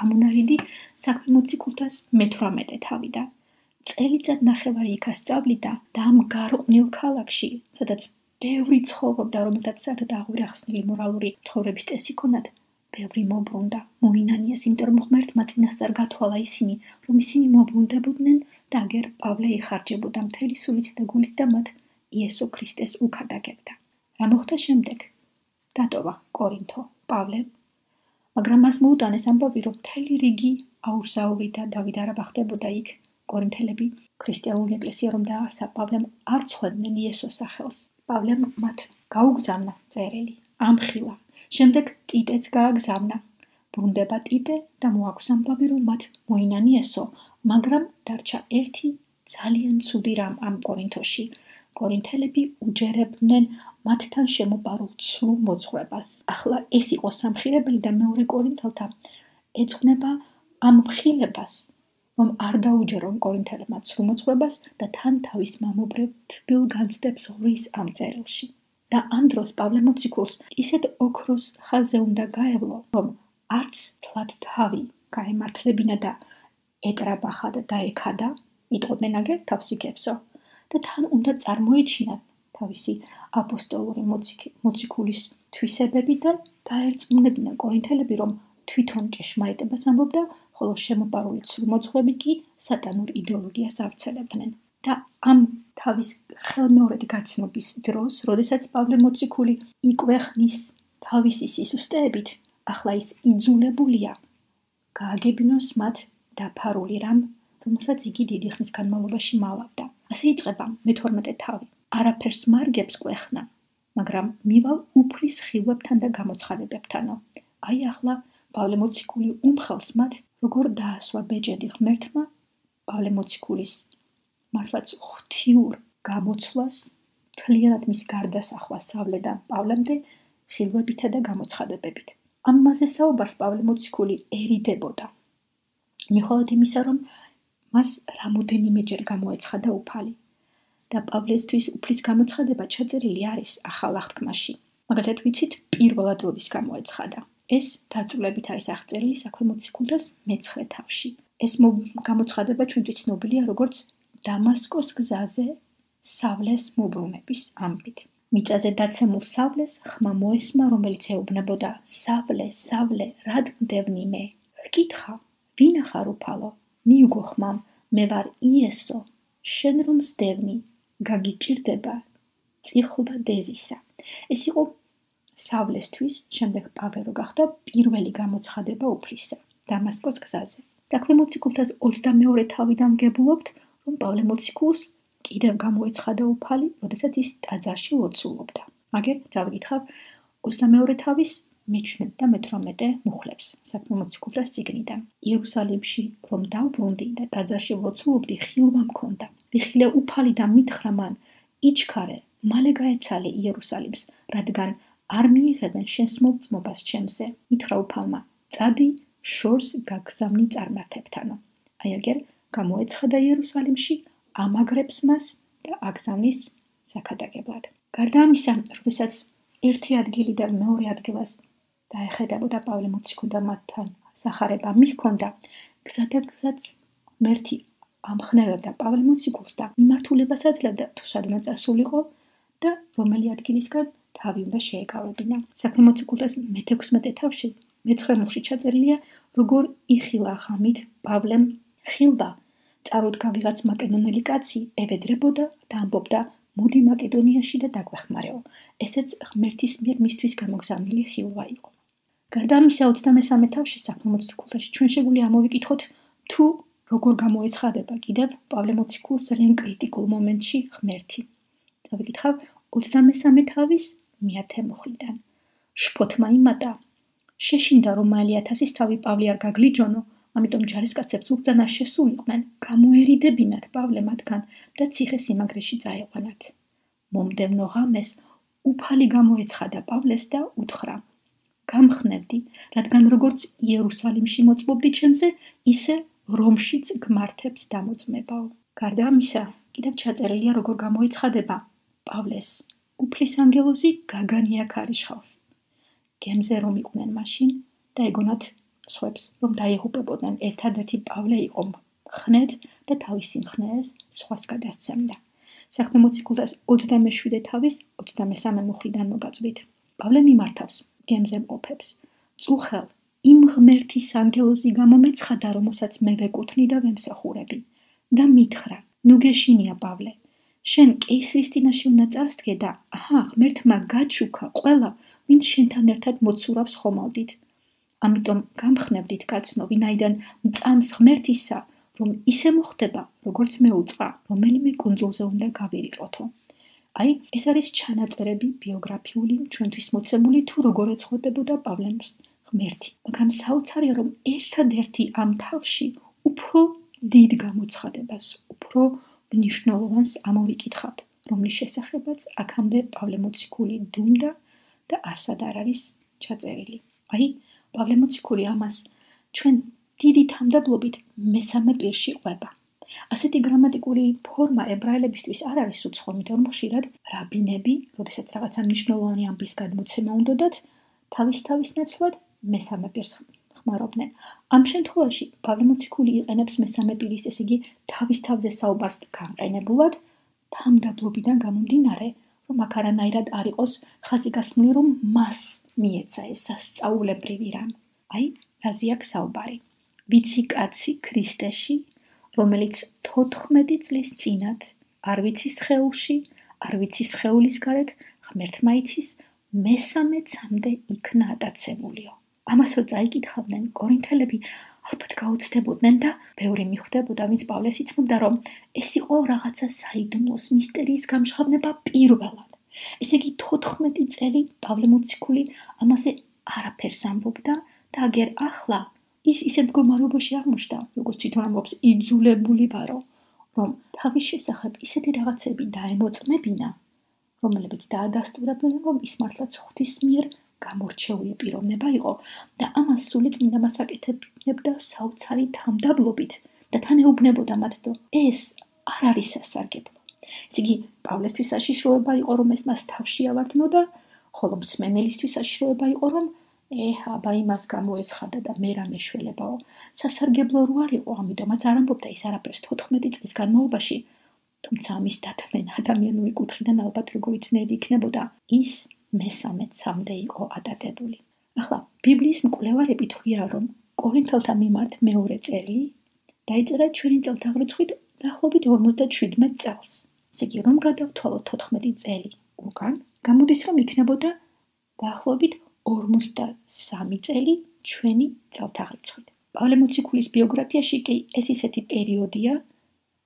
ამონარიდი საქმე მოციქულთას მე-18 თავიდან. წელიწადნახევარი იქ ასწავლიდა და ამ გარყვნილ ქალაქში, სადაც ბევრი ცხოვრობდა, რომელთაც საერთოდ აღვირახსნილი მორალური ცხოვრების წესი ჰქონდათ, ბევრი მოbrunდა, მოინანიეს, იმიტომ რომ ღმერთმა წინასწარ გათვალა ისინი, რომ ისინი მოbrunდებოდნენ და აგერ პავლე იხარჯებოდა მთელი სულით და გულით და მათ იესო ქრისტეს უქადაგებდა. რა მოხდა შემდეგ? დატოვა კორინთო პავლე, მაგრამ მას მოუტანეს ამბავი, რომ მთელი რიგი აურზაური და დავიდარაბა ხდებოდა იქ. კორინთელები ქრისტიანული ეკლესია რომ დაარსა, პავლემ არ ცხვედნენ იესოს სახელს. პავლემ მათ გაუგზავნა წერილი, ამხილა. შემდეგ ტიტეც გააგზავნა. ბრუნდება ტიტე და მოაქვს ამბავი, რომ მათ მოინანიესო, მაგრამ დარჩა ერთი ძალიან ცუდი რამ ამ კორინთოში. კორინთელები უჯერებდნენ მათთან შემოპარულ ცრუ მოძღვრებას. ახლა ეს იყო სამხილებელი და მეორე კორინთელთა ეძღვნება ამ მხილებას, რომ არ დაუჯერონ კორინთელებმა ცრუ მოძღვრებას და თან თავის მამობრევ თბილ განცდებს ღვრის ამ წერილში. და ამ დროს პავლე მოციქულს ისეთ ოქროს ხაზზე უნდა გაევლო, რომ არც თლად თავი გაემართლებინა და ეკრაბახა და დაექადა, იტყოდნენ აგერ თავს იქებსო, და თან უნდა წარმოეჩინათ თავისი აპოსტოლური მოციქულის თვისებები და დაერწმუნებინა კორინთელები, რომ თვითონ ჭეშმარიტებას ამბობდა, ხოლო შემოპარული ცრუ მოძღვრები კი სატანურ იდეოლოგიას ავრცელებდნენ. და ამ თავის ხელმეორედ გაცნობის დროს, როდესაც პავლე მოციქული იკვეხნის თავისი სისუსტეებით, ახლა ის იძულებულია გააგებინოს მათ დაფარული რამ, რომელსაც იგი დიდი ხნის განმავლობაში მალავდა. ასე იწყება მე-12 თავი. არაფერს მარგებს კვეხნა, მაგრამ მივალ უფლის ხილვებთან და გამოცხადებებთანო. აი ახლა პავლე მოციქული უმხელს მათ, როგორ დაასვა ბეჭედი ღმერთმა პავლე მოციქულის მართლაც ღვთიურ გამოცვლას, მთლიანად მის გარდასახვას სავლედან პავლემდე ხილვებითა და გამოცხადებებით. ამაზე საუბარს პავლე მოციქული ერიდებოდა. მიუხედავად იმისა, რომ მას რამოდენიმეჯერ გამოეცხადა უფალი და პავლესთვის უფლის გამოცხადება ჩაწერილი არის ახალ აღთქმაში. მაგალითად ვიცით, პირველად როდის გამოეცხადა. ეს დაწვრილებით არის აღწერილი საქმე მოციქულთას მე-9 თავში. ეს გამოცხადება ჩვენთვის ცნობილია როგორც დამასკოს გზაზე სავლეს მოbrunების ამბით. მიწაზე დაცემულ სავლეს ხმა მოესმა, რომელიც ეუბნებოდა: სავლე, სავლე, რად მდევნი მე? ჰკითხა: ვინ ხარ უფალო? მიუგო ხმამ, მე ვარ იესო, შენ რომ სდევნი, გაგიჭირდება წიხლვა დეზისა. ეს იყო სავლესთვის, შემდეგ პავლე რო გახდა პირველი გამოცხადება უფლისა დამასკოს გზაზე. საქმე მოციქულთას 22 თავიდან ვგებულობთ, რომ პავლე მოციქულს კიდევ გამოეცხადა უფალი, როდესაც ის ტაძარში ლოცულობდა. აგერ წავიკითხავ 22 თავის მე-17 და მე-18 მუხლებს საქმე მოციქულთას წიგნიდან. იერუსალიმში რომ დავბრუნდი და ტაძარში ლოცულობდი, ხილვა მქონდა. ვიხილე უფალი და მითხრა მან, იჩქარე, მალე გაეცალე იერუსალიმს, რადგან არ მიიღებენ შენს მოწმობას ჩემზე. მითხრა უფალმა, წადი შორს გაგზავნი წარმართებთანო. აი აგერ გამოეცხადა იერუსალიმში, ამაგრებს მას და აგზავნის საქადაგებლად. გარდა ამისა, როდესაც ერთი ადგილიდან მეორე ადგილას დაეხედებოდა პავლე მოციქული და მათთან სახარება მიჰქონდა, გზადაგზაც ღმერთი ამხნევებდა პავლე მოციქულს და მიმართულებას აძლევდა თუ სადმე წასულიყო და რომელი ადგილისგან თავი უნდა შეეკავებინა. საქმე მოციქულთას მე-16 თავში მე-9 მუხლში ჩაწერილია, როგორ იხილა ღამით პავლემ ხილვა წარუდგა ვიღაც მაკედონელი კაცი, ევედრებოდა და ამბობდა, მოდი მაკედონიაში და დაგვეხმარეო. ესეც ღმერთის მიერ მისთვის გამოგზავნილი ხილვა იყო. გარდა ამისა 23 თავში საქმე მოციქულთაში ჩვენ შეგვიძლია ამოვიკითხოთ, თუ როგორ გამოეცხადება კიდევ პავლე მოციქულს ძალიან კრიტიკულ მომენტში ღმერთი. წავიკითხავ 23 თავის მე-10 მუხლიდან. შფოთმა იმატა, შეშინდა რომ მალე 1000-ის თავი პავლე არ გაგლიჯონო, ამიტომ ჯარისკაცებს უგზანა შესულიყვნენ, გამოერიდებინათ პავლე მათგან და ციხე-სიმაგრეში წაეყვანათ. მომდევნო ღამეს უფალი გამოეცხადა პავლეს და უთხრა, გამხნევდი, რადგან როგორც იერუსალიმში მოწმობდი ჩემზე, ისე რომშიც გმართებს დამოწმებაო. გარდა ამისა, კიდევ ჩაწერილია როგორ გამოეცხადება პავლეს უფლის ანგელოზი გაგანია ქარიშხალს. გემზე რომ იყვნენ მაშინ და ეგონათ სხვებს, რომ დაიღუპებოდნენ, ერთადერთი პავლე იყო ხნედ და თავის სიმხნეეს სხვას გადასცემდა. საქმე მოციქულთას 27 თავის 23 მუხლიდან მოგაწვით. პავლე მიმართავს გემზე მყოფებს. წუხელ, იმ ღმერთის ანგელოზი გამომეცხადა, რომელსაც მე ვეკუთვნი და ვემსახურები და მითხრა, ნუ გეშინია პავლე, შენ კეისრის წინაშე უნდა წარსდგე და აჰა, ღმერთმა გაჩუქა ყველა, ვინც შენთან ერთად მოცურავს ხომალდით. ამიტომ გამხნევდით კაცნო, ვინაიდან მწამს ღმერთისა, რომ ისე მოხდება, როგორც მე უწყა, რომელიმე კუნძულზე უნდა გავირიყოთო. აი, ეს არის ჩანაწერები ბიოგრაფიული ჩვენთვის მოცემული თუ როგორ ეცხოდებოდა პავლემს ღმერთი. მაგრამ საოცარია, რომ ერთადერთი ამ თავში უფრო დიდ გამოცხადებას, უფრო მნიშვნელოვანს ამოვიკითხავთ, რომლის შესახებაც აქამდე პავლე მოციქული დუმდა და არსად არ არის ჩაწერილი. აი, პავლე მოციქული ამას ჩვენ დიდი თამდაბლობით მესამე პირში ყვება. ასეთი გრამატიკული ფორმა ებრაელებისთვის არ არის უცხო, იმიტომ რომ ხშირად რაბინები, როდესაც რაღაცა მნიშვნელოვანი ამბის გადმოცემა უნდათ, თავის ნაცვლად მესამე პირს ხმარობდნენ. ამ შემთხვევაში პავლე მოციქული იყენებს მესამე პირის, ესე იგი თავის თავზე საუბარს განყენებულად, თამდაბლობიდან გამომდინარე, რომ აქ არანაირად არ იყოს ხაზიგასმული, რომ მას მიეცა ეს სასწაულებრივი რამ. აი, რაზე აქ საუბარი. ვიცი კაცი ქრისტეში, რომელიც 14 წლის წინათ არ ვიცი სხეულში, არ ვიცი სხეულის გარეთ, ღმერთმა იცის, მესამე ცამდე იქნა ატაცებულიო. ამას რო წაიკითხავდნენ კორინთელები, ალბათ გაუცდებოდნენ და ბევრი მიხვდებოდა, ვინც პავლეს იცნობდა, რომ ეს იყო რაღაცა საიდუმლოს მისტერიის გამჟღავნება პირველად. ესე იგი 14 წელი პავლე მოციქული ამაზე არაფერს ამბობდა და აგერ ახლა ის ისეთ მდგომარეობაში აღმოჩნდა, როგორც თვითონ ამბობს, იძულებული ვარო, რომ თავის შესახებ ისეთი რაღაცები დაემოწმებინა, რომლებიც დაადასტურებდნენ, რომ ის მართლაც ღვთის მიერ გამორჩეული პიროვნება იყო და ამას სული წმინდა მას აკეთებდა საოცარი თამდაბლობით და თან ეუბნებოდა მათ, რომ ეს არ არის სასარგებლო. ესე იგი, პავლესთვის საშიშროება იყო, რომ ეს მას თავში ავარდნო და ხოლო მსმენელისთვის საშიშროება იყო, რომ აბა იმას გამოეცხადა და მე რა მეშველებაო. სასარგებლო რო არ იყო, ამიტომაც არ ამბობდა ის არაფერს 14 წლის განმავლობაში, თუმცა ამის დათმენა ადამიანური კუთხიდან ალბათ როგორი ძნელი იქნებოდა, ის მესამე ცამდე იყო ატარებული. ახლა ბიბლიის მკვლევარები თვლიან, რომ კორინთელთა მიმართ მეორე წერილი დაიწერა ჩვენი წელთაღრიცხვით დაახლოებით 57 წელს. ესე იგი, რომ გადავთვალოთ 14 წელი უკან, გამოდის, რომ იქნებოდა დაახლოებით 53 წელი ჩვენი წელთაღრიცხვით. პავლე მოციქულის ბიოგრაფიაში კი ეს ისეთი პერიოდია,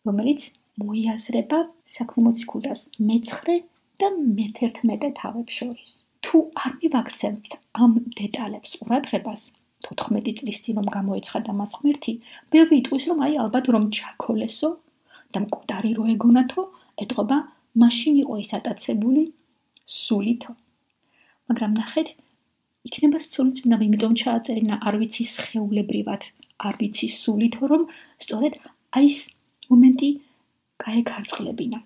რომელიც მოიაზრება საქმე მოციქულთას მე-9 და მე-11 თავებს შორის. თუ არ მივაქცევთ ამ დეტალებს ყურადღებას, 14 წლის წინ რომ გამოეცხადა მას ღმერთი, ბევრი იტყვის, რომ ალბათ რომ ჩაქოლესო და მკვდარი რო ეგონათო, ეტყობა მაშინ იყო ის ატაცებული სულითო. მაგრამ ნახეთ, იქნება სწორი წმინდა, იმიტომ ჩააწერინა არ ვიცი სხეულებრივად, არ ვიცი სულითო, რომ სწორედ ეს მომენტი გაეკარწყლებინა.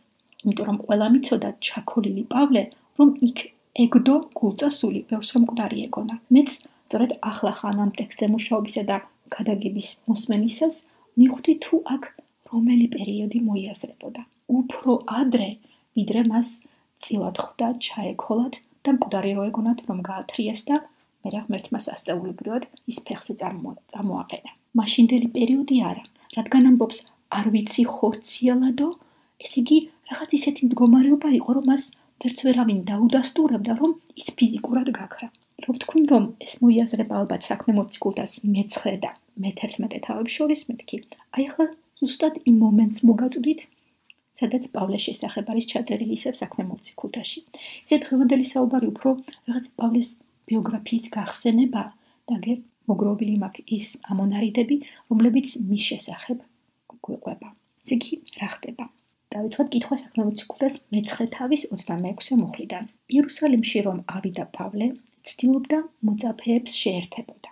იმიტომ რომ ყველა მიცოდა ჩაქოლილი პავლე, რომ იქ ეგდო გულწა სული, ბევრს რომ მკვდარი ეგონა. მეც სწორედ ახლა ამ ტექსტზე მუშაობისა და გადაგების მოსმენისას მივხვდი თუ აქ რომელი პერიოდი მოიაზრებოდა. უფრო ადრე, ვიდრე მას წილად ხვდა ჩაეკოლათ და მკვდარი რო ეგონათ, რომ გაათრიეს და მერე ღმერთმა სასწაულებრივად ის ფეხზე წარმოაყენა. მაშინდელი პერიოდი არა, რადგან ამბობს არ ვიცი ხორციელადო, ესე იგი რაღაც ისეთი მდგომარეობა იყო, რომ მას ვერც ვერავინ დაუდასტურებდა, რომ ის ფიზიკურად გაქრა. რო ვთქვი, რომ ეს მოიაზრება ალბათ საქმე მოციქულთას მე-9 და მე-11 თავებს შორის, მეთქი. აი ახლა ზუსტად იმ მომენტს მოგაწვდით, სადაც პავლეს შესახებ არის ჩაწერილი ისევ საქმე მოციქულთაში. ისე დღევანდელი საუბარი უფრო რაღაც პავლეს ბიოგრაფიის გახსენება და მოგროვილი მაქვს ის ამონარიდები, რომლებიც მის შესახებ გვიყვება. ესე იგი, რა ხდება? დავიწყოთ კითხვა საქმე მოციქულთას მე-9 თავის 26 მუხლიდან. იერუსალიმში რომ ავიდა პავლე, ცდილობდა მოწაფეებს შეერთებოდა.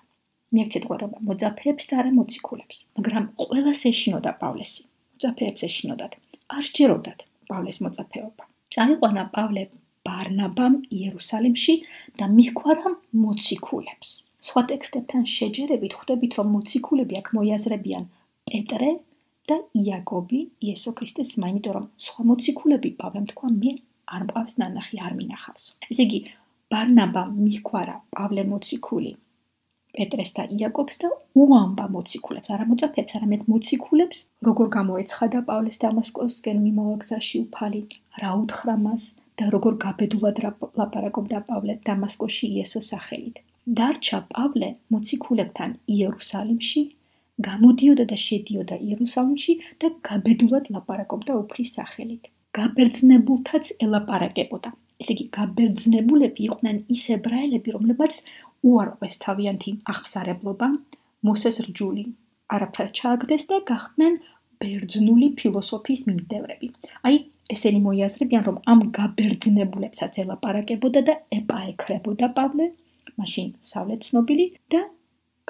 მიაქცეთ ყურადღება, მოწაფეებს და არა მოციქულებს, მაგრამ ყველას ეშინოდა პავლესი. მოწაფეებს ეშინოდათ. არ სჯეროდათ პავლეს მოწაფეობა. წაიყვანა პავლე ბარნაბამ იერუსალიმში და მიჰგვარა მოციქულებს. სხვა ტექსტებთან შეჯერებით ხვდებით, რომ მოციქულები აქ მოიაზრებიან პეტრე და იაკობი, იესო ქრისტეს ძმა, იმიტომ რომ სხვა მოციქულები პავლემ თქვა, მე არ მყავს ნანახი, არ მინახავსო. ესე იგი, ბარნაბამ მიჰგვარა პავლე მოციქული პეტრეს და იაკობს და უამბა მოციქულებს, არა მოწაფეებს, არამედ მოციქულებს, როგორ გამოეცხადა პავლეს დამასკოსკენ მიმავალ გზაში უფალი, რა უთხრა მას და როგორ გაბედულად ლაპარაკობდა პავლე დამასკოში იესოს სახელით. დარჩა პავლე მოციქულებთან იერუსალიმში, გამოდიოდა და შედიოდა იერუსალიმში და გაბედულად ლაპარაკობდა უფლის სახელით. გაბერძნებულთაც ელაპარაკებოდა. ესე იგი, გაბერძნებულები იყვნენ ის ებრაელები, რომლებაც უარყვეს თავიანთი აღფსარებლობა, მოსეს რჯული არაფრად ჩააგდეს და გახდნენ ბერძნული ფილოსოფიის მიმდევრები. აი, ესენი მოიაზრებიან, რომ ამ გაბერძნებულებსაც ელაპარაკებოდა და ეპაექრებოდა პავლე, მაშინ სავლე ცნობილი და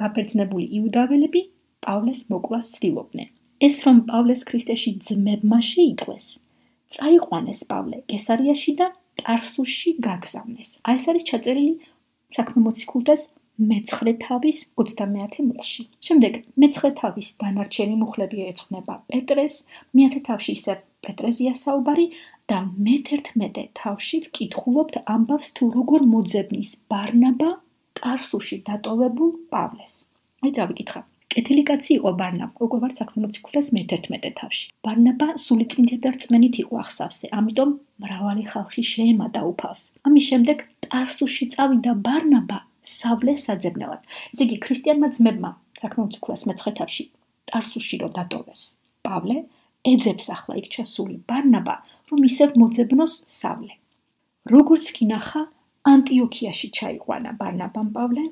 გაბერძნებული იუდაველები პავლეს მოკვლას ცდილობდნენ. ეს რომ პავლეს ქრისტეში ძმებმა შეიტყვეს, წაიყვანეს პავლე კესარიაში და ტარსუსში გაგზავნეს. აი ეს არის ჩაწერილი საქმე მოციქულთას მე-9 თავის 30 მუხლში. შემდეგ მე-9 თავის დანარჩენი მუხლები ეძღვნება პეტრეს, მე-10 თავში ისევ პეტრეზია საუბარი და მე-11 თავში ვკითხულობთ ამბავს თუ როგორ მოძებნის ბარნაბა ტარსუსში დატოვებულ პავლეს. აი წავიკითხა. კეთილი კაცი იყო ბარნაბა, უკვე ვარ საქმე მოციქულთას მე-11 თავში. ბარნაბა სულიწმინდით და რწმენით იყო ახსავსე, ამიტომ მრავალი ხალხი შეემატა უფალს. ამის შემდეგ ტარსუსში წავიდა ბარნაბა სავლეს საძებნელად. ესე იგი, ქრისტიანმა ძმებმა საქმე მოციქულას მე-9 თავში ტარსუსში რო დატოვეს პავლე, ეძებს ახლა იქ ჩასული ბარნაბა, რომ ისევ მოძებნოს სავლე. როგორც კი ნახა, ანტიოქიაში ჩაიყვანა ბარნაბამ პავლე,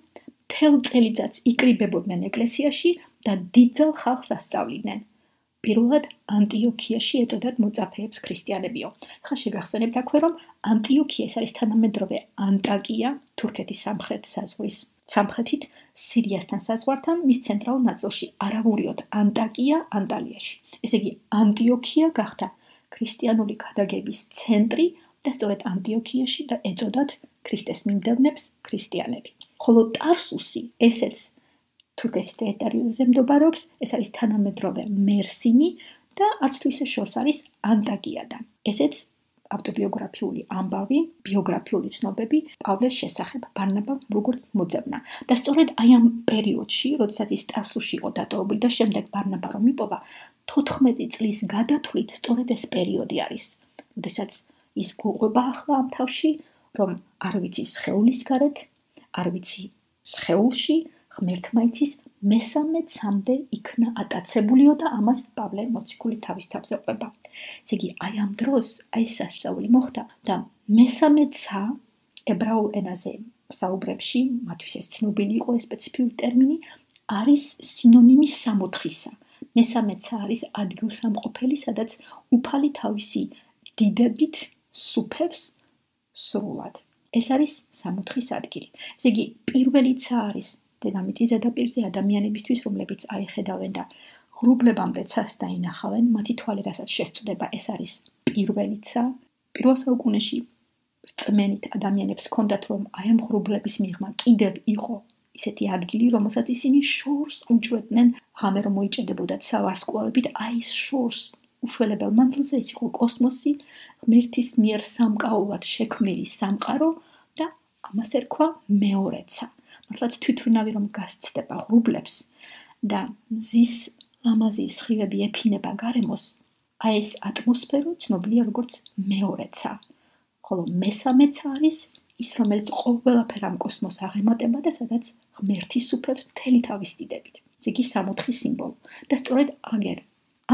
მთელ წელიწადს იკრიბებოდნენ ეკლესიაში და დიდძალ ხალხს ასწავლიდნენ. პირველად ანტიოქიაში ეწოდათ მოწაფეებს ქრისტიანებიო. ხა შეგახსენებთ აქვე, რომ ანტიოქია ეს არის თანამედროვე ანტაკია, თურქეთის სამხრეთით, სირიასთან საზღვართან, მის ცენტრალურ ნაწილში, არავურიოთ ანტაკია, ანტალიაში. ესე იგი, ანტიოქია გახდა ქრისტიანული გადაგების ცენტრი და სწორედ ანტიოქიაში და ეწოდათ ქრისტეს მიმდევნებს ქრისტიანები. ხოლო ტარსუსი, ესეც თურქეთის ტერიტორიაზე მდებარეობს, ეს არის თანამედროვე მერსინი და არც თუ ისე შორს არის ანტაკიადან. ესეც ავტობიოგრაფიული ამბავი, ბიოგრაფიული ცნობები პავლეს შესახებ, ბარნაბამ როგორც მოძებნა. და სწორედ აი ამ პერიოდში, როდესაც ის ტარსუსში იყო დატოვებული და შემდეგ ბარნაბა რომ იპოვა, 14 წლის გადათვლით სწორედ ეს პერიოდი არის, როდესაც ის გვყვება ახლა ამ თავში, რომ არ ვიცი სხეულის გარეთ, არ ვიცი სხეულში, ღმერთმა იცის, მესამეცამდე იქნა ატაცებულიო და ამას პავლე მოციქული თავის თავზე ყვება. ესე იგი, აი ამ დროს, აი სასწაული მოხდა და მესამეცა ებრაულ ენაზე საუბრებში, მათთვის ეს ცნობილი იყო ეს სპეციფიური ტერმინი, არის სინონიმი სამოთხისა. მესამეცა არის ადგილსამყოფელი, სადაც უფალი თავისი დიდებით სუფევს სრულად. ეს არის სამოთხის ადგილი. ესე იგი, პირველიცა არის დედამიწის ზედაპირზე ადამიანებისთვის, რომლებიც აიხედავენ და ღრუბლებამდე ცას დაინახავენ, მათი თვალი რასაც შესწვდება, ეს არის პირველიცა. პირველ საუკუნეში რწმენით ადამიანებს ჰქონდათ, რომ აი ამ ღრუბლების მიღმა კიდევ იყო ისეთი ადგილი, რომელსაც ისინი შორს უჭვედნენ, ღამე რომ მოიჭედებოდათ სავარსკვლავებით, აი ეს შორს უშველებელ მანძილზე ის იყო კოსმოსი, ღმერთის მიერ სამკაულად შექმნილი სამყარო და ამას ერქვა მეორეცა. მართლაც თვითმფრინავი რომ გასცდება ღრუბლებს და მზის ლამაზი სხივები ეფინება გარემოს, აი ეს ატმოსფერო ცნობილია როგორც მეორეცა. ხოლო მესამეცა არის ის, რომელიც ყოველაფერ ამ კოსმოსს აღემატება და სადაც ღმერთი სუფევს მთელი თავის დიდებით. ესე იგი, სამოთხის სიმბოლო. და სწორედ აგერ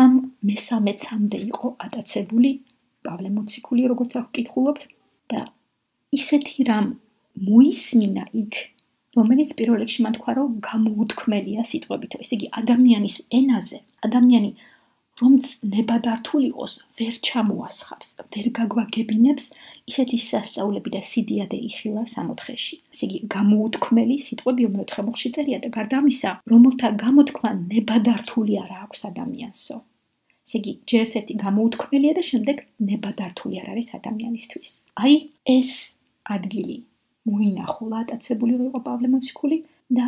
ამ მესამეცამდე იყო ატაცებული პავლე მოციქული, როგორც აქ ვკითხულობთ, და ისეთი რამ მოისმინა იქ, რომელიც პირველ რიგში მან თქვა, რომ გამოუთქმელია სიტყვებითო. ესე იგი, ადამიანის ენაზე, ადამიანი რომც ნებადართული იყოს, ვერ ჩამოასხავს, ვერ გაგვაგებინებს, ისეთი სასწაულები და სიდიადე იხილა სამოთხეში. ესე იგი, გამოუთქმელი სიტყვებიო მეოთხე მუხლში წერია და გარდა ამისა, რომელთა გამოთქმა ნებადართული არ აქვს ადამიანსო. ესე იგი, ჯერ ესეთი გამოუთქმელია და შემდეგ ნებადართული არ არის ადამიანისთვის. აი, ეს ადგილი მოინახულა ატაცებული იყო პავლე მოციქული და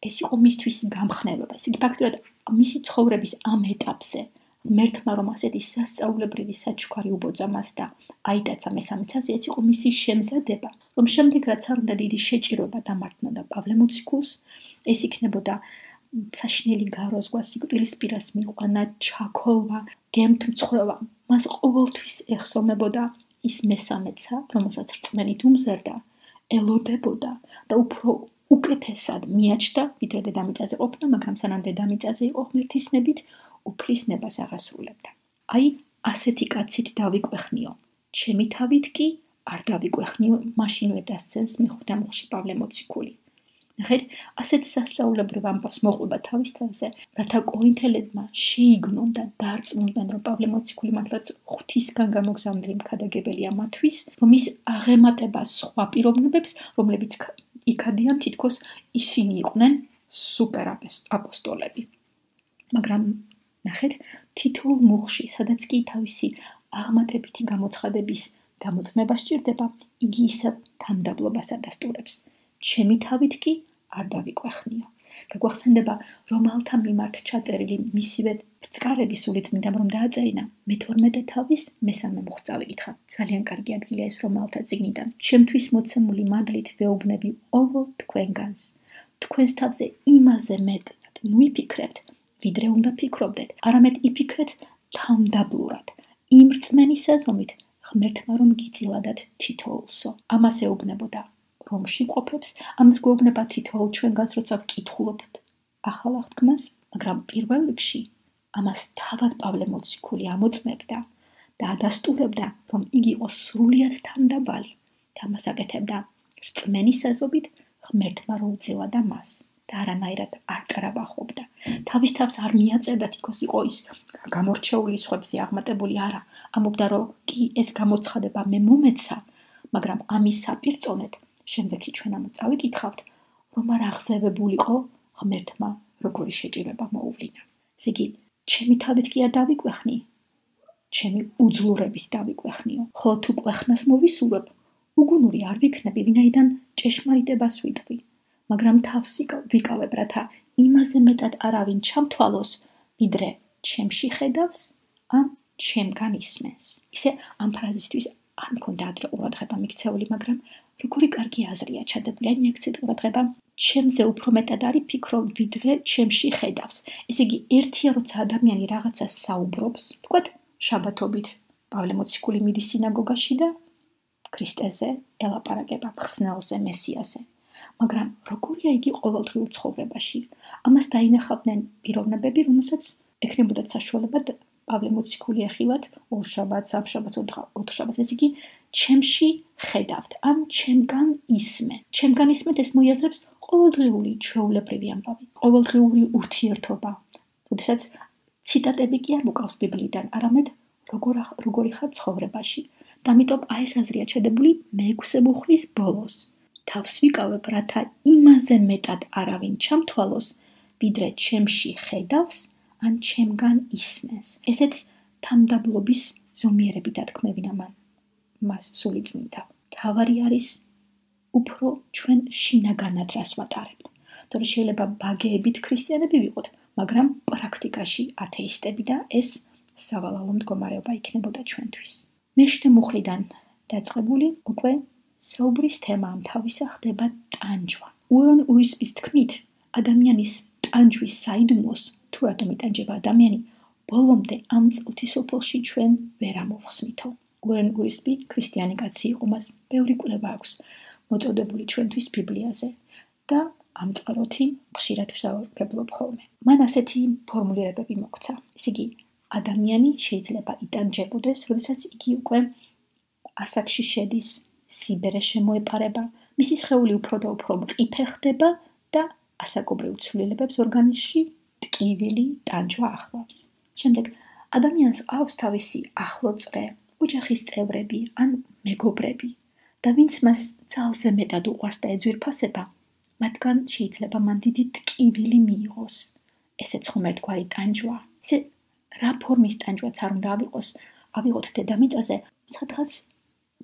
ეს იყო მისთვის გამხნელობა. ესე იგი, ფაქტობრივად მისი ცხოვრების ამ ეტაპზე ღმერთმა რომ ასეთი სასწაულებრივი საჩუქარი უბოძა მას და აიტაცა მესამეცაზე, ეს იყო მისი შემზადება, რომ შემდეგ რაც არ უნდა დიდი შეჭირება დამართნოდა პავლე მოციქულს, ეს იქნებოდა საშინელი გაროზღვა, სიკვდილის პირას მიყვანა, ჩაქოლვა, გემთმცხრობა. მას ყოველთვის ეხსოვნებოდა ის მესამეცა, რომელსაც რწმენით უმზერდა, ელოდებოდა და უფრო უკეთესად მიაჩნდა, ვიდრე დედამიწაზე ყოფნა, მაგრამ სანამ დედამიწაზე იყო ღმერთისნებით, უფლისნებას აღასრულებდა. აი, ასეთი კაცით დავიკვეხნიო. ჩემი თავით კი არ დავიკვეხნიო, მაშინვე დასცენს მეხუთე მუხლში პავლე მოციქული. ნახეთ, ასეთ სასწაულებრივ ამბავს მოყვება თავის თავზე, რათა კორინთელებმა შეიგნონ და დარწმუნდნენ, რომ პავლე მოციქული მართლაც ღვთისგან გამოგზავნილი მქადაგებელია მათთვის, რომ ის აღემატება სხვა პიროვნებებს, რომლებიც იქადიან თითქოს ისინი იყვნენ სუპერ აპოსტოლები. მაგრამ ნახეთ, თითოეულ მუხლში, სადაც კი თავისი აღმატებითი გამოცხადების გამოწმება სჭირდება, იგი ისევ თანდაბლობას ადასტურებს. ჩემი თავით კი არ დავიკვეხნიო. გაგვახსენდება რომალთა მიმართ ჩაწერილი მისივე ბრწყარების სულიწმინდამ რომ დააწერინა, მე-12 თავის მესამე მუხლს წავიკითხა. ძალიან კარგი ადგილია ეს რომალთა წიგნიდან. ჩემთვის მოცემული მადლით ვეუბნები ყოველ თქვენგანს. თქვენს თავზე იმაზე მეტად მივიფიქრებთ, ვიდრე უნდა ფიქრობდეთ, არამედ იფიქრეთ თამდაბლურად, იმ რწმენის აზომით, ღმერთმა რომ გიწილადათ თითოეულსო. ამას ეუბნებოდა რომში ყოფებს, ამას გვეუბნება თითოეულ ჩვენგანს, როცა ვკითხულობთ ახალ აღთქმას, მაგრამ პირველ რიგში ამას თავად პავლე მოციქული ამოწმებდა და ადასტურებდა, რომ იგი იყო სრულიად თანდაბალი და ამას აკეთებდა რწმენის აზრობით, ღმერთმა რო უწილადა მას და არანაირად არ კრაბახობდა. თავის თავს არ მიაწევდა, თითქოს იყო ის გამორჩეული სხვებზე აღმატებული, არა, ამობდა, რომ კი ეს გამოცხადება მე მომეცა, მაგრამ ამის საპირწონედ შემდეგში ჩვენ ამ წავიკითხავთ, რომ არ აღზევებულიყო ღმერთმა როგორი შეჭირება მოუვლინა. ესე იგი, ჩემი თავით კი არ დავიკვეხნი, ჩემი უძლურებით დავიკვეხნიო. ხოლო თუ კვეხნას მოვისურვებ, უგუნური არ ვიქნები, ვინაიდან ჭეშმარიტებას ვიტყვი, მაგრამ თავს ვიკავებ, რათა იმაზე მეტად არავინ ჩამთვალოს, ვიდრე ჩემში ხედავს, ან ჩემგან ისმენს. ისე ამ ფრაზისთვის არ მქონდა ადრე ყურადღება მიქცეული, მაგრამ როგორი კარგი აზრია ჩადებული, აი მიაქცეთ ყურადღება. ჩემზე უფრო მეტად არის ფიქრო, ვიდრე ჩემში ხედავს. ესე იგი, ერთია როცა ადამიანი რაღაცას საუბრობს, თქვათ შაბათობით, პავლე მოციქული მიდის სინაგოგაში და ქრისტეზე ელაპარაკება, მხსნელზე, მესიაზე. მაგრამ როგორია იგი ყოველდღიურ ცხოვრებაში? ამას დაინახავდნენ პიროვნებები, რომელსაც ექნებოდათ საშუალება პავლე მოციქული ეხილათ ორ შაბათს, სამშაბათს, ოთხ შაბათს. ესე იგი, ჩემში ხედავთ, ან ჩემგან ისმენ. ჩემგან ისმენთ ეს მოიაზრებს ყოველდღიური ჩვეულებრივი ამბავი, ყოველდღიური ურთიერთობა. როდესაც ციტატები კი არ მოკავს ბიბლიიდან, არამედ როგორი ხარ ცხოვრებაში. და ამიტომ აი ეს აზრია ჩადებული მე-6 მუხლის ბოლოს. თავს ვიკავებ, რათა იმაზე მეტად არავინ ჩამთვალოს, ვიდრე ჩემში ხედავს, ან ჩემგან ისმენს. ესეც თამდაბლობის ზომიერები დათქმევინა მას სულიწმინდა. თავარი არის უფრო ჩვენ შინაგანად რას ვატარებთ. თორე შეიძლება ბაგეებით ქრისტიანები ვიყოთ, მაგრამ პრაქტიკაში ათეისტები და ეს სავალალო მდგომარეობა იქნებოდა ჩვენთვის. მე-7 მუხლიდან დაწყებული უკვე საუბრის თემა ამ თავისა ხდება ტანჯვა. უორენ ურისპის თქმით, ადამიანის ტანჯვის საიდუმლოს, თუ რატომ იტანჯება ადამიანი, ბოლომდე ამ წუთისოფლში ჩვენ ვერ ამოვხსნითო. უორენ ურისპი ქრისტიანი კაცი იყო, მას ბევრი კვლევა აქვს მოწოდებული ჩვენთვის ბიბლიაზე და ამ წყაროთი ხშირად ვსაუბრობ ხოლმე. მან ასეთი ფორმულირებები მოგცა. ესე იგი, ადამიანი შეიძლება იტანჯებოდეს, როდესაც იგი უკვე ასაკში შედის, სიბერე შემოეპარება, მისი სხეული უფრო და უფრო მყიფე ხდება და ასაკობრივ ცვლილებებს ორგანიზმში ტკივილი ტანჯვა ახლავს. შემდეგ ადამიანს ყავს თავისი ახლო წრე, ოჯახის წევრები ან მეგობრები და ვინც მას ძალზე მეტად უყვარს და ეძვირფასება, მათგან შეიძლება მან დიდი ტკივილი მიიღოს. ესეც ხომ ერთგვარი ტანჯვა. ისე რა ფორმის ტანჯვაც არ უნდა ავიღოთ დედამიწაზე, სადღაც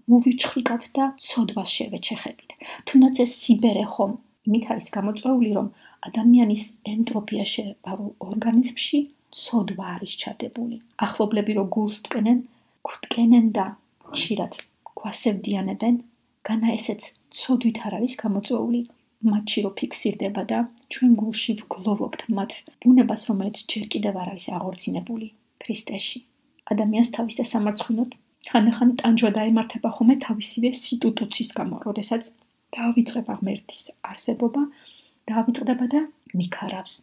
მოვიჩხრიკავთ და ცოდვას შევეჩეხებით. თუნდაც ეს სიბერე ხომ იმით არის გამოწვეული, რომ ადამიანის ენტროპია შეეპარულ ორგანიზმში ცოდვა არის ჩადებული. ახლობლები რო გულს გვტკენენ და ხშირად გვასევდიანებენ, განა ესეც ცოდვით არ არის გამოწვეული, მათში რო ფიქსირდება და ჩვენ გულში ვგლოვობთ მათ ბუნებას, რომელიც ჯერ კიდევ არ არის აღორძინებული ქრისტეში. ადამიანს თავის დასამარცხინოდ ხანდახან ტანჯვა დაემართება ხოლმე თავისივე სიტუტუციის გამო, როდესაც დაავიწყება ღმერთის არსებობა, დაავიწყდება და მიქარავს,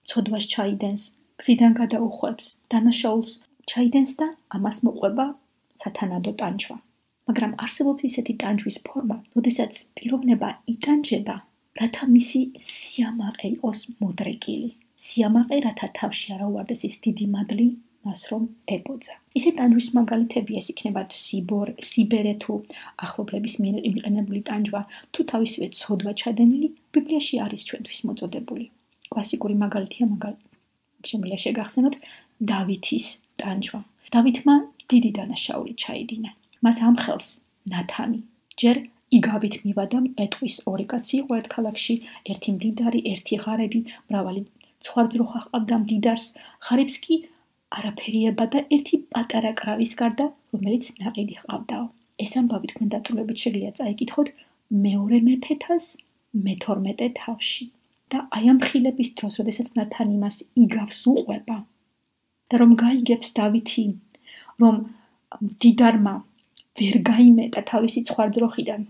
ცოდვას ჩაიდენს, გზიდან გადაუხვევს, დანაშაულს ჩაიდენს და ამას მოყვება სათანადო ტანჯვა. მაგრამ არსებობს ისეთი ტანჯვის ფორმა, როდესაც პიროვნება იტანჯება, რათა მისი სიამაყე იყოს მოდრეკილი. სიამაყე, რათა თავში არ აუვარდეს ის დიდი მადლი, მას რომ ებოძა. ისე ტანჯვის მაგალითები ეს იქნება სიბერე თუ ახლობლების მიერ იმყენებული ტანჯვა, თუ თავისივე ცოდვა ჩადენილი, ბიბლიაში არის ჩვენთვის მოწოდებული. კლასიკური მაგალითია შემიძლია შეგახსენოთ დავითის ტანჯვა. დავითმა დიდი დანაშაული ჩაიდინა. მას ამხელს ნათანი. ჯერ იგავით მივადა, ეტყვის ორი კაცი იყო ერთ ქალაქში, ერთი მდიდარი, ერთი ღარები, მრავალი ცხვარძროხა ჰყავდა მდიდარს, ღარებს კი არაფერიება და ერთი პატარა კრავის გარდა, რომელიც ნაყიდი ჰყავდაო. ეს ამბავი თქვენ დაწვრილებით შეგიძლია წაიკითხოთ მეორე მეფეთას მე-12 თავში. და აი ამ ხილების დროს, როდესაც ნათანი მას იგავს უყვება და რომ გაიგებს დავითი, რომ მდიდარმა ვერ გაიმეტა თავისი ცხვარძროხიდან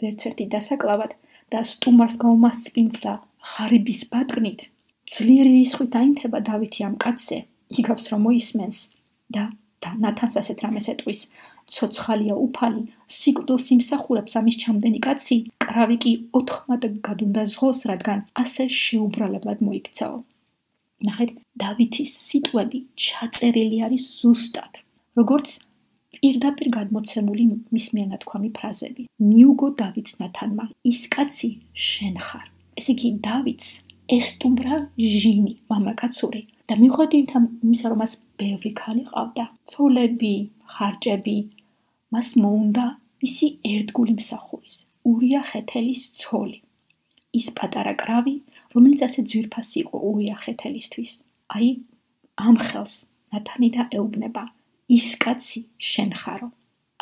ვერც ერთი დასაკლავად და სტუმარს გაუმასწინებდა ღარიბის ბატკნით, ძლიერი რისხვით აინთება დავითი ამ კაცზე, იგავს რომ მოისმენს და ნათანს ასეთ რამეს ეტყვის, ცოცხალია უფალი, სიკვდილს იმსახურებს ამის ჩამდენი კაცი, კრავი კი 4 გადუნდა ზღოს, რადგან ასე შეუბრალებლად მოიქცაო. ნახეთ, დავითის სიტყვები ჩაწერილი არის ზუსტად, როგორც პირდაპირ გადმოცემული მის მიერ ნათქვამი ფრაზები. მიუგო დავითს ნათანმა, ის კაცი შენ ხარ. ესე იგი, დავითს ესტუმრა ჟინი, მამაკაცური და მიუხედავად იმისა, რომ მას ბევრი ქალი ყავდა, ცოლები, ხარჭები, მას მოუნდა მისი ერთგული მსახურის, ურია ხეთელის ცოლი. ის პატარა კრავი, რომელიც ასე ძვირფასი იყო ურია ხეთელისთვის. აი, ამ ხელს ნათანი და ეუბნება, ის კაცი შენ ხარო.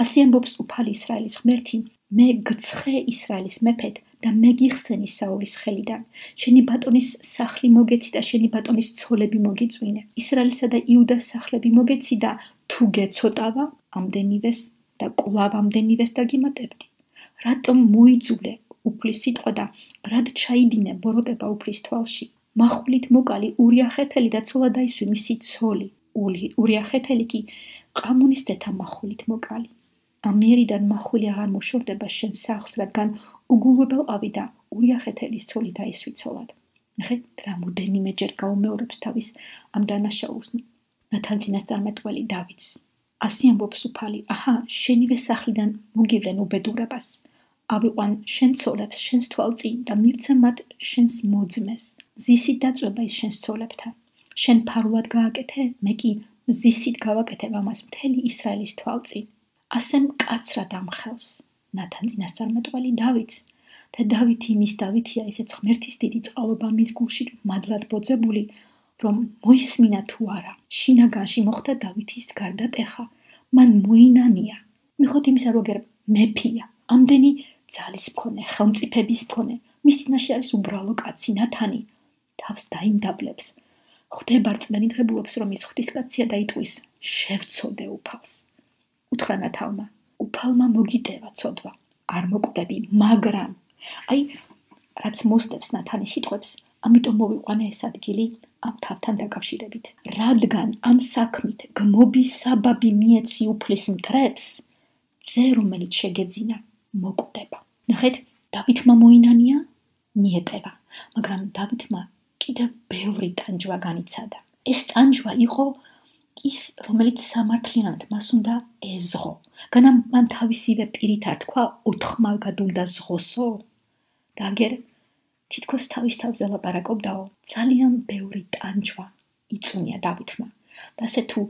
ასე ამბობს უფალი ისრაელის ღმერთი, მე გცხე ისრაელის მეფედ და მე გიხსენი საულის ხელიდან. შენი ბატონის სახლი მოგეცი და შენი ბატონის ცოლები მოგიწვინე. ისრაელისა და იუდას სახლები მოგეცი და თუ გეცოტავა, ამდენივეს და კვლავ ამდენივეს დაგიმატებდი. რატომ მოიძულე უფლის სიტყვა და რად ჩაიდინე ბოროტება უფლის თვალში? מחულით მოკალი ურიახეთელი და ცოლა დაისვი მისი ცოლი. ურიახეთელი კი ყამუნის დეთა מחულით მოკალი. ამიერიდან מחული აღარ მოშორდება შენ სახლს, რადგან უგულვებელყავი და ურიახეთელის ცოლი დაისვი ცოლად. ნახე, რამოდენიმეჯერ გაუმეორებს თავის ამ დანაშაულს ნათან წინასწარმეტყველი დავითს. ასე ამბობს უფალი, აჰა, შენივე სახლიდან მოგივლენ უბედურებას. ავიყვან შენ ცოლებს შენს თვალწინ და მივცე მათ შენს მოძმეს. ზისით დაწვება ის შენს ცოლებთან. შენ ფარულად გააკეთე, მე კი ზისით გავაკეთებ ამას მთელი ისრაელის თვალწინ. ასე მკაცრად ამ ხელს ნათან წინასწარმეტყველი დავითს და დავითი იმის დავითია, ისეც ღმერთის დიდი წყალობა მის გულში მადლად ბოძებული, რომ მოისმინა თუ არა. შინაგანში მოხდა დავითის გარდატეხა, მან მოინანია. მიხოთ იმისა, რომ აგერ მეფია, ამდენი ძალის მქონე, ხელმწიფების მქონე, მის წინაშე არის უბრალო კაცი ნათანი, თავს დაიმდაბლებს. ხვდება რწმენითღებულობს, რომ ის ღვთისკაცია და იტყვის, შევცოდე უფალს. უთხრა ნათალმა, უფალმა მოგიტევა ცოდვა, არ მოკვდები, მაგრამ აი, რაც მოსდევს ნათანის სიტყვებს, ამიტომ მოვიყვანე ეს ადგილი ამ თავთან დაკავშირებით. რადგან ამ საქმით გმობის საბაბი მიეცი უფლის მტრებს, ძე რომელიც შეგეძინა, მოკვდება. ნახეთ, დავითმა მოინანია, მიეტევა, მაგრამ დავითმა კიდევ ბევრი ტანჯვა განიცადა. ეს ტანჯვა იყო ის, რომელიც სამართლიანად მას უნდა ეზღო. განამ მან თავისივე პირით არ თქვა, ოთხმალგად უნდა ზღოსო? და აგერ თითქოს თავის თავზე ლაპარაკობდაო, ძალიან ბევრი ტანჯვა იწუნია დავითმა. და ასე თუ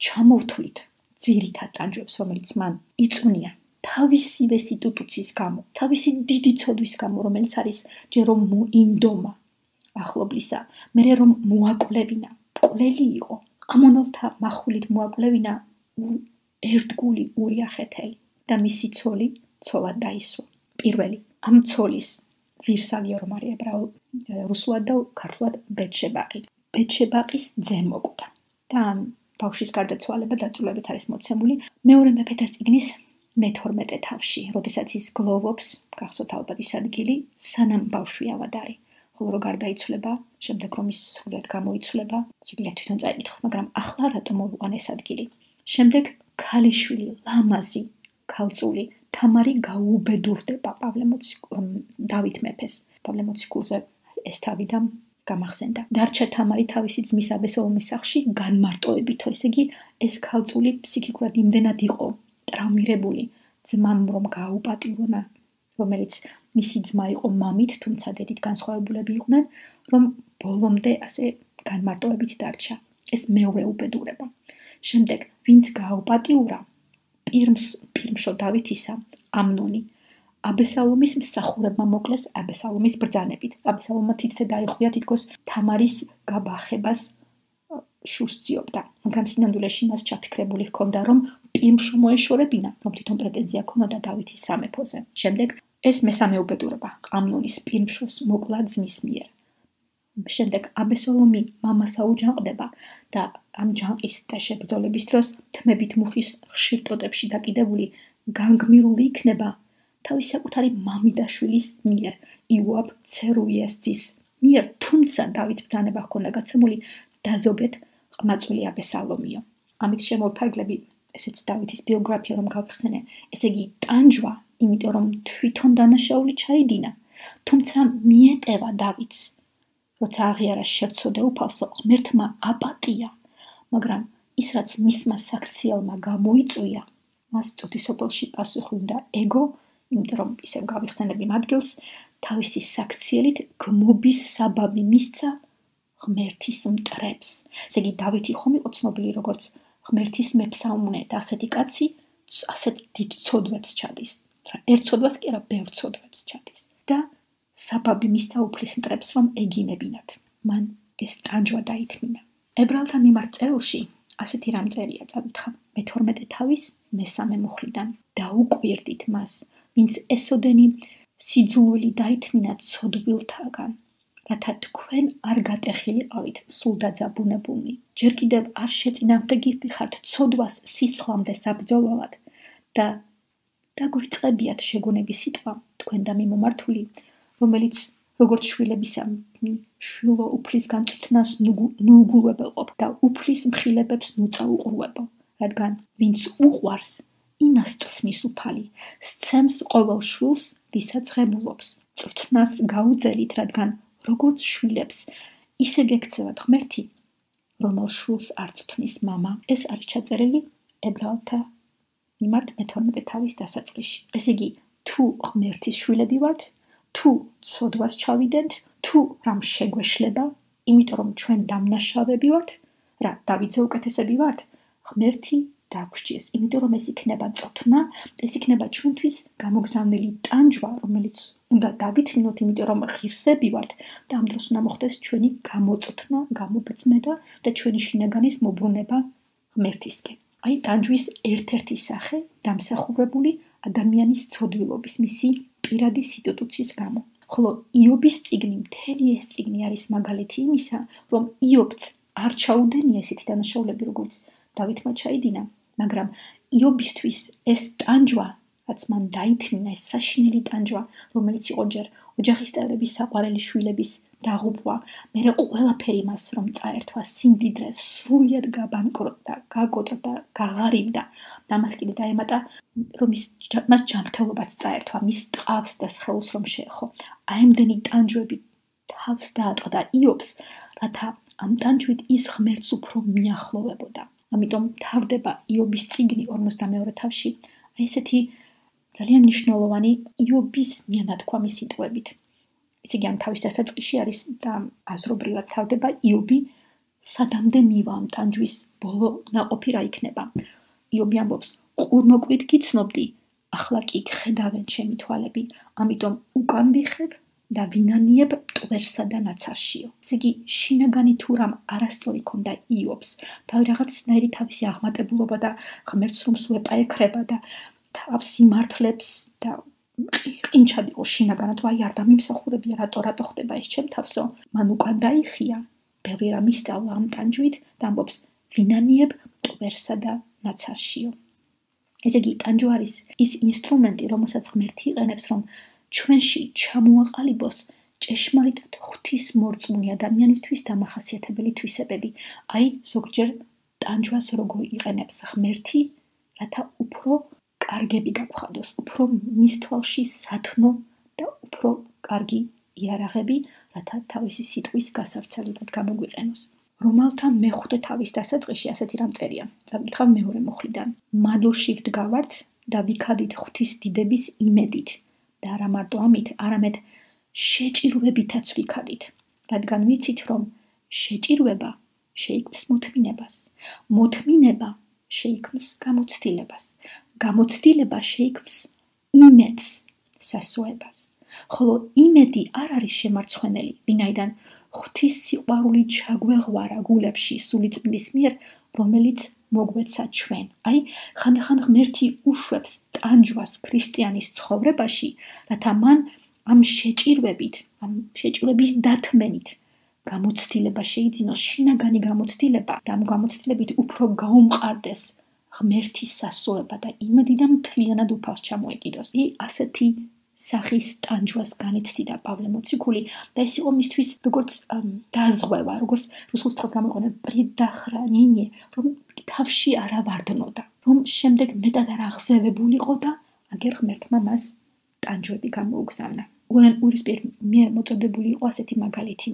ჩამოვთვლით ძირითად ტანჯვებს, რომელიც მან იწუნია თავისივე სიტუტუციის გამო, თავისი დიდი ცოდვის გამო, რომელიც არის ჯერ რომ მოინდომა ახლობლისა, მერე რომ მოაკვლევინა, მკვლელი იყო, ამონელთა מחულით მოაკვლევინა ერთგული ურიახეთელი და მისი ცოლი ცოლად დაისვა. პირველი, ამ ცოლის ვირსავია რომ არის რუსულად და ქართულად ბეთშებაყი. ბეთშებაყის ძე მოკვდა და ამ ბავშვის გარდაცვალება დაწვრილებით არის მოცემული მეორე მეფეთა წიგნის მე-12 თავში, როდესაც ის გლოვობს, გახსოვთ ალბათ ის ადგილი, სანამ ბავშვი ავად არის. ხოლო რო გარდაიცვლება, შემდეგ რომ ის სრულად გამოიცვლება, შეგიძლიათ თვითონ წაიკითხოთ, მაგრამ ახლა რატომ მოვიყვან ეს ადგილი? შემდეგ ქალიშვილი, ლამაზი, ქალწული თამარი გაუბედურდება დავით მეფეს. პავლე მოციქულზე ეს თავი და გამახსენდა. დარჩა თამარი თავისი ძმის აბესალომის სახლში განმარტოებითო, ესე იგი ეს ქალწული ფსიქიკურად იმდენად იყო ტრავმირებული ძმამ რომ გააუპატიურა, რომელიც მისი ძმა იყო მამით, თუმცა დედით განსხვავებულები იყვნენ, რომ ბოლომდე ასე განმარტოებით დარჩა. ეს მეორე უბედურება. შემდეგ ვინც გააუპატიურა პირმშო დავითისა, ამნონი, აბესალომის მსახურებმა მოკლეს აბესალომის ბრძანებით. აბესალომმა თითზე დაიხუია თითქოს თამარის გაბახებას შურს ძიობდა, მაგრამ სინამდვილეში მას ჩაფიქრებული ჰქონდა, რომ პირმშო მოეშორებინა, რომ თვითონ პრეტენზია ჰქონოდა დავითის სამეფოზე. შემდეგ ეს მესამე უბედურება, ამნონის პირმშოს მოკლა ძმის მიერ. შემდეგ აბესალომი მამას აუჯანყდება და ამ ჯანყის და შებრძოლების დროს თმებით მუხის ხშირ ტოტებში დაკიდებული განგმირული იქნება თავის საკუთარი მამიდაშვილის მიერ, იოაბ ცერუიას ძის მიერ, თუმცა დავითს ბრძანება ჰქონდა გაცემული დაზოგეთ ყმაწვილი აბესალომიო. ამით შემოვიფარგლები, ესეც დავითის ბიოგრაფია რომ გავხსენე, ესე იგი ტანჯვა, იმიტომ რომ თვითონ დანაშაული ჩაიდინა, თუმცა მიეტევა დავითს, როცა აღიარა შევცოდე უფალსო, ღმერთმა აპატია, მაგრამ ის რაც მისმა საქციელმა გამოიწვია, მას წუთისოფელში პასუხი უნდა ეგო, იმიტომ რომ ისევ გავიხსენებდი ადგილს, თავისი საქციელით გმობის საბაბი მისცა ღმერთის მტრებს. ესე იგი დავითი ხომ იყო ცნობილი როგორც ღმერთის მეფსაუნე და ასეთი კაცი ასეთ დიდ ცოდვებს ჩადის. ერთ ცოდვას კი არა, ბევრ ცოდვებს ჩადის. და საბაბი მისცა უფლის მტრებს რომ ეგინებინათ. მან ეს ტანჯვა დაითმინა. ებრაელთა მიმართ წერილში ასეთი რამ წერია, წავითხა მე-12 თავის მე-3 მუხლიდან. დაუკვირდით მას, ვინც ესოდენი სიძულვილი დაითმინა ცოდვილთაგან, რათა თქვენ არ გატეხილიყავით სულ დაძაბუნებულნი. ჯერ კიდევ არ შეწინააღმდეგი ხართ ცოდვას სისხლამდე საბრძოლველად და დაგვიწყებიათ შეგონების სიტყვა, თქვენ და მიმომართული, რომელიც როგორც შვილებისამი შვილო უფლის განწვრთნას ნუგულვებელყოფ და უფლის მხილებებს ნუწაუყრუებო, რადგან ვინც უყვარს, იმას წვრთნის უფალი, სცემს ყოველ შვილს, ვისაც ღებულობს. წვრთნას გაუძელით, რადგან როგორც შვილებს, ისე გექცევათ ღმერთი, რომელ შვილს არ წვრთნის მამა. ეს არის ჩაწერილი ებრაელთა მიმართ მე-12 თავის დასაწყისში. ესე იგი, თუ ღმერთის შვილები ვართ, თუ ცოდვას ჩავიდენთ, თუ რამ შეგვეშლება, იმიტომ რომ ჩვენ დამნაშავეები ვართ, რა დავითზე უკეთესები ვართ, ღმერთი დაგვსჯეს, იმიტომ რომ ეს იქნება წოთნა, ეს იქნება ჩვენთვის გამოგზავნილი ტანჯვა, რომელიც უნდა დავითმინოთ, იმიტომ რომ ღირსები ვართ და ამ დროს უნდა მოხდეს ჩვენი გამოწოთნა, გამობრძმება და ჩვენი შინაგანის მობრუნება ღმერთისკენ. აი ტანჯვის ერთ-ერთი სახე დამსახურებული ადამიანის ცოდვილობის, მისი პირადი სიტუტუციის გამო. ხოლო იობის წიგნი, მთელი ეს წიგნი არის მაგალითი იმისა, რომ იობც არ ჩაუდენია ესეთი დანაშაულები, როგორც დავითმა ჩაიდინა, მაგრამ იობისთვის ეს ტანჯვა, რაც მან დაითმინა, ეს საშინელი ტანჯვა, რომელიც იყო ჯერ ოჯახის წევრების საყვარელი შვილების დაღუპვა, მერე ყველაფერი მას რომ წაერთვა სიმდიდრე, სრულიად გაბანკროტდა, გაგოტრდა, გაღარიბდა და მას კიდე დაემატა, რომ მას ჯანმრთელობაც წაერთვა, მის ტყავს და სხეულს რომ შეეხო. აემდენი ტანჯვები თავს დაატყდა იობს, რათა ამ ტანჯვით ის ღმერთს უფრო მიახლოვებოდა. ამიტომ თავდება იობის წიგნი 42 თავში, აი ესეთი ძალიან მნიშვნელოვანი იობის მიანათქვამი სიტყვებით. ესე იგი, ამ თავის დასაწყისში არის და აზრობრივად თავდება იობი სადამდე მივა ამ ტანჯვის ბოლო ნაყოფი რა იქნება. იობი ამბობს, ყურმოკვით გიცნობდი, ახლა კი ხედავენ ჩემი თვალები, ამიტომ უკან ვიხებ და ვინანიებ მტვერსა და ნაცარშიო. ესე იგი, შინაგანი თუ რამ არასწორი ქონდა იობს და რაღაცნაირი თავისი აღმატებულობა და ღმერთს რომ სულ ეპაექრება და თავს იმართლებს და ყინჩად იყო შინაგანად, აი არ დამიმსახურებია, რატო ხდება ეს ჩემ თავსო, მან უკან დაიხია, ბევრი რამ ისწავლა ამ ტანჯვით და ამბობს, ვინანიებ მტვერსა და ნაცარშიო. ესე იგი, ტანჯვა არის ის ინსტრუმენტი, რომელსაც ღმერთი იყენებს, რომ ჩვენში ჩამოაყალიბოს ჭეშმარიტად ღვთისმორწმუნე ადამიანისთვის დამახასიათებელი თვისებები. აი, ზოგჯერ ტანჯვას როგორ იყენებს ღმერთი, რათა უფრო კარგები გაგვხადოს, უფრო მის თვალში სათნო და უფრო კარგი იარაღები, რათა თავისი სიტყვის გასავრცელებად გამოგვიყენოს. რომალთა მე-5 თავის დასაწყისში ასეთი რამ წერია. წავიკითხავ მეორე მუხლიდან. მადლში ვდგავართ და ვიქადით ღვთის დიდების იმედით და არა მარტო ამით, არამედ შეჭირვებითაც ვიქადით, რადგან ვიცით, რომ შეჭირვება შეიქმს მოთმინებას, მოთმინება შეიქმს გამოცდილებას, გამოცდილება შეიქმს იმედს, სასოებას. ხოლო იმედი არ არის შემარცხვენელი, ვინაიდან ღვთის სიყვარული ჩაგვეღვარა გულებში სულიწმილის მიერ, რომელიც მოგვეცა ჩვენ. აი, ხანდახან ღმერთი უშვებს ტანჯვას ქრისტიანის ცხოვრებაში, რათა მან ამ შეჭირვებით, ამ შეჭირვების დათმენით გამოცდილება შეიძინოს, შინაგანი გამოცდილება და ამ გამოცდილებით უფრო გაუმყარდეს ღმერთის სასოება და იმედი და მთლიანად უფალს ჩამოეკიდოს. ასეთი სახის ტანჯვას განიცდიდა პავლე მოციქული და ეს იყო მისთვის როგორც დაზღვევა, როგორც რუსულ სიტყვას გამოიყენა პრედახრანინე, რომ თავში არ ავარდნოდა, რომ შემდეგ მეტად არ აღზევებულიყო და აგერ ღმერთმა მას ტანჯვები გამოუგზავნა. უორენ ურის მიერ მოწოდებული იყო ასეთი მაგალითი.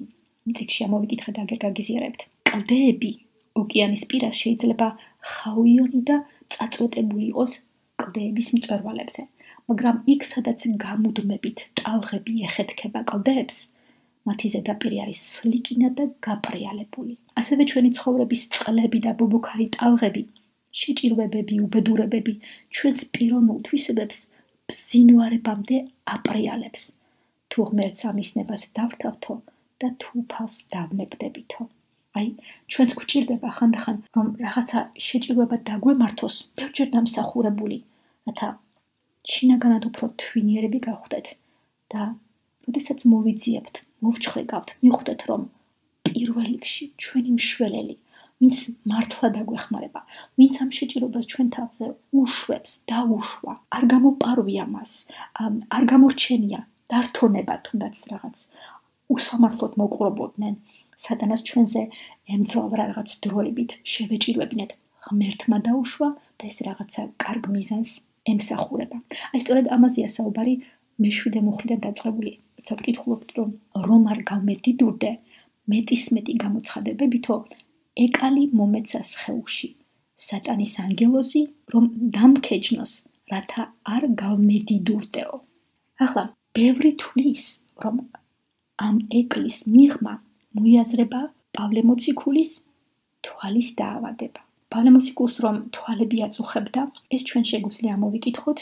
წიგნში ამოვიკითხეთ და აგერ გაგიზიარებთ. კლდეები ოკეანის პირას შეიძლება ხაუიონი და წაწვეტებული იყოს კლდეების მწვერვალებზე. მაგრამ იქ, სადაც გამუდმებით ტალღები ეხეთქება კლდეებს, მათი ზედაპირი არის სლიკინა და გაპრიალებული. ასევე ჩვენი ცხოვრების წყლები და ბობოქარი ტალღები, შეჭირვებები, უბედურებები ჩვენს პიროვნულ თვისებებს ბზინვარებამდე აპრიალებს. თუ ღმერთს ამის ნებას დავთავთო და თუ უფალს დავნებდებითო. აი, ჩვენც გვჭირდება ხანდახან, რომ რაღაცა შეჭირება დაგვემართოს, ბევრჯერ დამსახურებული, რათა შინაგანად უფრო თვინიერები გავხდეთ და როდესაც მოვიძიებთ, მოვჩხვეგავთ, მიხვდეთ, რომ პირველ რიგში ჩვენი მშველელი, ვინც მართლა დაგვეხმარება, ვინც ამ შეჭირებას ჩვენ თავზე უშვებს, დაუშვა, არ გამოპარვია მას, არ გამორჩენია, დართონება თუნდაც რაღაც უსამართლოდ მოკვრობოდნენ, სატანას ჩვენზე ემძლავრა რაღაც დროებით, შევეჭირვებინეთ, ღმერთმა დაუშვა და ეს რაღაცა კარგ მიზანს ემსახურება. აი, სწორედ ამაზეა საუბარი მე-7 მუხლიდან დაწყებული. როცა ვკითხულობთ, რომ არ გავმედიდურდე, მეტისმეტი გამოცხადებებითო, ეკალი მომეცა სხეულში, სატანის ანგელოზი, რომ დამქეჯნოს, რათა არ გავმედიდურდეო. ახლა, ბევრი თვლის, რომ ამ ეკლის მიღმა მოიაზრება პავლე მოციქულის თვალის დაავადება. პავლე მოციქულს რომ თვალები აწუხებდა, ეს ჩვენ შეგვიძლია ამოვიკითხოთ,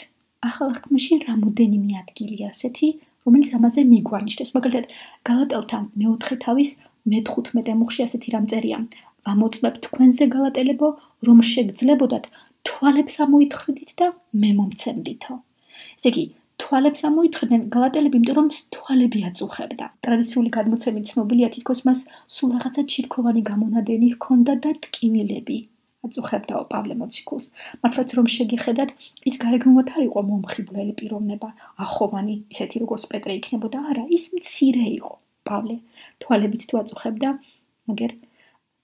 ახალ აღთქმაში რამოდენიმე ადგილია ასეთი, რომელიც ამაზე მიგვანიშნებს. მაგალითად, გალატელთა 4 თავის მე-15 მუხლში ასეთი რამ წერია: ვამოწმებ თქვენზე გალატელებო, რომ შეგძლებოდათ თვალებს ამოითხრიდით და მე მომცემდითო. ესე იგი, თვალებს ამოითხრდნენ გალატელები, იმიტომ რომ თვალები აწუხებდა. ტრადიციული გადმოცემით ცნობილია, თითქოს მას სულ რაღაცა ჩირქოვანი გამონადენი ჰქონდა და ტკინილები აწუხებდაო პავლე მოციქულს. მართლაც რომ შეგიხედათ, ის გარეგნულად არ იყო მომხიბვლელი პიროვნება, ახოვანი, ისეთი როგორც პეტრე იქნებოდა, არა, ის მცირე იყო. პავლე თვალებით თუ აწუხებდა, მაგრამ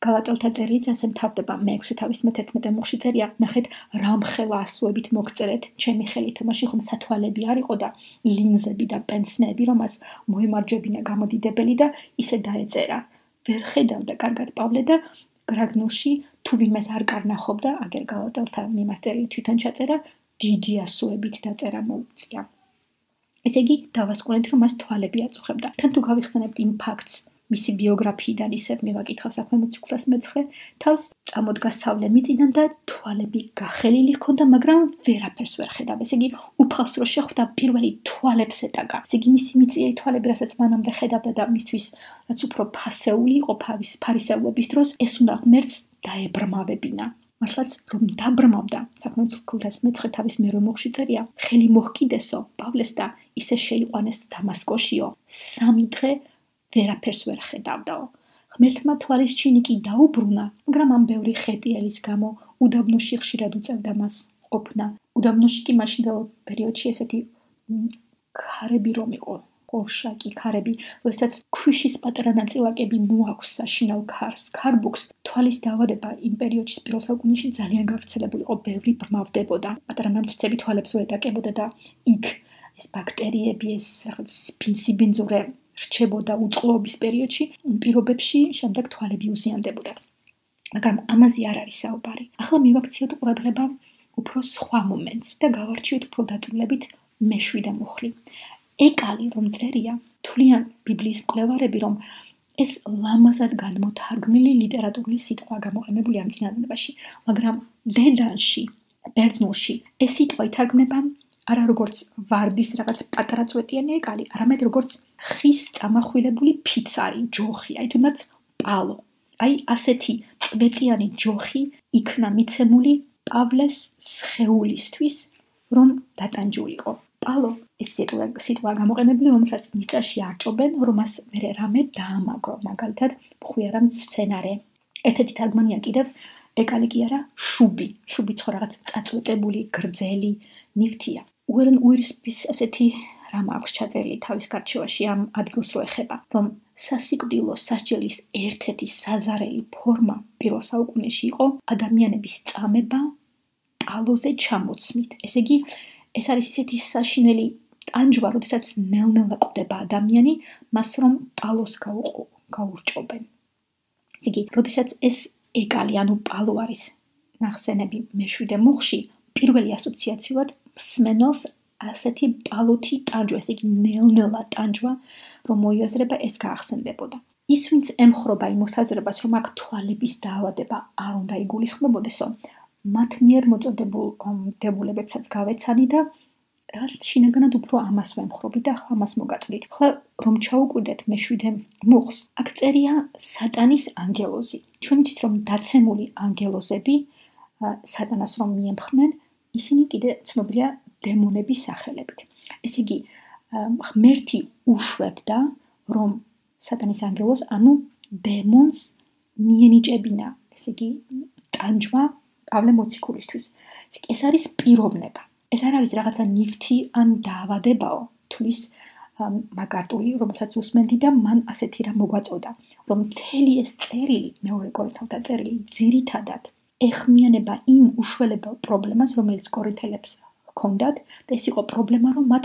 გალატელთა წერილიც ასე მთავრდება, მე-6 თავის მე-11 მუხლში წერია, ნახეთ, რამხელა ასოებით მოგწერეთ, ჩემი ხელით, თამაში ხომ სათვალები არ იყო და ლინზები და პენსნეები, რომ მას მოემარჯვებინა გამოდიდებელი და ისე დაეწერა. ვერ ხედავდა კარგად პავლე და გრაგნულში თუ ვინმეს არ კარნახობდა, აგერ გალატელთა მიმართ წერილი თვითონ ჩაწერა, დიდი ასოებით დაწერა მოუწია. ესე იგი, დავასკვნეთ, რომ მას თვალები აწუხებდა. თან თუ გავიხსენებთ იმ ფაქტს, მისი ბიოგრაფიიდან ისევ მივაკითხავ საქმე მოციქულას მე-9, თავს წამოდგა სავლე მიწიდან და თვალები გახელილი ჰქონდა, მაგრამ ვერაფერს ვერ ხედავ. ესე იგი, უფალს რო შეხვდა, პირველი თვალებს ეტაკა. ესე იგი, მისი მიწიერი თვალები, რასაც მანამდე ხედავდა და მისთვის რაც უფრო ფასეული იყო ფარისევლობის დროს, ეს უნდა ღმერთს დაებრმავებინა. მართლაც რომ დაბრმავდა, საქმე მოციქულას მე-9 თავის მე-8 მუხლში წერია, ხელი მოჰკიდესო პავლეს და ისე შეიყვანეს დამასკოშიო. 3 დღე ვერაფერს ვერ ხედავდაო. ღმერთმა თვალის ჩინი კი დაუბრუნა, მაგრამ ამ ბევრი ხეტიელის გამო უდაბნოში ხშირად უწევდა მას ყოფნა. უდაბნოში კი მაშინდელ პერიოდში ესეთი ქარები რომ იყო, ყორშაკი ქარები, როდესაც ქვიშის პატარა ნაწილაკები მოაქვს საშინაო ქარბუქს, თვალის დაავადება იმ პერიოდში პირველ საუკუნეში ძალიან გავრცელებული იყო, ბევრი ბრმავდებოდა. პატარა ნამცეცები თვალებს უეტაკებოდა და იქ ეს ბაქტერიები, ეს რაღაც სპინსიბინძურე რჩებოდა უწყლობის პერიოდში, პირობებში შემდეგ თვალები უზიანდებოდა. მაგრამ ამაზე არ არის საუბარი. ახლა მივაქციოთ ყურადღება უფრო სხვა მომენტს და გავარჩიოთ უფრო დაწვრილებით მე-7 მუხლი. ეკალი რომ წერია, თვლიან ბიბლიის მკვლევარები, რომ ეს ლამაზად განმოთარგმნილი ლიტერატურული სიტყვა გამოყენებულია ამ წინადადებაში, მაგრამ დედანში, ბერძნულში ეს სიტყვა ითარგმნება არა როგორც ვარდის რაღაც პატარა წვეტიანი ეკალი, არამედ როგორც ხის წამახვილებული ფიცარი, ჯოხი, აი თუნდაც პალო. აი ასეთი წვეტიანი ჯოხი იქნა მიცემული პავლეს სხეულისთვის, რომ დატანჯულიყო. პალო ეს სიტყვა გამოყენებული, რომელსაც მიწაში არჭობენ, რომ მას ვერ რამე დაამაგრო, მაგალითად, ხვიარა მცენარე. ერთ-ერთი თარგმანია კიდევ ეკალი კი არა, შუბი. შუბი ხო რაღაც წაწვეტებული, გრძელი ნივთია. უერენ უირსპის ასეთი რამ აქვს ჩაწერილი თავის გარჩევაში ამ ადგილს რო ეხება, რომ სასიკვდილო სასჯელის ერთ-ერთი საზარელი ფორმა პირველ საუკუნეში იყო ადამიანების წამება პალოზე ჩამოცმით. ესე იგი, ეს არის ისეთი საშინელი ტანჯვა, როდესაც ნელ-ნელა კვდება ადამიანი, მას რომ პალოს გაურჭობენ. ესე იგი, როდესაც ეს ეკალი, ანუ პალო არის ნახსენები მე-7 მუხლში, პირველი ასოციაციურად მსმენელს ასეთი პალოთი ტანჯვა, ესე იგი ნელ-ნელა ტანჯვა, რომ მოიაზრება, ეს გაახსენდებოდა. ის, ვინც ემხრობა იმ მოსაზრებას, რომ აქ თვალების დაავადება არ უნდა იგულისხმებოდესო, მათ მიერ მოწოდებულ დებულებებსაც გავეცანი და რაც შინაგანად უფრო ამას ვემხრობი და ახლა ამას მოგაწვით. ახლა რომ ჩაუკვირდეთ მე-7 მუხლს, აქ წერია სატანის ანგელოზი. ჩვენ ვიცით რომ დაცემული ანგელოზები სატანას რომ მიემხრნენ, ისინი კიდე ცნობილია დემონების სახელებით. ესე იგი, ღმერთი უშვებდა რომ სატანის ანგელოზს, ანუ დემონს მიენიჭებინა, ესე იგი, ტანჯვა პავლე მოციქულისთვის. ეს არის პიროვნება. ეს არ არის რაღაცა ნივთი ან დაავადებაო, თulis მაგარტული, რომელსაც უსმენდი და მან ასეთი რამ მოგვაწოდა, რომ მთელი ეს წერილი, მეორე კორინთელთა წერილი, ძირითადად ეხმიანება იმ უშველებელ პრობლემას, რომელიც კორინთელებს ჰქონდათ, და ეს იყო პრობლემა, რომ მათ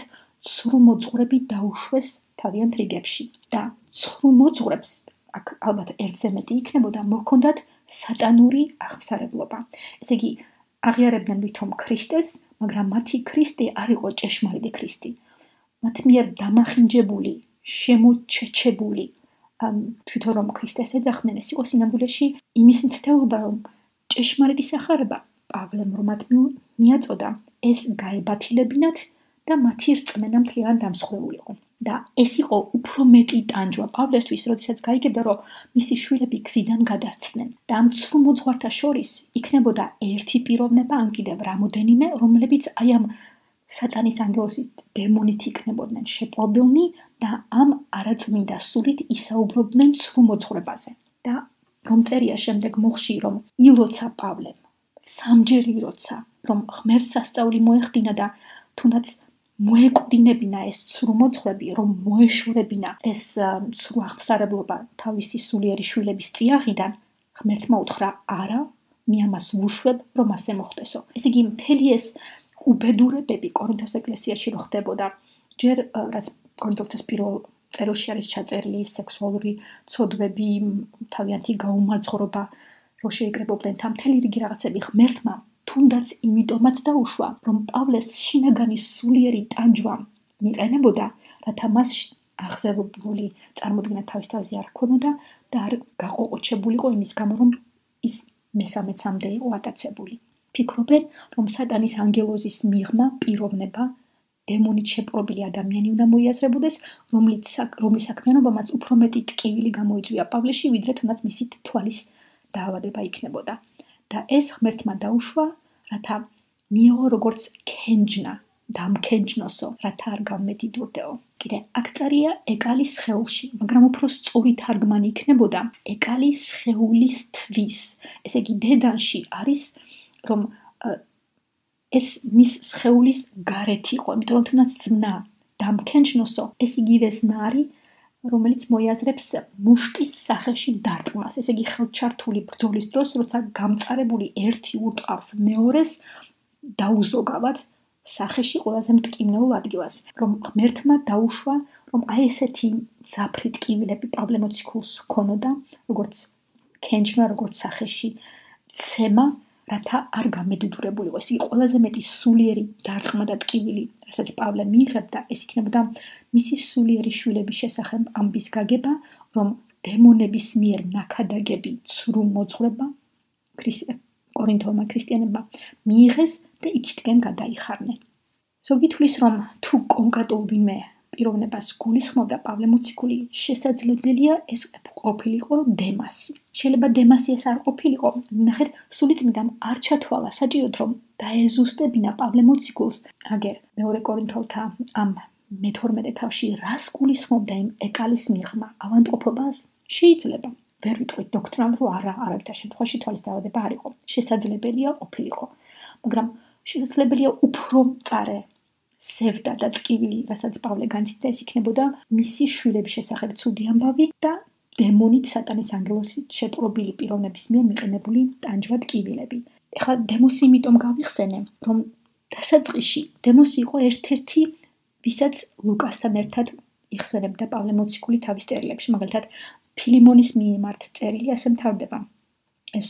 ცრუ მოძღვრები დაუშვეს თავიანთ რიგებში. და ცრუ მოძღვრებს, აქ ალბათ ერთზე მეტი იქნებოდა, მოჰქონდათ სატანური აღმსარებლობა. ესე იგი, აღიარებდნენ ვითომ ქრისტეს, მაგრამ მათი ქრისტე არ იყო ჭეშმარიტი ქრისტე. მათ მიერ დამახინჯებული, შემოჩეჩებული, თვითონ რომ ქრისტეს ეძახდნენ, ეს იყო სინამდვილეში იმის მცდელობა, რომ ჭეშმარიტი სახარება პავლემ რომ მათ მიაწოდა, ეს გაებათილებინათ და მათი რწმენა მთლიანად დამსხვრეულიყო. და ეს იყო უფრო მეტი ტანჯვა პავლესთვის, როდესაც გაიგებდა, რომ მისი შვილები გზიდან გადასცდნენ. და ამ ცრუ მოძღვართა შორის იქნებოდა ერთი პიროვნება, ან კიდევ რამოდენიმე, რომლებიც აი ამ სატანის ანგელოზის დემონით იქნებოდნენ შეპყრობილნი და ამ არაწმინდა სულით ისაუბრობდნენ ცრუ მოძღვრებაზე. და რომ წერია შემდეგ მუხლში, რომ ილოცა პავლემ, სამჯერ ილოცა, რომ ღმერთს სასწაული მოეხდინა და თუნდაც მოეკვდინებინა ეს ცრუ მოძღვრები, რომ მოეშორებინა ეს ცრუ აღმსარებლობა თავისი სულიერი შვილების წიაღიდან, ღმერთმა უთხრა არა, მე ამას ვუშვებ, რომ ასე მოხდესო. ესე იგი, მთელი ეს უბედურებები კორინთოს ეკლესიაში რო ხდებოდა, ჯერ რაც კორინთელთა პირველ წერილში არის ჩაწერილი სექსუალური ცოდვები, თავიანთი გაუმაძღვრობა, რო შეიკრებოდნენ თან მთელი რიგი რაღაცები ღმერთმა თუნდაც იმიტომაც დაუშვა, რომ პავლეს შინაგანი სულიერი ტანჯვა მიყენებოდა, რათა მას აღზევებული წარმოდგენა თავის თავზე არ ჰქონოდა და არ გაყოყოჩებულიყო იმის გამო, რომ ის მესამეცამდე იყო ატაცებული. ფიქრობენ, რომ სატანის ანგელოზის მიღმა, პიროვნება, დემონით შეპყრობილი ადამიანი უნდა მოიაზრებოდეს, რომლის საქმიანობამაც უფრო მეტი ტკივილი გამოიწვია პავლეში, ვიდრე თუნდაც მისი თვალის დაავადება იქნებოდა. და ეს ღმერთმა დაუშვა, რათა მიეღო როგორც ქენჯნა, დამქენჯნოსო, რათა არ გამედიდურდეო. კიდე აქ წერია ეკალის სხეულში, მაგრამ უფრო სწორი თარგმანი იქნებოდა ეკალის სხეულის თვის. ესე იგი, დედანში არის, რომ ეს მის სხეულის გარეთ იყო, იმიტომ რომ თუნდაც ძმნა დამქენჯნოსო, ეს იგივე ზნა არის, რომელიც მოიაზრებს მუშტის სახეში დარტყმას. ესე იგი, ხელჩართული ბრძოლის დროს, როცა გამწარებული ერთი ურტყავს მეორეს დაუზოგავად სახეში ყველაზე მტკივნეულ ადგილას, რომ ღმერთმა დაუშვა, რომ აი ესეთი მძაფრი ტკივილები პავლე მოციქულს ჰქონოდა, როგორც ქენჯმა, როგორც სახეში ცემა, რათა არ გამედიდურებულიყო. ეს იგი ყველაზე მეტი სულიერი დარტყმა და ტკივილი, რასაც პავლე მიიღებდა, ეს იქნებოდა მისი სულიერი შვილების შესახებ ამბის გაგება, რომ დემონების მიერ ნაქადაგები ცრუ მოძღვრება კორინთულმა ქრისტიანებმა მიიღეს და იქითკენ გადაიხარნენ. ზოგი თვლის, რომ თუ კონკრეტულ ვინმე პიროვნებას გულისხმობდა პავლე მოციქული, შესაძლებელია ეს ყოფილიყო დემასი. შეიძლება დემასი ეს არ ყოფილიყო, ნახეთ, სულიწმიდამ არ ჩათვალა საჭიროდ, რომ დაეზუსტებინა პავლე მოციქულს. აგერ მეორე კორინთელთა ამ მე-12 თავში რას გულისხმობდა იმ ეკალის მიღმა, ავანტყოფობას? შეიძლება ვერ ვიტყვით დოქტრინალ, რომ არავითარ შემთხვევაში თვალის დაავადება არ იყო. შესაძლებელია ყოფილიყო, მაგრამ შესაძლებელია უფრო მწარე სევდა და ტკივილი, რასაც პავლე განცდიდა, ეს იქნებოდა მისი შვილების შესახებ ცუდი ამბავი და დემონით სატანის ანგელოზით შეპყრობილი პიროვნების მიერ მიყენებული ტანჯვა ტკივილები. ეხლა დემოსი იმიტომ გავიხსენე, რომ დასაწყისში დემოსი იყო ერთ-ერთი, ვისაც ლუკასთან ერთად იხსენებდა პავლე მოციქული თავის წერილებში, მაგალითად ფილიმონის მიმართ წერილი ასე მთავრდება. ეს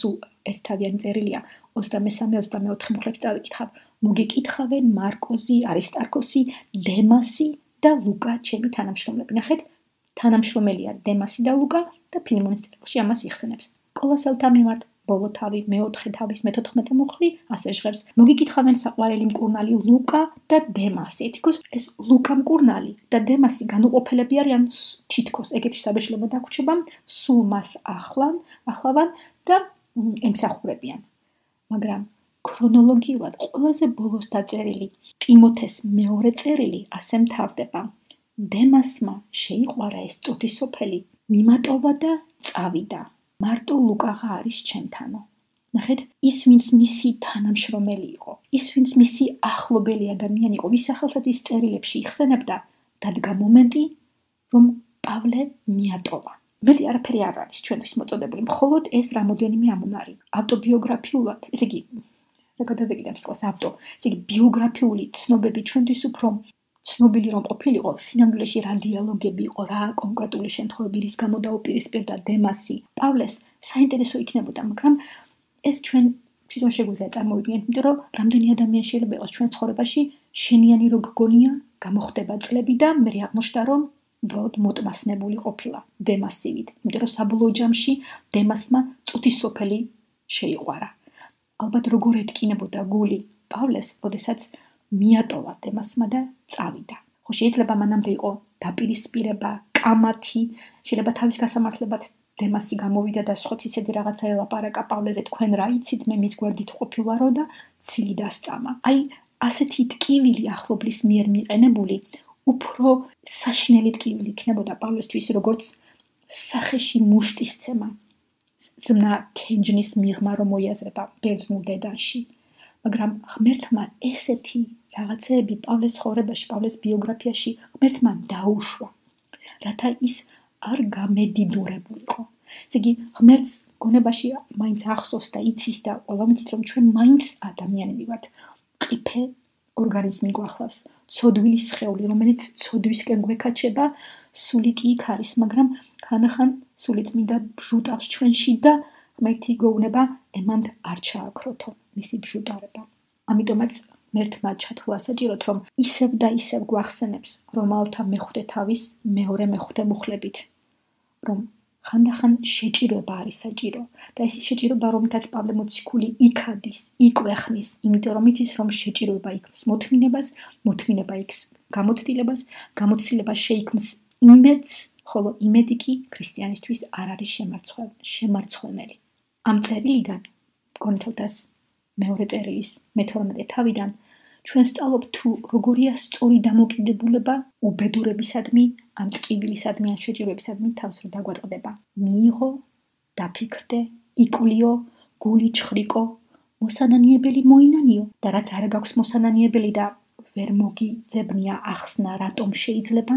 ერთთავიანი წერილია 23-24 მუხლებს წავიკითხავ. მოგეკითხავენ მარკოზი, არისტარქოსი, დემასი და ლუკა, ჩემი თანამშრომლები. ნახეთ, თანამშრომელია დემასი და ლუკა და ფილიმონის წერილში ამას იხსენებს. კოლოსელთა მიმართ, ბოლო თავი, მეოთხე თავის მე-14 მუხლი ასე ჟღერს. მოგიკითხავენ საყვარელი მკურნალი ლუკა და დემასი. თითქოს ეს ლუკა მკურნალი და დემასი განუყოფელები არიან თითქოს ეგეთი შთაბეჭდილება დაგვრჩება, სულ მას ახლავან და ემსახურებიან. მაგრამ ქრონოლოგიურად ყველაზე ბოლოს დაწერილი ტიმოთეს მეორე წერილი ასე მთავრდება. დემასმა შეიყვარა ეს წუთისოფელი, მიმატოვა და წავიდა. მარტო ლუკაღა არის ჩემთანო. ნახეთ, ის ვინც მისი თანამშრომელი იყო, ის ვინც მისი ახლობელი ადამიანი იყო, ვის სახელსაც ის წერილებში იხსენებდა, დადგა მომენტი, რომ პავლე მიატოვა. მეტი არაფერი არ არის ჩვენთვის მოწოდებული, მხოლოდ ეს რამოდენიმე ამონარი. ავტობიოგრაფიულად, ესე იგი, რა გადავეკიდებ სწორს ესე იგი, ბიოგრაფიული ცნობები ჩვენთვის უფრო ცნობილი რომ ყოფილიყო, სინამდვილეში რა დიალოგები იყო, რა კონკრეტული შემთხვევები, რის გამო დაუპირისპირდა დემასი პავლეს, საინტერესო იქნებოდა, მაგრამ ეს ჩვენ თვითონ შეგვიძლია წარმოვიდგინოთ, იმიტომ რომ რამდენი ადამიანი შეიძლება იყოს ჩვენ ცხოვრებაში, შენიანი რო გგონია, გამოხდება წლები და მე აღმოჩნდა რომ უბრალოდ მოტმასნებული ყოფილა დემასივით, იმიტომ რომ საბოლოო ჯამში დემასმა წუთისოფელი შეიყვარა. ალბათ როგორ ეთკინებოდა გული პავლეს, როდესაც მიატოვა დემასმა და წავიდა. ხო, შეიძლება მანამდე იყო დაპირისპირება, კამათი, შეიძლება თავის გასამართლებად დემასი გამოვიდა და სხვებს ისეთი რაღაცა ელაპარაკა პავლეზე, თქვენ რა იცით, მე მის გვერდით ყოფილვარო და ცილი დასწამა. აი, ასეთი ტკივილი ახლობლის მიერ მიყენებული, უფრო საშინელი ტკივილი იქნებოდა პავლესთვის, როგორც სახეში მუშტისცემა, ზმნა ქენჯნის მიღმა რომ მოიაზრება ბერძნულ დედანში. მაგრამ ღმერთმა ესეთი რაღაცეები პავლეს ცხოვრებაში, პავლეს ბიოგრაფიაში ღმერთმა დაუშვა, რათა ის არ გამედიდურებულიყო. ესე იგი, ღმერთს გონებაში მაინც ახსოვს და იცის და ყველა ვიცით, რომ ჩვენ მაინც ადამიანები ვართ. ყიფე ორგანიზმი გვახლავს, ცოდვილი სხეული, რომელიც ცოდვისკენ გვეკაჩება, სული კი იქ არის, მაგრამ ხანდახან სული წმინდა ბჟუტავს ჩვენში და ღმერთი გეუბნება, ემანდ არ ჩააქროთო მისი ბჟუტარება. ამიტომაც ღმერთმა ჩათვლა საჭიროთ, რომ ისევ და ისევ გვახსენებს, რომ ალთა მეხუთე თავის მეორე მეხუთე მუხლებით, რომ ხანდახან შეჭირება არის საჭირო და ეს ის შეჭირება, რომლითაც პავლე მოციქული იქადის, იკვეხნის, იმიტომ რომ იცის, რომ შეჭირება იქმს მოთმინებას, მოთმინება იქს გამოცდილებას, გამოცდილება შეიქმს იმედს, ხოლო იმედი კი ქრისტიანისთვის არ არის შემარცხვენელი. ამ წერილიდან, გონითელთას მეორე წერილის მე-12 თავიდან, ჩვენ ვსწავლობ თუ როგორია სწორი დამოკიდებულება უბედურებისადმი, ან ტკივილისადმი, ან შეჭირებისადმი თავს რო დაგვატყდება. მიიღო, დაფიქრდე, იკვლიო, გული ჩხრიკო, მოსანანიებელი მოინანიო და რაც არ გაქვს მოსანანიებელი და ვერ მოგიძებნია ახსნა, რატომ შეიძლება,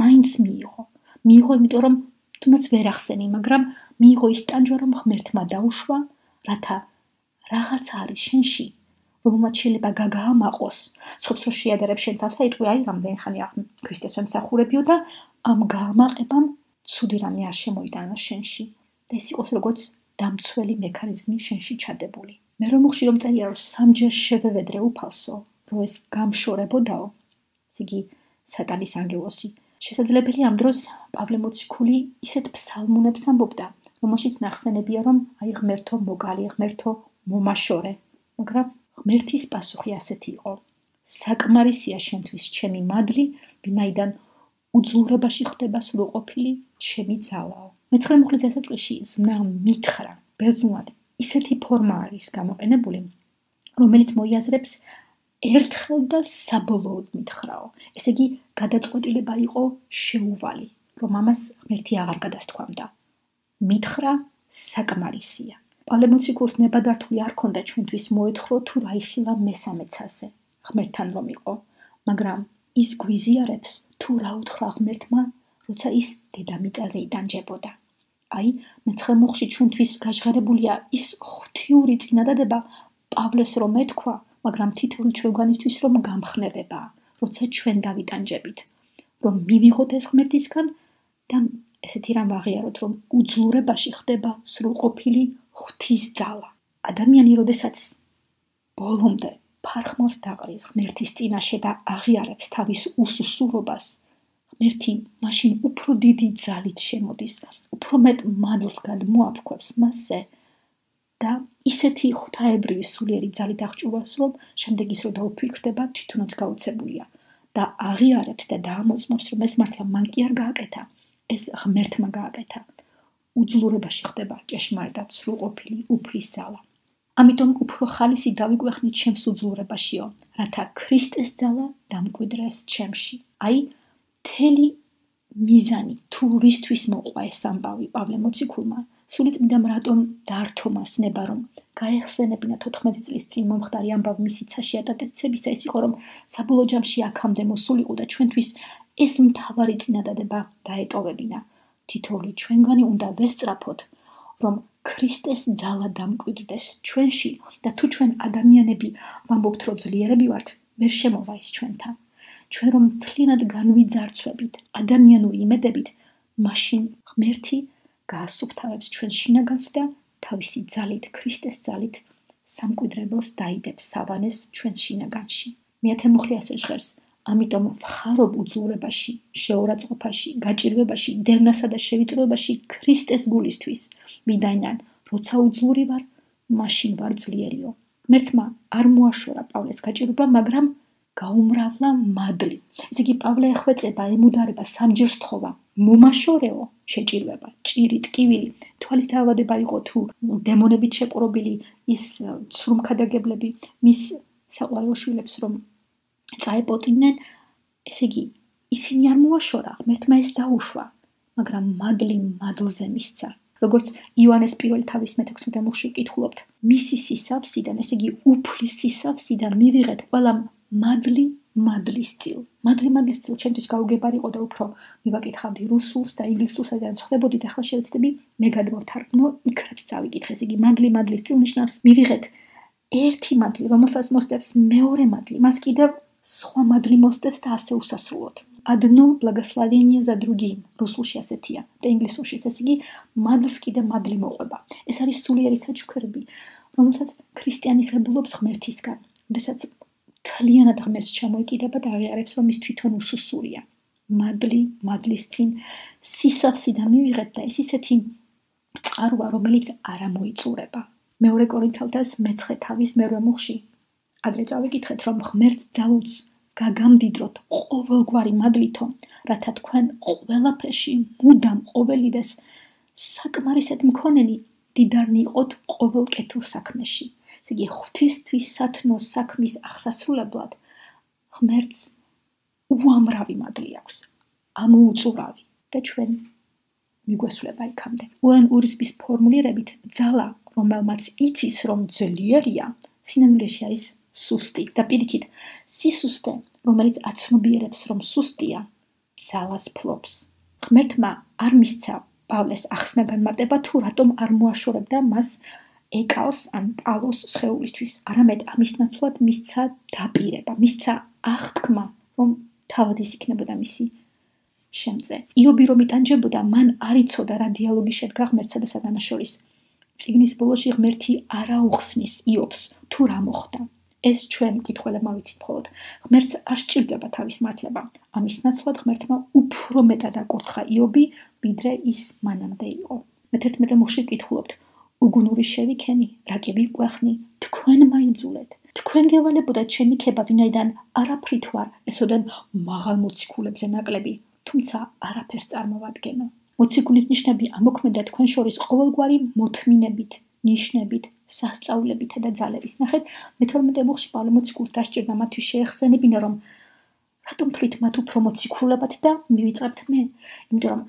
მაინც მიიღო. მიიღო, იმიტომ რომ თუნდაც ვერ ახსენი, მაგრამ მიიღო ის ტანჯვა, რომ ღმერთმა დაუშვა, რათა რაღაც არის შენში, რომელმაც შეიძლება გაგაამაყოს, ცოცხლ შეადარებს შენ თავს და იტყვი, აი, რამდენი ხანი ქრისტეს ვემსახურებიო და ამ გაამაყებამ ცუდი რამე არ შემოიტანა შენში და ეს იყოს როგორც დამცველი მექანიზმი შენში ჩადებული. მე რომ უხში რომ წერია, რომ სამჯერ შევევედრე უფალსო, რომ ეს გამშორებოდაო, ეს იგი სატანის ანგელოსი. შესაძლებელია ამ დროს პავლე მოციქული ისეთ ფსალმუნებს ამბობდა, რომელშიც ნახსენებია, რომ აი ღმერთო მოგალი, ღმერთო მომაშორე, მაგრამ ღმერთის პასუხი ასეთი იყო. საკმარისია შენთვის ჩემი მადლი, ვინაიდან უძლურებაში ხდება სრულყოფილი ჩემი ძალაო. მე-9 მუხლის დასაწყისში ზმნა მითხრა, ბერძნულად ისეთი ფორმა არის გამოყენებული, რომელიც მოიაზრებს ერთხელ და საბოლოოდ მითხრაო. ესე იგი, გადაწყვეტილება იყო შეუვალი, რომ ამას ღმერთი აღარ გადასთქვამდა. მითხრა საკმარისია. პავლე მოციქულს ნებადართული არ ქონდა ჩვენთვის მოეთხრო თუ რა იხილა მესამე ცაზე, ღმერთთან რომ იყო, მაგრამ ის გვიზიარებს თუ რა უთხრა ღმერთმა, როცა ის დედამიწაზე იტანჯებოდა. აი, მე-9 მუხლში ჩვენთვის გაჟღერებულია ის ღვთიური წინადადება პავლეს რომ ეთქვა, მაგრამ თითოეული ჩვენგანისთვის რომ გამხნევებაა, როცა ჩვენ დავიტანჯებით, რომ მივიღოთ ეს ღმერთისგან და ესეთი რამ ვაღიაროთ, რომ უძლურებაში ხდება სრულყოფილი ღვთის ძალა. ადამიანი, როდესაც ბოლომდე ფარხმალს დაყრის ღმერთის წინაშე და აღიარებს თავის უსუსურობას, ღმერთი მაშინ უფრო დიდი ძალით შემოდის, უფრო მეტ მადლს გადმოაფრქვევს მასზე და ისეთი ღვთაებრივი სულიერი ძალით აღჭურვას, რომ შემდეგ ის რო დაუფიქრდება, თვითონაც გაუცებულია და აღიარებს და დაამოწმობს, რომ ეს მართლა მან კი არ გააკეთა, ეს ღმერთმა გააკეთა. უძლურებაში ხდება ჭეშმარიტად სრულყოფილი უფლის ძალა. ამიტომ უფრო ხალისი დავიგვეხნით ჩემს უძლურებაშიო, რათა ქრისტეს ძალა დამკვიდრეს ჩემში. აი, მთელი მიზანი თუ რისთვის მოყვა ეს ამბავი პავლე მოციქულმა, სულიწმიდამ რატომ დართო მას ნება, რომ გაეხსენებინა 14 წლის წინ მომხდარი ამბავი მისი ცაში ატაცებისა, ის იყო, რომ საბოლოო ჯამში აქამდე მოსულიყო და ჩვენთვის ეს მთავარი წინადადება დაეტოვებინა. თითოეული ჩვენგანი უნდა ვესწრაფოთ, რომ ქრისტეს ძალა დამკვიდრდეს ჩვენში და თუ ჩვენ ადამიანები ვამბობთ, რომ ძლიერები ვართ, ვერ შემოვა ის ჩვენთან. ჩვენ რომ მთლიანად განვიძარცვებით ადამიანური იმედებით, მაშინ ღმერთი გაასუფთავებს ჩვენ შინაგანს და თავისი ძალით, ქრისტეს ძალით სამკვიდრებელს დაიდებს სავანეს ჩვენ შინაგანში. მეათე მუხლი ასე ჟღერს, ამიტომ ვხარობ უძლურებაში, შეურაცხყოფაში, გაჭირვებაში, დევნასა და შევიწროებაში ქრისტეს გულისთვის. ვინაიდან როცა უძლური ვარ, მაშინ ვარ ძლიერიო. ღმერთმა არ მოაშორა პავლეს გაჭირვება, მაგრამ გაუმრავლა მადლი. ესე იგი, პავლე ეხვეწება, ემუდარება, სამჯერ სთხოვა. მომაშორეო შეჭირვება, ჭირი, ტკივილი, თვალის დაავადება იყო თუ დემონებით შეპყრობილი ის ცრუმქადაგებლები, მის საყვარელ შვილებს რომ წაეპოტინენ, ესე იგი, ისინი არ მოაშორა, ღმერთმა ეს დაუშვა, მაგრამ მადლი მადლზე მისცა. როგორც იოანეს პირველი თავის მე-16 მუხლში ვკითხულობთ, მისი სისავსიდან, ესე იგი, უფლის სისავსიდან მივიღეთ ყველა მადლი მადლის წილ. მადლი მადლის წილ ჩემთვის გაუგებარი იყო და უფრო მივაკითხავდი რუსულს და ინგლისურს, სადაც ხვდებოდით, ახლა შევეცდები მე გადმოვთარგმნო, იქაც წავიკითხე. ესე იგი, მადლი მადლის წილ ნიშნავს მივიღეთ ერთი მადლი, რომელსაც მოსდევს მეორე მადლი, მას კიდევ სხვა მადლი მოსდევს და ასე უსასრულოდ. Одно благословение за другим. რუსულში ასეთია და ინგლისურში, ესე იგი, მადლს კიდე მადლი მოყვება. ეს არის სულიერი საჩუქრები, რომელსაც ქრისტიანი ღებულობს ღმერთისგან. როდესაც მთლიანად ღმერთს ჩამოიკიდება და აღიარებს, რომ ის თვითონ უსუსურია. მადლი მადლის წინ სისავსიდან მივიღეთ და ეს ისეთი წყაროა, რომელიც არ ამოიწურება. მეორე კორინთელთა მე-9 თავის მე-8 მუხლში ადრე წავიკითხეთ, რომ ღმერთს ძალუძს გაგამდიდროთ ყოველგვარი მადლითო, რათა თქვენ ყველაფერში მუდამ ყოველივეს საკმარისად მქონენი დიდარნი იყოთ ყოველ კეთილ საქმეში. ესე იგი, ღვთისთვის სათნო საქმის აღსასრულებლად ღმერთს უამრავი მადლი აქვს, ამოუწურავი და ჩვენ მიგვესვლება იქამდე. უენ ურისბის ფორმულირებით ძალა, რომელმაც იცის, რომ ძლიერია, სინამდვილეში არის სუსტი და პირიქით, სისუსტე, რომელიც აცნობიერებს, რომ სუსტია, ძალას ფლობს. ღმერთმა არ მისცა პავლეს ახსნა განმარტება, თუ რატომ არ მოაშორებდა მას ეკალს ან ტალოს სხეულისთვის, არამედ ამის ნაცვლად მისცა დაპირება, მისცა აღთქმა, რომ თავად ის იქნებოდა მისი შემწე. იობი რომ იტანჯებოდა, მან არ იცოდა რა დიალოგი შედგა ღმერთსა და სატანას შორის. წიგნის ბოლოში ღმერთი არ აუხსნის იობს, თუ რა მოხდა. ეს ჩვენ მკითხველებმა ვიცით მხოლოდ. ღმერთს არ სჭირდება თავის მართლება. ამის ნაცვლად ღმერთმა უფრო მეტად აკურთხა იობი, ვიდრე ის მანამდე იყო. მე-11 მუხლში ვკითხულობთ, უგუნური შევიქენი, რაკი ვიკვეხნი, თქვენ მაიძულეთ. თქვენ გევალებოდათ ჩემი ქება, ვინაიდან არაფრით ვარ, ესოდან მაღალ მოციქულებზე ნაკლები, თუმცა არაფერს წარმოვადგენო. მოციქულის ნიშნები ამოქმედა თქვენ შორის ყოველგვარი მოთმინებით, ნიშნებით, სასწაულებითა და ძალებით. ნახეთ, მე-12 მუხლში პავლე მოციქულს დასჭირდა მათთვის შეეხსენებინა, რომ რატომ თვლით მათ უფრო მოციქულებად და მივიწყებთ მე? იმიტომ რომ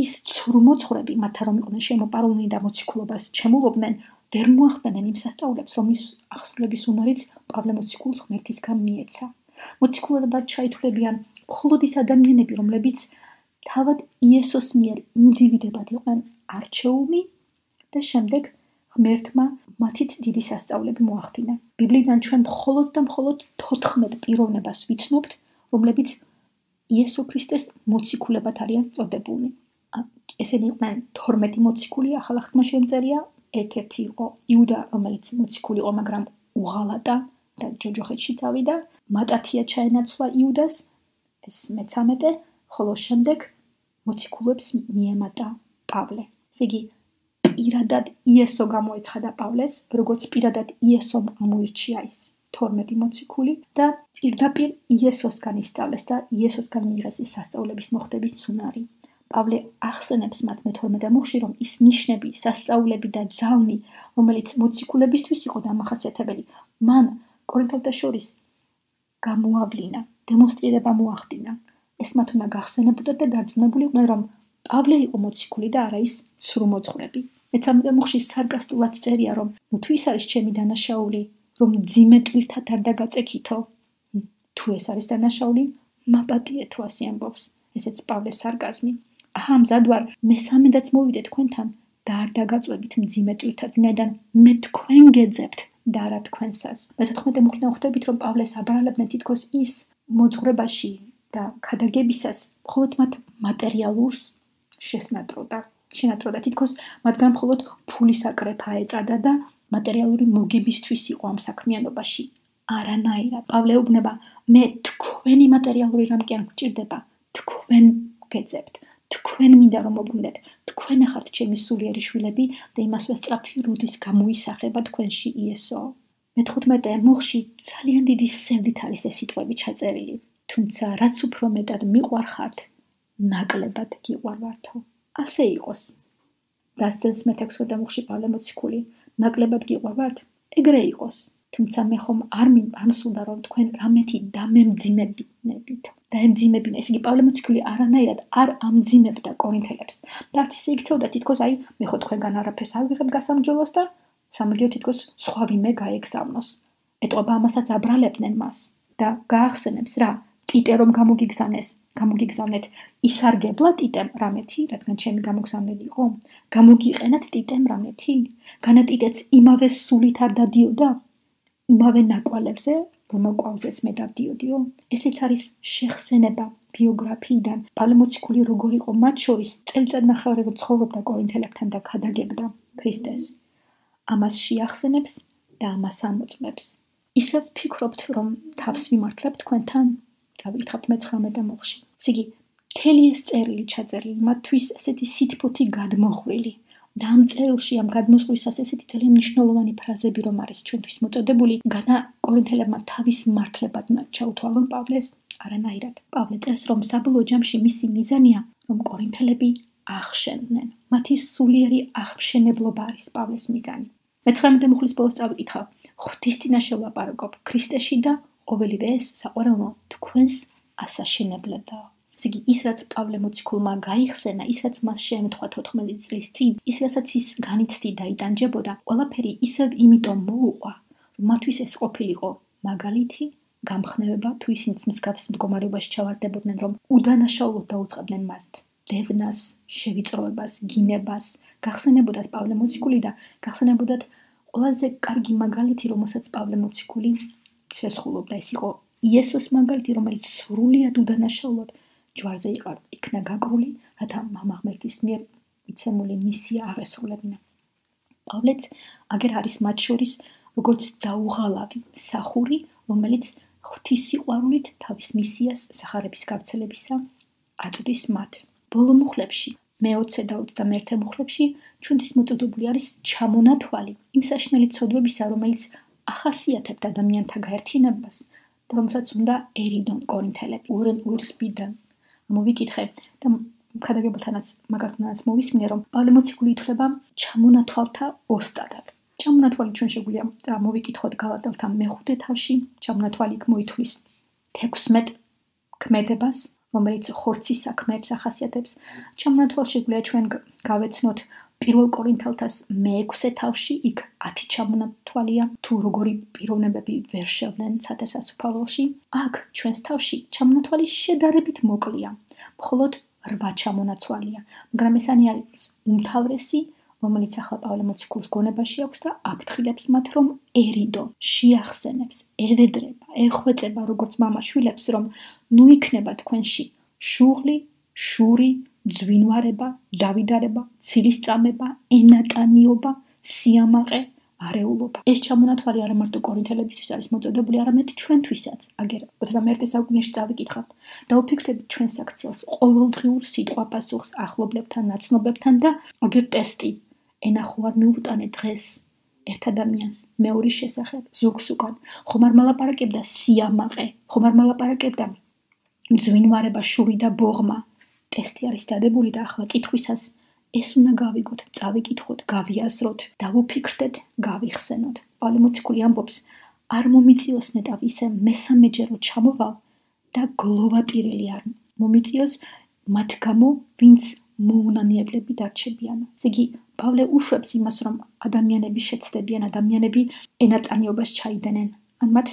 ის ცრუმოცხვრები, მათ რომ იყვნენ შემოპარულნი და მოციქულობას ჩემულობდნენ, ვერ მოახდენენ იმ სასწაულებს, რომ ის აღსრულების უნარიც პავლე მოციქულს ღმერთისგან მიეცა. მოციქულებად ჩაითვლებიან მხოლოდ ის ადამიანები, რომლებიც თავად იესოს მიერ ინდივიდებად იყვნენ არჩეული და შემდეგ ღმერთმა მათით დიდი სასწაულები მოახდინა. ბიბლიიდან ჩვენ მხოლოდ და მხოლოდ 14 პიროვნებას ვიცნობთ, რომლებიც იესო ქრისტეს მოციქულებად არიან წოდებულნი. ესენი იყვნენ 12 მოციქული, ახალ აღთქმაში შემწერია, ერთ-ერთი იყო იუდა, რომელიც მოციქული იყო, მაგრამ უღალატა და ჯოჯოხეთში წავიდა. მატათია ჩაენაცვლა იუდას, ეს მე-13, ხოლო შემდეგ მოციქულებს მიემატა პავლე. ესე იგი, პირადად იესო გამოეცხადა პავლეს, როგორც პირადად იესომ ამოირჩია ის 12 მოციქული და პირდაპირ იესოსგან ისწავლეს და იესოსგან მიიღეს ის სასწაულების მოხდების ცუნარი. პავლე ახსენებს მათ მე-12 მუხლში, რომ ის ნიშნები, სასწაულები და ძალნი, რომელიც მოციქულებისთვის იყო დამახასიათებელი, მან კორინთელთა შორის გამოავლინა, დემონსტრირება მოახდინა. ეს მათ უნდა გახსენებოდათ და დარწმუნებული იყვნენ, რომ პავლე იყო მოციქული და არა ის სრულმოძღვრები. მე-13 მუხლში სარკასტულად წერია, რომ თუ ის არის ჩემი დანაშაული, რომ ძიმე ტვირთად არ დაგაწექითო, თუ ეს არის დანაშაული, მაპატიე თუ ასე ამბობს. ესეც პავლეს სარკაზმი. აჰა, მზად ვარ, მესამედაც მოვიდე თქვენთან და არ დაგაწვევით მძიმე ტვირთად, ვინაიდან მე თქვენ გეძებთ და არა თქვენსას. მე-14 მუხლიდან ხვდებით, რომ პავლეს აბრალებდნენ თითქოს ის მოძღვრებაში და ქადაგებისას მხოლოდ მათ მატერიალურს შენატროდა თითქოს მათგან მხოლოდ ფულის აკრეფა ეწადა და მატერიალური მოგებისთვის იყო ამ საქმიანობაში. არანაირად. პავლე უბნება, მე თქვენი მატერიალური რამ კი არ მგჭირდება, თქვენ გეძებთ, თქვენ მინდა რომ მოგუნდეთ, თქვენ ახართ ჩემი სულიერი შვილები და იმასვე სწრაფი რუდის გამოისახება თქვენში იესო. მე-15 მუხლში ძალიან დიდი სევდით არის ეს სიტყვები ჩაწერილი. თუმცა რაც უფრო მეტად მიყვარხართ, ნაკლებად გიყვარვართო. ასე იყოს. დასძენს მე-16 მუხლში პავლე მოციქული, ნაკლებად გიყვარვართ, ეგრე იყოს. თუმცა მე ხომ არ მსურდა რომ თქვენ რამეთი დამემძიმებინებით. დაემძიმებინა. ესე იგი პავლე მოციქული არანაირად არ ამძიმებდა კორინთელებს. და არც ისე იქცეოდა თითქოს აი მე ხო თქვენგან არაფერს არ ვიღებ გასამჯელოს და სამაგიო თითქოს სხვა ვინმე გაეგზავნოს. ეტყობა ამასაც აბრალებდნენ მას და გაახსენებს რა ტიტე რომ გამოგიგზავნეთ ისარგებლა ტიტემ რამეთი, რადგან ჩემი გამოგზავნელი იყო, გამოგიყენათ ტიტემ რამეთი, განა ტიტეც იმავე სულით არ დადიოდა, იმავე ნაკვალებზე, რომელზეც მე დავდიოდიო. ესეც არის შეხსენება ბიოგრაფიიდან. პავლე მოციქული როგორ იყო მათ შორის წელიწადნახევარი რო ცხოვრობდა კორინთელებთან და ქადაგებდა ქრისტეს. ამას შეახსენებს და ამას ამოწმებს. ისევ ვფიქრობთ, რომ თავს ვიმართლებ თქვენთან? წავიკითხავთ მე-19 მუხლში. ესე იგი, მთელი ეს წერილი ჩაწერილი მათთვის ესეთი სითბოთი გადმოხვილი. და ამ წერილში, ამ გადმოსვლისას ესეთი ძალიან მნიშვნელოვანი ფრაზები რომ არის ჩვენთვის მოწოდებული, განა კორინთელებმა თავის მართლებად ჩაუთვალონ პავლეს, არანაირად. პავლე წერს, რომ საბოლოო ჯამში მისი მიზანია, რომ კორინთელები აღშენდნენ. მათი სულიერი აღშენებლობა არის პავლეს მიზანი. მე-19 მუხლის ბოლოს წავიკითხავ, ღვთისწინაშე ვლაპარაკობ ქრისტეში და ყოველივე ეს საყვარელო თქვენს ასაშენებლებაა. ესე იგი, ის რაც პავლე მოციქულმა გაიხსენა, ის რაც მას შეემთხვა 14 წლის წინ, ის რასაც ის განიცდი და იტანჯებოდა, ყველაფერი ისევ იმიტომ მოუყვა, რომ მათთვის ეს ყოფილიყო მაგალითი, გამხნევება, თუ ისინიც მსგავს მდგომარეობაში ჩავარდებოდნენ, რომ უდანაშაულოდ დაუწყებდნენ მათ დევნას, შევიწროებას, გინებას, გახსენებოდათ პავლე მოციქული და გახსენებოდათ ყველაზე კარგი მაგალითი, რომელსაც პავლე მოციქული შესხულობდა, ეს იყო იესოს მაგალითი, რომელიც სრულიად უდანაშაულოდ ჯვარზე იქნა გაკრული, რათა მამა ღმერთის მიერ მიცემული მისია აღესრულებინა. პავლეც აგერ არის მათ შორის როგორც დაუღალავი მსახური, რომელიც ღვთის სიყვარულით თავის მისიას სახარების გავრცელებისა აწვდის მათ. ბოლო მუხლებში, მე-20 და 21 მუხლებში ჩვენთვის მოწოდებული არის ჩამონათვალი იმ საშინელი ცოდვებისა, რომელიც ახასიათებთ ადამიანთა გაერთიანებას და რომელსაც უნდა ერიდონ კორინთელები, ურსბიდან. მოვიკითხე და ქადაგებელთანაც მაგათანაც მოვისმინე, რომ პავლე მოციქული ითვლება ჩამონათვალთა ოსტატად. ჩამონათვალი ჩვენ შეგვიძლია მოვიკითხოთ გალატელთა მე-5 თავში, ჩამონათვალი იქ მოითვლის 16 ქმედებას, რომელიც ხორცის საქმეებს ახასიათებს. ჩამონათვალს შეგვიძლია ჩვენ გავეცნოთ პირველ კორინთელთას მე-6 თავში, იქ 10 ჩამონათვალია, თუ როგორი პიროვნებები ვერ შევლენ ცათესასუფაველში. აქ ჩვენს თავში ჩამონათვალი შედარებით მოკლეა, მხოლოდ 8 ჩამონაცვალია, მაგრამ ეს არის უმთავრესი, რომელიც ახლა პავლე მოციქულის გონებაში აქვს და აფრთხილებს მათ, რომ ერიდონ, შეახსენებს, ევედრება, ეხვეწება როგორც მამა შვილებს, რომ ნუ იქნება თქვენში შუღლი, შური, ძვინვარება, დავიდარება, ცილისწამება, ენატანიობა, სიამაყე, არეულობა. ეს ჩამონათვალი არა მარტო კორინთელებისთვის არის მოწოდებული, არამედ ჩვენთვისაც. აგერ 21 საუკუნეში წავიკითხავთ და ვფიქრდებით ჩვენს აქციელს, ყოველდღიურ სიტყვაპასუხს ახლობლებთან, ნაცნობებთან და აგერ ტესტი. ენახო არ მიუტანე დღეს ერთ ადამიანს მეორის შესახებ ზურგს უკან, ხომ არ მალაპარაკებდა სიამაყე, ხომ არ მალაპარაკებდა მძვინვარება, შური და ბოღმა. ტესტი არის დადებული და ახლა კითხვისას ეს უნდა გავიგოთ, წავიკითხოთ, გავიაზროთ, დავუფიქრდეთ, გავიხსენოთ. პავლე მოციქული ამბობს, არ მომიწიოს ნეტავ ისე მესამეჯერო ჩამოვალ და გლოვატირელი არ მომიწიოს მათ გამო, ვინც მოუნანიებლები დარჩებიანო. ესე იგი, პავლე უშვებს იმას, რომ ადამიანები შეცდებიან, ადამიანები ენატანიობას ჩაიდენენ, ან მათ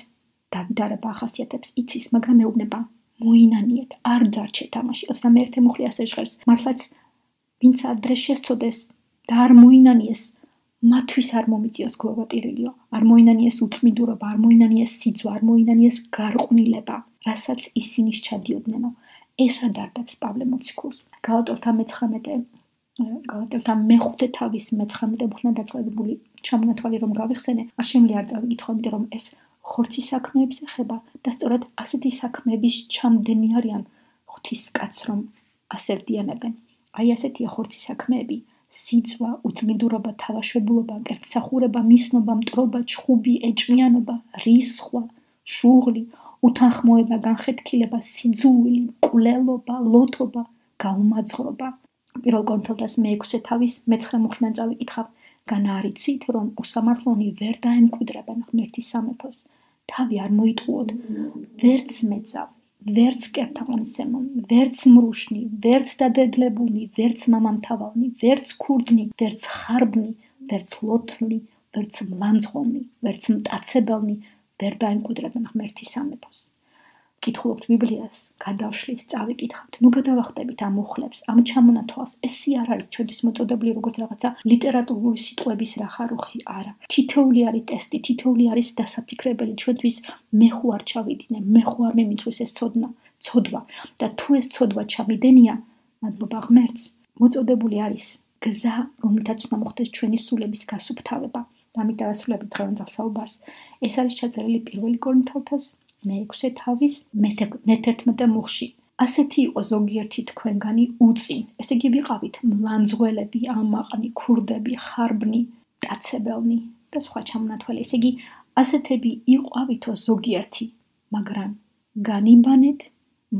დავიდარება ახასიათებს იცის, მაგრამ ეუბნება მოინანიეთ, არ დარჩეთ თამაში. 21 მუხლი ასე ჟღერს, მართლაც ვინც ადრე შესწოდეს და არ მოინანიეს, მათთვის არ მომიწიოს გლოვატირილიო, არ მოინანიეს უწმიდურობა, არ მოინანიეს სიძვა, არ მოინანიეს გარყვნილება, რასაც ისინი სჩადიოდნენ. ეს ადარდებს პავლე მოციქულს. გალატელთა მეხუთე თავის 19 მუხლიდან დაწყებული ჩამონათვალი რომ გავიხსენე, არ შემიძლია არ წავიკითხო, იმიტომ რომ ეს ხორცის საქმეებს ეხება და სწორედ ასეთი საქმეების ჩამდენი არიან ღვთისკაცს, რომ ასე ვდიანებენ. აი ასეთია ხორცის საქმეები, სიძვა, უწმიდურობა, თავაშვებულობა, კერპსახურება, მისნობა, მტრობა, ჩხუბი, ეჭვიანობა, რისხვა, შუღლი, უთანხმოება, განხეთქილება, სიძულვილი, მკვლელობა, ლოთობა, გაუმაძღრობა. პირველ კორინთელთა მე-6 თავის 19 მუხლიდან წავიკითხავ, განარიცით, რომ უსამართლონი ვერ დაემკვიდრებენ ღმერთის სამეფოს. თავი არ მოიტყუოთ, ვერც მეძავ, ვერც კერთამონისემონი, ვერც მრუშნი, ვერც დადედლებულნი, ვერც მამამთავალნი, ვერც ქურდნი, ვერც ხარბნი, ვერც ლოთლი, ვერც მლანძღოლნი, ვერც მტაცებელნი ვერ დაემკვიდრებენ ღმერთის სამეფოს. კითხულობთ ბიბლიას, გადავშლით, წავიკითხავთ, ნუ გადავახტებით ამ მუხლებს, ამ ჩამონათვალს. ესე არ არის ჩვენთვის მოწოდებული როგორც რაღაცა ლიტერატურული სიტყვების რახარუხი, არა. თითოეული არის ტესტი, თითოეული არის დასაფიქრებელი ჩვენთვის. მე ხო არ ჩავიდინე, მე ხო არ მიმიწვის ეს ცოდვა და თუ ეს ცოდვა ჩამიდენია, მადლობა ღმერთს, მოწოდებული არის გზა, რომლითაც უნდა მოხდეს ჩვენი სულების გასუფთავება. ამით დავასრულებით დღევანდელ საუბარს. ეს არის ჩაწერილი პირველი კორინთელთას მე-6 თავის მე-11 მუხლში. ასეთი იყო ზოგიერთი თქვენგანი უწინ. ესე იგი ვიყავით მლანძღველები, ამაყნი, ქურდები, ხარბნი, მტაცებელნი და სხვა ჩამონათვალი. ესე იგი, ასეთები იყავითო ზოგიერთი, მაგრამ განიბანეთ,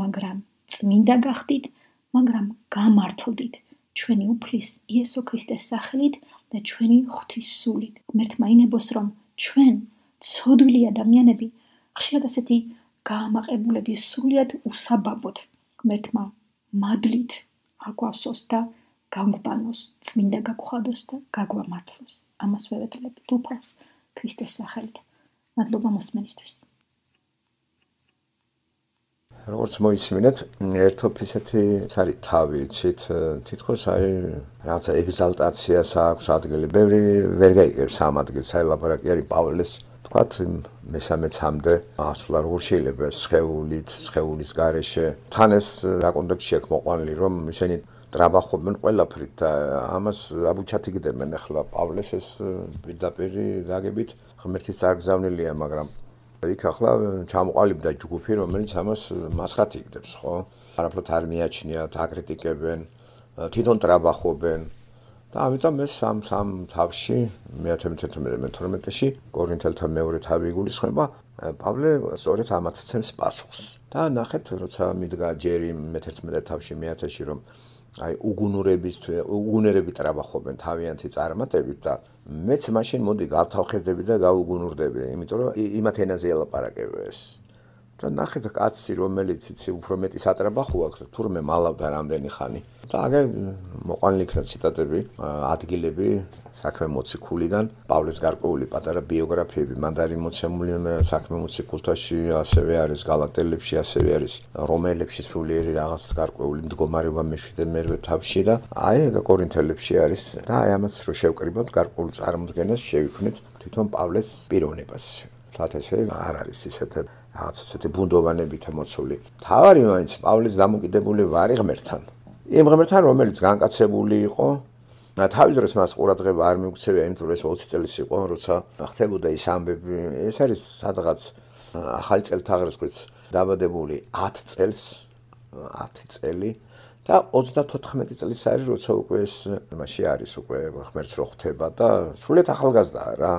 მაგრამ წმინდა გახდით, მაგრამ გამართლდით ჩვენი უფლის იესო ქრისტეს სახელით და ჩვენი ღვთის სულით. ღმერთმა ინებოს, რომ ჩვენ ცოდვილი ადამიანები ხშირად ასეთი გაამაყებულები სრულიად უსაბაბოდ ღმერთმა მადლით აგვავსოს და გაგვბანოს, წმინდა გაგხადოს და გაგვამართლოს. ამას ვევედლებთ უფალს ქრისტეს სახელით. მადლობა მოსმენისთვის. როგორც მოისმინეთ, ერთობ ისეთი არის თავი, იცით, თითქოს არის რაღაცა ეგზალტაციას აქვს ადგილი. ბევრი ვერ გაიგებს ამ ადგილს, აი ლაპარაკი არის პავლეს თქვათ მესამე-3-მდე ასვლა როგორ შეიძლება სხეულით, სხეულის გარეშე. თან ეს რა კონტექსტში აქვს მოყვანილი, რომ ისინი ტრაბახობენ ყველაფრით და ამას აბუჩათიგდებენ ახლა პავლეს ეს პირდაპირი გაგებით ღმერთის წარგზავნილია, მაგრამ იქ ახლა ჩამოყალიბდა ჯგუფი, რომელიც ამას მასხათ იგდებს, ხო? არაფრად არ მიაჩნიათ, აკრიტიკებენ, თვითონ ტრაბახობენ. და ამიტომ ეს სამ თავში მე-11-12-ში კორინთელთა მეორე თავი იგულისხმება, პავლე სწორედ ამათ ცემს პასუხს. და ნახეთ, როცა მიდგა ჯერი მე-11 თავში მე-10-ში, რომ აი უგუნურები ტრაბახობენ თავიანთი წარმატებით და მეც მაშინ მოდი გავთავხედები და გავუგუნურდები, იმიტომ რომ იმათ ენაზე ელაპარაკება ეს. და ნახეთ კაცი, რომელიც იცი უფრო მეტი სატრაბახო აქვს, თურმე მალავდა რამდენი ხანი. და აგერ მოყვანილი იქნა ციტატები, ადგილები საქმე მოციქულიდან, პავლეს გარკვეული პატარა ბიოგრაფიები, მან არის მოცემული საქმე მოციქულთაში, ასევე არის გალატელებში, ასევე არის რომაელებში სულიერი რაღაც გარკვეული მდგომარეობა მე-7 თავში და აი კორინთელებში არის და აი ამას რო შევკრიბოთ, გარკვეულ წარმოდგენას შევიქმნით თვითონ პავლეს პიროვნებას. თათ ესე არ არის ისეთი რაღაც ესეთი ბუნდოვანებით მოცული. თავარი მაინც პავლეს დამოკიდებული ვარი ღმერთთან. იმ ღმერთთან, რომელიც განკაცებული იყო, თავის დროს მას ყურადღება არ მიუქცევია, იმიტომ რომ ეს 20 წელს იყო, როცა ხდებოდა ის ამბები. ეს არის სადღაც ახალი წელთაღრიცხვით დაბადებული 10 წელი და 34 წლის არის, როცა უკვე ეს მასში არის უკვე ღმერთს რო ხვდება და სრულიად ახალგაზრდაა რა.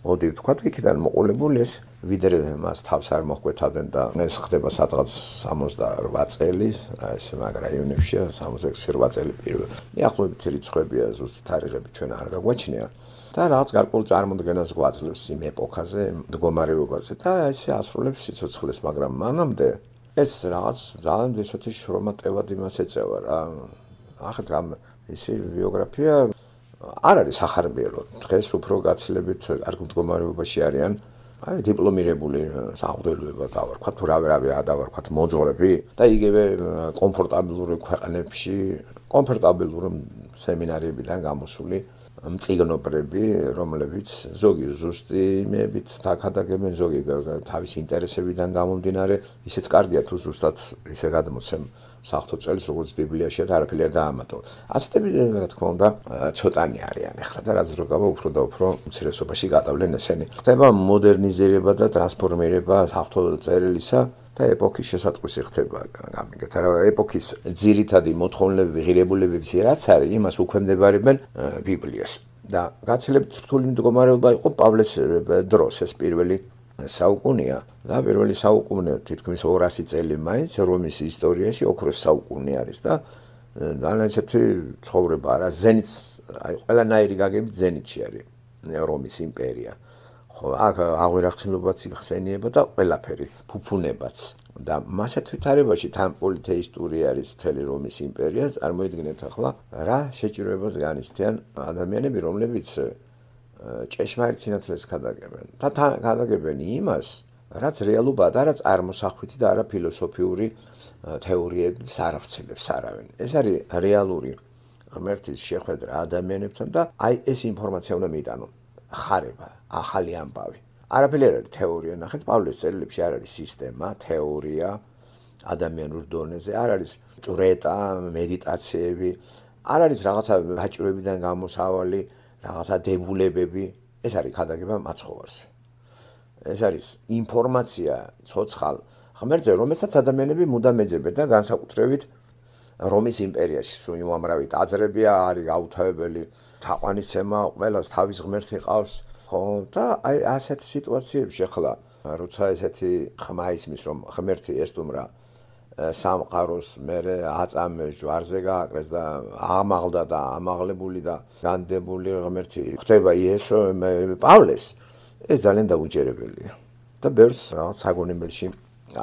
მოდი ვთქვა, იქიდან მოყოლებული ეს ვიდრე მას თავს არ მოხვეთავდნენ და ეს ხდება სადღაც 68 წელი, ეს მაგ რაიონებშია 68 წელი პირველ. ახლობით რიცხვებია, ზუსტი თარიღები ჩვენ არ გაგვაჩნია. და რაღაც გარკვეულ წარმოდგენას გვაძლევს იმ ეპოქაზე, მდგომარეობაზე და ესე ასრულებს სიცოცხლეს, მაგრამ მანამდე ეს რაღაც ძალიან ისეთი შრომატევად იმას ეწევა რა. ახეთ ამ ისი ბიოგრაფია არ არის სახარბიელო. დღეს უფრო გაცილებით კარგ მდგომარეობაში არიან. აი დიპლომირებული საღვთელოება დავარქვათ, თუ რავი დავარქვათ მოძღვრები და იგივე კომფორტაბილური ქვეყნებში, კომფორტაბილური სემინარიებიდან გამოსული მწიგნობრები, რომლებიც ზოგი ზუსტი იმებით თაქადაგებენ, ზოგი თავის ინტერესებიდან გამომდინარე, ისეც კარგია თუ ზუსტად ისე გადმოცემ საღვთო წელს, როგორც ბიბლიაშია და არაფერი არ დაამატო. ასეთები რა თქმა უნდა ცოტანი არიან ახლა და რაც რო გავა უფრო და უფრო უმცირესობაში გადავლენ ესენი. ხდება მოდერნიზება და ტრანსფორმირება საღვთო წერილისა და ეპოქის შესატყვისი ხდება. გამიგეთ რა ეპოქის ძირითადი მოთხოვნილები, ღირებულებები რაც არის, იმას უქვემდებარებენ ბიბლიას. და გაცილებით რთული მდგომარეობა იყო პავლეს დროს ეს პირველი საუკუნეა და პირველი საუკუნე თითქმის 200 წელი მაინც რომის ისტორიაში ოქროს საუკუნე არის და ძალიან ისეთი ცხოვრება რა ზენიტს აი ყველანაირი გაგებით ზენიტში არის რომის იმპერია. ხო აქ აღვირახცნობაც იხსენიება და ყველაფერი ფუფუნებაც და მასეთ ვითარებაში თან პოლითეისტური არის მთელი რომის იმპერია. წარმოიდგინეთ ახლა რა შეჭიროებას განიცდიან ადამიანები, რომლებიც ჭეშმარიტ სინათლეს ქადაგებენ და ქადაგებენ იმას, რაც რეალობაა და რაც არ მოსახვითი და არა ფილოსოფიური თეორიების არ აღწევს არავინ. ეს არის რეალური ღმერთის შეხვედრა ადამიანებთან და აი ეს ინფორმაცია უნდა მიიტანონ. ხარება, ახალი ამბავი. არაფერი არ არის თეორია, ნახეთ პავლეს წერილებში არ არის სისტემა, თეორია ადამიანურ დონეზე, არ არის ჭვრეტა, მედიტაციები, არ არის რაღაცა გაჭირვებიდან გამოსავალი, რაღაცა დებულებები, ეს არის ქადაგება მაცხოვარს. ეს არის ინფორმაცია ცოცხალ ღმერთზე, რომელსაც ადამიანები მუდამ ეძებენ და განსაკუთრებით რომის იმპერიაში სულ უამრავი ტაძრები არის გაუთავებელი, თაყვანისცემა ყველას თავის ღმერთი ყავს, ხო და აი ასეთ სიტუაციებში ახლა როცა ესეთი ხმა ისმის რომ ღმერთი ესტუმრა სამყაროს მერე აწამეს ჯვარზე გააკრეს და ამაღლდა და ამაღლებული და განდებული ღმერთი ხდება იესო პავლეს ეს ძალიან დაუჯერებელია და ბევრს რაღაც საგონებელში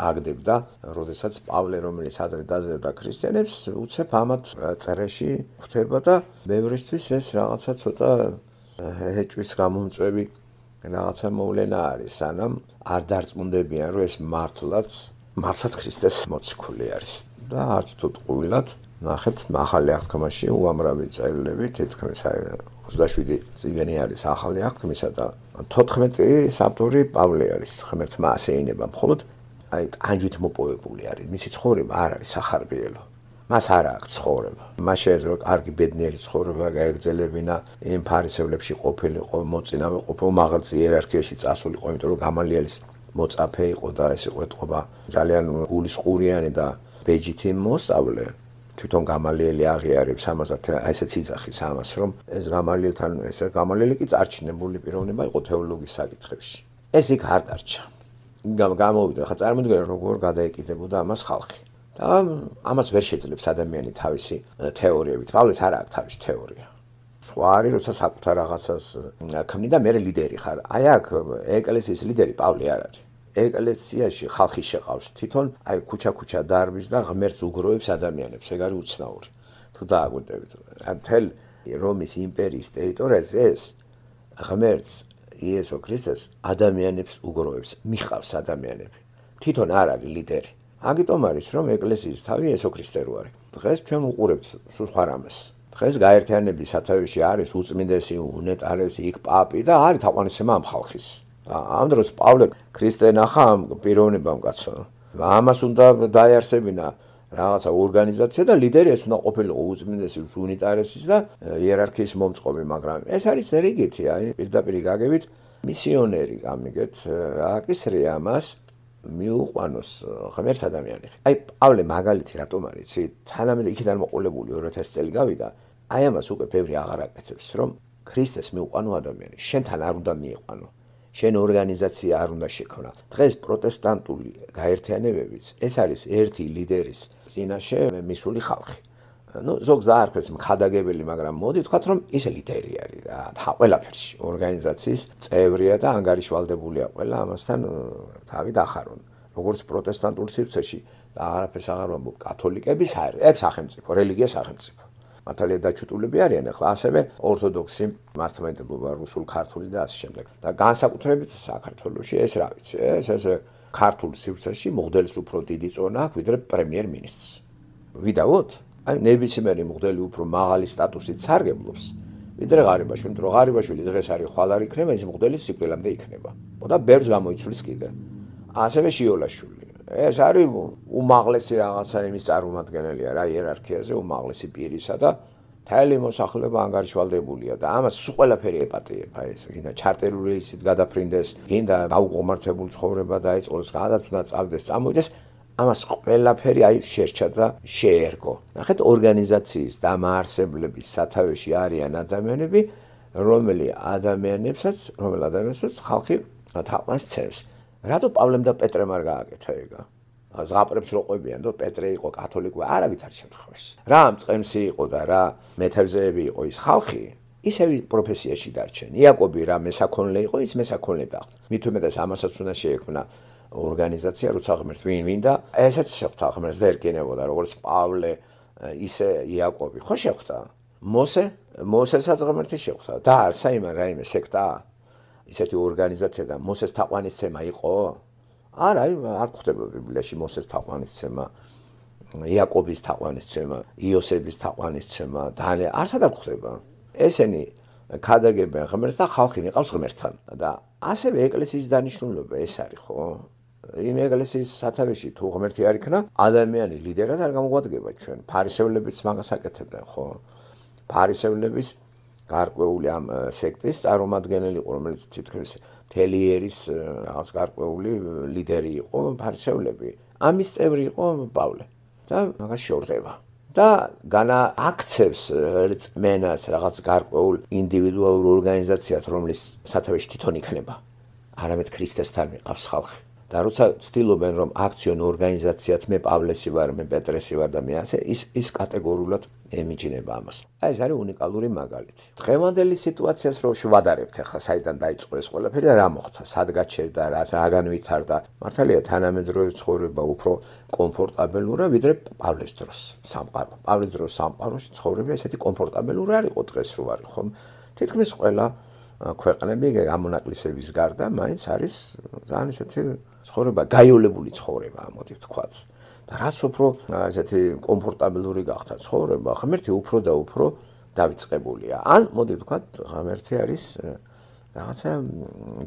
აგდებდა როდესაც პავლე რომელიც ადრე დაძებდა ქრისტიანებს უცებ ამათ წერეში ხდება და ბევრისთვის ეს რაღაცა ცოტა ეჭვის გამომწვევი რაღაცა მოვლენა არის სანამ არ დარწმუნდებიან რომ ეს მართლაც ქრისტეს მოციქული არის და არც თუ ტყუილად ნახეთ ახალი აღთქმაში უამრავი წერილები თითქმის 27 წიგნი არის ახალი აღთქმისა და 14 ავტორი პავლე არის ღმერთმა ასე ენება მხოლოდ აი ტანჯვით მოპოვებული არის მისი ცხოვრება არ არის სახარბიელო მას არ აქვს ცხოვრება მას შეეძლო კარგი ბედნიერი ცხოვრება გაეგრძელებინა იმ ფარისევლებში ყოფილიყო მოწინავე ყოფილიყო მაღალ იერარქიაში წასულიყო იმიტომ რომ გამალიელის მოწაფე იყო და ეს იყო ეთყობა ძალიან გულისყურიანი და ბეჯითი მოსწავლე თვითონ გამალიელი აღიარებს ამასაც ესეც იძახის ამას რომ ეს გამალიელთან ეს გამალიელი კი წარჩინებული პიროვნება იყო თეოლოგიის საკითხებში ეს იქ არ დარჩა გამოვიდა ხა წარმოიდგინე როგორ გადაეკიდებოდა ამას ხალხი და ამას ვერ შეძლებს ადამიანი თავისი თეორიებით პავლეს არ აქვს თავისი თეორია სხვა არის როცა საკუთარ რაღაცას ქმნი და მე ლიდერი ხარ აი აქ ეკლესიის ლიდერი პავლე არ არის ეკლესიაში ხალხი შეყავს თვითონ აი ქუჩა დარბის და ღმერთს უგროვებს ადამიანებს ეგ არის უცნაური თუ დააგვირდებით მთელ რომის იმპერიის ტერიტორიაზე ეს ღმერთს იესო ქრისტეს ადამიანებს უგროვებს მიხავს ადამიანები თვითონ არ არის ლიდერი აგიტომ არის რომ ეკლესიის თავი იესო ქრისტე რო არის დღეს ჩვენ უყურებთ სულ სხვა რამეს დღეს გაერთიანების სათავეში არის უწმინდესი უნეტარესი იქ პაპი და არის თაყვანისცემა ამ ხალხის ამ დროს პავლე ქრისტე ნახა ამ პიროვნებამ კაცო ამას უნდა დაიარსებინა რაღაცა ორგანიზაცია და ლიდერი ეს უნდა ყოფილიყო უწმინდესი უნეტარესის და იერარქიის მომწყობი მაგრამ ეს არის რიგითი აი პირდაპირ გაგებით მისიონერი გამიგეთ რა აკისრია ამას მიუყვანოს ღმერთს ადამიანები. აი პავლე მაგალითი რატომ არის, იცი? თანამედროვე იქიდან მოყოლებული 2000 წელი გავიდა, აი ამას უკვე ბევრი აღარ აკეთებს, რომ ქრისტეს მიუყვანო ადამიანი, შენთან არ უნდა მიიყვანო. შენ ორგანიზაცია არ უნდა შექმნა. დღეს პროტესტანტული გაერთიანებებიც ეს არის ერთი ლიდერის წინაშე მისული ხალხი. ზოგს დაარქვეს მხადაგებელი, მაგრამ მოდი ვთქვათ, რომ ის ლიდერი არის რა, ყველაფერში. ორგანიზაციის წევრია და ანგარიშვალდებულია ყველა ამასთან თავი დახარონ. როგორც პროტესტანტულ სივრცეში და არაფერს აღარ ვამბობ, კათოლიკების არის, ეგ სახელმწიფო, რელიგია სახელმწიფო. მართალია დაჩუტულები არიან ახლა ასევე ორთოდოქსი მართლმადიდებლობა, რუსულ, ქართული და ასე შემდეგ. და განსაკუთრებით საქართველოში ეს რა ვიცი, ეს ქართულ სივრცეში მღვდელს უფრო დიდი წონა აქვს ვიდრე პრემიერ-მინისტრს. ვიდაოთ? აი ნებისმიერი მღვდელი უფრო მაღალი სტატუსით სარგებლობს ვიდრე ღარიბაშვილი, რომ ღარიბაშვილი დღეს არის ხვალ არ იქნება, ის მღვდელი სიკვდილამდე იქნება. და ბევრს გამოიცვლის კიდე. ასევე შიოლაშვილი. ეს არის უმაღლესი რაღაცა იმის წარმომადგენელია რა იერარქიაზე, უმაღლესი პირისა და მთელი მოსახლეობა ანგარიშვალდებულია და ამას სულ ყველაფერი ეპატიება ეს. გინდა ჩარტერული ისით გადაფრინდეს, გინდა დაუყოვნართებული ცხოვრება დაიწყოს, გადაც უნდა წავდეს, წამოვიდეს. ამას ყველაფერი აი შეერჩა და შეერგო. ნახეთ, ორგანიზაციის დამაარსებლების სათავეში არიან ადამიანები, რომელ ადამიანებსაც ხალხი თაყვანს ცემს. რატო პავლემ და პეტრემ არ გააკეთა ეგა? ზღაპრებს რო ყვებიან, და პეტრე იყო კათოლიკური, არავითარ შემთხვევაში. რა მწყემსი იყო და რა მეთევზეები იყო ის ხალხი, ისევ პროფესიაში დარჩენ. იაკობი რა მესაქონლე იყო, ის მესაქონლე დახვდა. მით უმეტეს ამასაც უნდა შეექმნა ორგანიზაცია, როცა ღმერთ ვინ და ესეც შეხვდა ღმერთს და ერკინებოდა, როგორც პავლე, ისე იაკობი. ხო შეხვდა? მოსესაც ღმერთი შეხვდა. დაარსა იმან რაიმე სექტა? ისეთი ორგანიზაცია და მოსეს თაყვანისცემა იყო? არა, არ გვხვდება ბიბლიაში მოსეს თაყვანისცემა, იაკობის თაყვანისცემა, იოსების თაყვანისცემა, არცად არ გვხვდება. ესენი ქადაგებენ ღმერთს და ხალხი მიყავს ღმერთთან. და ასევე ეკლესიის დანიშნულება ეს არის, ხო? იმ ეკლესიის სათავეში თუ ღმერთი არ იქნა, ადამიანი ლიდერად არ გამოგვადგება ჩვენ. ფარისევლებიც მაგას აკეთებდნენ, ხო? ფარისევლების გარკვეული ამ სექტის წარმომადგენელი იყო, რომელიც თითქმის მთელი ერის რაღაც გარკვეული ლიდერი იყო, ფარისევლები. ამის წევრი იყო პავლე და მაგას შორდება. და განააქცევს რწმენას რაღაც გარკვეულ ინდივიდუალურ ორგანიზაციად, რომლის სათავეში თვითონ იქნება. არამედ ქრისტესთან მიყავს ხალხი. და როცა ცდილობენ რომ აქციონ ორგანიზაციად მე პავლესი ვარ, მე პეტრესი ვარ და მე ასე ის კატეგორიულად ემიჯნება ამას. აი ეს არის უნიკალური მაგალითი. დღევანდელი სიტუაციას რო შევადარებთ ახლა საიდან დაიწყო ეს ყველაფერი და რა მოხდა, სად გაჩერდა, რაგან ვითარდა. მართალია თანამედროვე ცხოვრება უფრო კომფორტაბელურა ვიდრე პავლეს დროს სამყარო. პავლეს დროს სამყაროში ცხოვრება ესეთი კომფორტაბელური არ იყო დღეს რო არის ხომ? თითქმის ყველა ქვეყნები გამონაკლისების გარდა მაინც არის ძალიან ისეთი ცხოვრება, გაიოლებული ცხოვრება, მოდი ვთქვათ. და რაც უფრო ესეთი კომფორტაბელური გახდა ცხოვრება, ღმერთი უფრო და უფრო დავიწყებულია. ან მოდი ვთქვათ, ღმერთი არის რაღაცა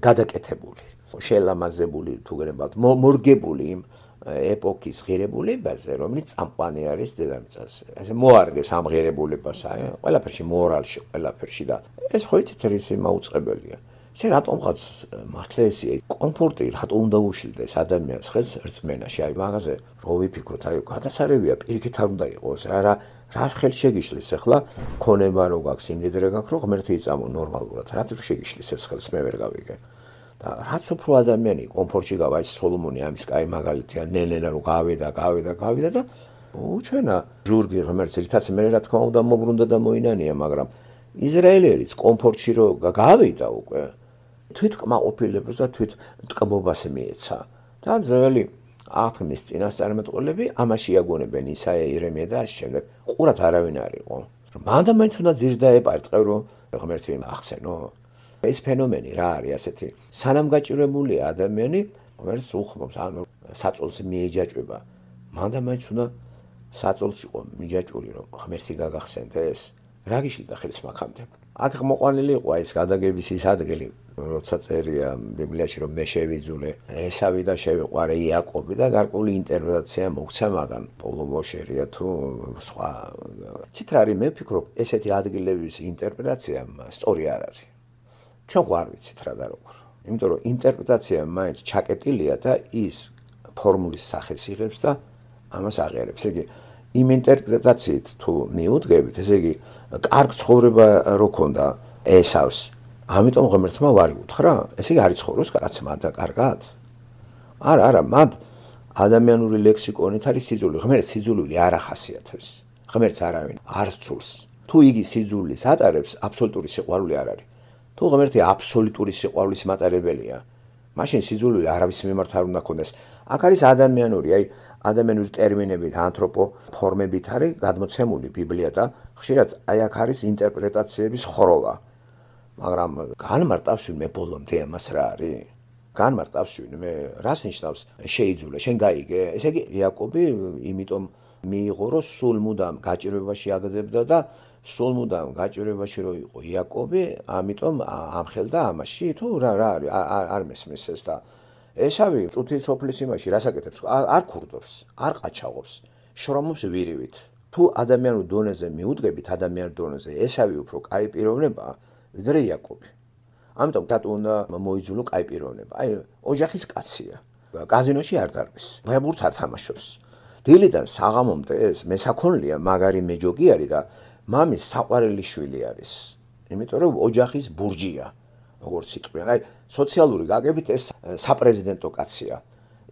გადაკეთებული, შეელამაზებული თუ გნებავთ, მორგებული იმ ეპოქის ღირებულებაზე, რომელიც წამყვანი არის დედამიწაზე. ესე მოარგეს ამ ღირებულებას, ყველაფერში მორალში, ყველაფერში და ეს ხო იცით რისი მაუწყებელია. ესე რატომღაც მართლა ესე კომფორტი რატო უნდა უშილდეს ადამიანს ხელს რწმენაში? აი მაგაზე რო ვიფიქროთ, აი გადასარევია პირიქით არ უნდა იყოს, რა ხელ შეგიშლის ახლა ქონება რო გაქვს, იმდიდრე გაქვს, რომ ღმერთი იწამო ნორმალურად. რატო შეგიშლის ეს ხელს მე ვერ გავიგე. და რაც უფრო ადამიანი კომფორტში გავა, ის სოლომონი ამის კაი მაგალითია, ნელ-ნელა რო გავიდა და უჩვენა ზურგი ღმერთს, რითაც მე რა თქმა უნდა მოbrunდა და მოინანია, მაგრამ ისრაელერიც კომფორტში რო გავიდა უკვე თვით კმაყოფილებას და თვით ტკბობას მიეცა. და ძველი აღთქმის წინასწარმეტყველები ამაში იაგონებენ ისაია, ირემია და ასე შემდეგ. ყურად არავინ არ იყო. მანდა მაინც უნდა ძირს დაეპარტყევ, რომ ღმერთი ახსენო. ეს ფენომენი რა არის ასეთი? სანამ გაჭირებულია ადამიანი, ღმერთს უხმობს, ანუ საწოლს მიეჯაჭვება. მანდა მაინც უნდა საწოლს იყო მიჯაჭვული, რომ ღმერთი გაგახსენდეს. რა გიშლიდა ხელს მაგამდე? აქ მოყვანილი იყო ეს გადაგების ის ადგილი, როცა წერია ბიბლიაში, რომ მე შევიძულე ესავი და შევიყვარე იაკობი და გარკვეული ინტერპრეტაცია მოგცა მაგან პოლო ვოშერია თუ სხვა. ციტრარი მე ვფიქრობ, ესეთი ადგილების ინტერპრეტაცია სწორი არ არის. ჩვენ ხო არ ვიცით რა და როგორ. იმიტომ რომ ინტერპრეტაცია მაინც ჩაკეტილია და ის ფორმულის სახეს იღებს და ამას აღიარებს. ესე იგი, იმ ინტერპრეტაციით თუ მიუდგებით, ესე იგი, კარგ ცხოვრება რო ქონდა ესავს, ამიტომ ღმერთმა ვარი უთხრა? ესე იგი, არ იცხოვროს კაცმა და კარგად? არა, მათ ადამიანური ლექსიკონით არის სიძულვი. ღმერთს სიძულვილი არ ახასიათებს. ღმერთს არავინ არ სძულს. თუ იგი სიძულვის ატარებს, აბსოლუტური სიყვარული არ არის. თუ ღმერთი აბსოლუტური სიყვარულის მატარებელია, მაშინ სიძულვილი არავის მიმართ არ უნდა ქონდეს. აქ არის ადამიანური ტერმინებით, ანთროპოფორმებით არის გადმოცემული ბიბლია და ხშირად აქ არის ინტერპრეტაციების ხროვა. მაგრამ განმარტავს ვინმე ბოლომდე ამას რა არის? განმარტავს ვინმე რას ნიშნავს შეიძულე, შენ გაიგე? ესე იგი, იაკობი იმიტომ მიიღო, რომ სულ მუდამ გაჭირვებაში აგდებდა და სულ მუდამ გაჭირვებაში რო იყო იაკობი, ამიტომ ამხელდა ამაში, თუ რა არის, არ მესმის ეს და ესავი წუთის სოფლის იმაში რას აკეთებს? არ ქურდობს, არ ყაჩაღობს, შრომობს ვირივით. თუ ადამიანურ დონეზე მიუდგებით, ადამიანურ დონეზე, ესავი უფრო კაი პიროვნებაა, ვიდრე იაკობი. ამიტომ დატო უნდა მოიძულო კაი პიროვნება. აი, ოჯახის კაცია. კაზინოში არ დარბის, ბებურს არ თამაშობს. დილიდან საღამომდე ეს მესაქონლია, მაგარი მეჯოგი არის და მამის საყვარელი შვილი არის. იმიტომ რომ ოჯახის ბურჯია, როგორც სიტყვიან. აი, სოციალური გაგებით ეს საპრეზიდენტო კაცია.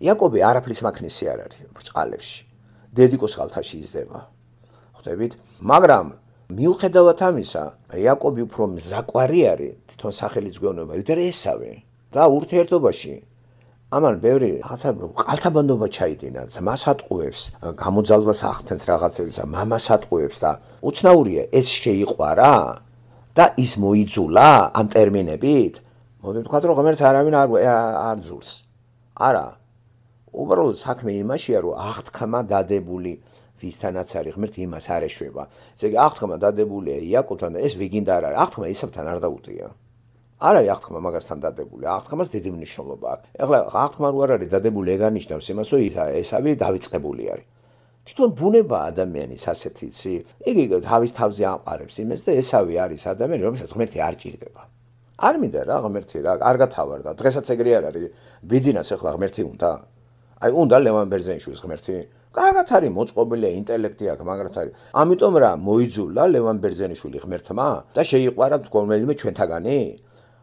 იაკობი არაფრის მაქნისი არ არის ბრწყალებში. დედიკოს ხალთაში იზრდება. ხვდებით? მაგრამ მიუხედავად ამისა, იაკობი უფრო მზაკვარი არის თვითონ სახელის გვეუბნება, ვიდრე ესავი. და ურთიერთობაში ამან ბევრი რაღაცა ყალთაბანდობა ჩაიდინა, ძმას ატყუებს, გამოძალვას ახდენს რაღაცებს და მამას ატყუებს და უცნაურია ეს შეიყვარა და ის მოიძულა ამ ტერმინებით. მოდი ვთქვათ, რომ ღმერთს არავინ არ ძულს. არა. უბრალოდ საქმე იმაშია, რომ აღთქმა დადებული ვისთანაც არის ღმერთი იმას არ ეშვება. ესე იგი, აღთქმა დადებულია იაკობთან და ეს ვიგინდა არ არის. აღთქმა ისაბთან არ დაუტია. არ არის აღთქმა მაგასთან დადებული. აღთქმას დიდი მნიშვნელობა აქვს. ეხლა აღთქმა რო არ არის დადებული, ეგ არნიშნავს იმას, რომ ესავი დავიწყებული არის. თვითონ ბუნება ადამიანის ასეთი იცი. იგი თავის თავზე ამყარებს იმას და ესავი არის ადამიანი, რომელსაც ღმერთი არ ჭირდება. არ მინდა რა ღმერთი რა, არ გათავარდა. დღესაც ეგრე არ არის. ბიძინას ეხლა ღმერთი უნდა. აი, უნდა ლევან ბერძენიშვილის ღმერთი. კარგად არის მოწყობილია, ინტელექტი აქვს, მაგრად არის. ამიტომ რა მოიძულა ლევან ბერძენიშვილი ღმერთმა და შეიყვარა რომელიმე ჩვენთაგანი?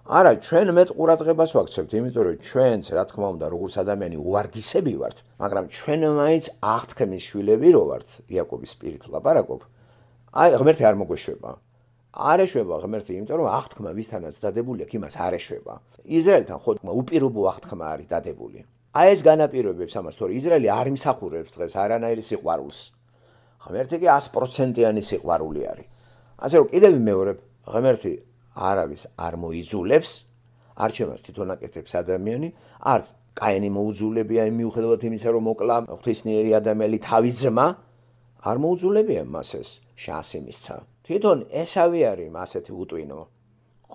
არა, ჩვენ მეტ ყურადღებას ვაქცევთ, იმიტომ რომ ჩვენც, რა თქმა უნდა, როგორც ადამიანი უვარგისები ვართ, მაგრამ ჩვენ მაინც აღთქმის შვილები რო ვართ, იაკობის პირით ვლაპარაკობ. აი, ღმერთი არ მოგვეშვება. არ ეშვება ღმერთი, იმიტომ რომ აღთქმა ვისთანაც დადებული აქვს, იმას არ ეშვება. ისრაელთან ხოთქმა უპირობო აღთქმა არის დადებული. აი ეს განაპირობებს ამას, თორე ისრაელი არ იმსახურებს დღეს არანაირი სიყვარულს. ღმერთი კი 100%-იანი სიყვარული არის. ასე რომ კიდევ ვიმეორებ, ღმერთი არავის არ მოიძულებს, არჩევას თვითონ აკეთებს ადამიანი, არც კაინი მოუძულებია მიუხედავად იმისა, რომ მოკლა ღვთისმიერი ადამიანი თავის ძმა, არ მოუძულებია მას ეს შანსი მისცა. თვითონ ესავი არის ასეთი უტვინო.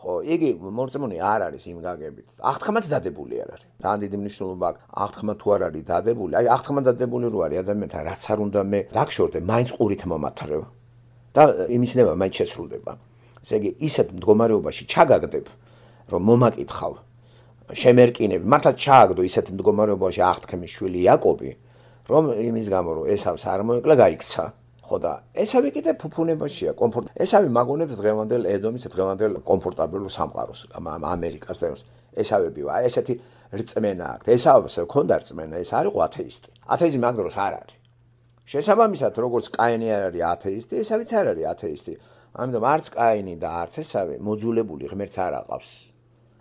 ხო, იგი მორწმუნე არ არის იმ გაგებით. აღთქმაც დადებული არ არის. ძალიან დიდი მნიშვნელობა აქვს. აღთქმა თუ არ არის დადებული, აი აღთქმა დადებული რო არის ადამიანთან, რაც არ უნდა მე დაგშორდე, მაინც ყურით მომათრევ. და იმის ნება მაინც შესრულდება. ესე იგი, ისეთ მდგომარეობაში ჩაგაგდებ, რომ მომაკითხავ, შემერკინებ, მართლა ჩააგდო ისეთ მდგომარეობაში აღთქმის შვილი იაკობი, რომ იმის გამო რომ ესავს არ მოეკლა, გაიქცა. ხო და ესავი კიდე ფუფუნებაშია, ესავი მაგონებს დღევანდელ ედომის, დღევანდელ კომფორტაბელ სამყაროს, ამერიკას და ესავები, აი ესეთი რწმენა აქვს. ესავს ქონდა რწმენა, ეს არ იყო ათეისტი. ათეიზმი მაგ დროს არ არის. შესაბამისად, როგორც კაინი არ არის ათეისტი, ესავიც არ არის ათეისტი. ამიტომ არც კაინი და არც ესავი მოძულებული ღმერთს არ აყავს.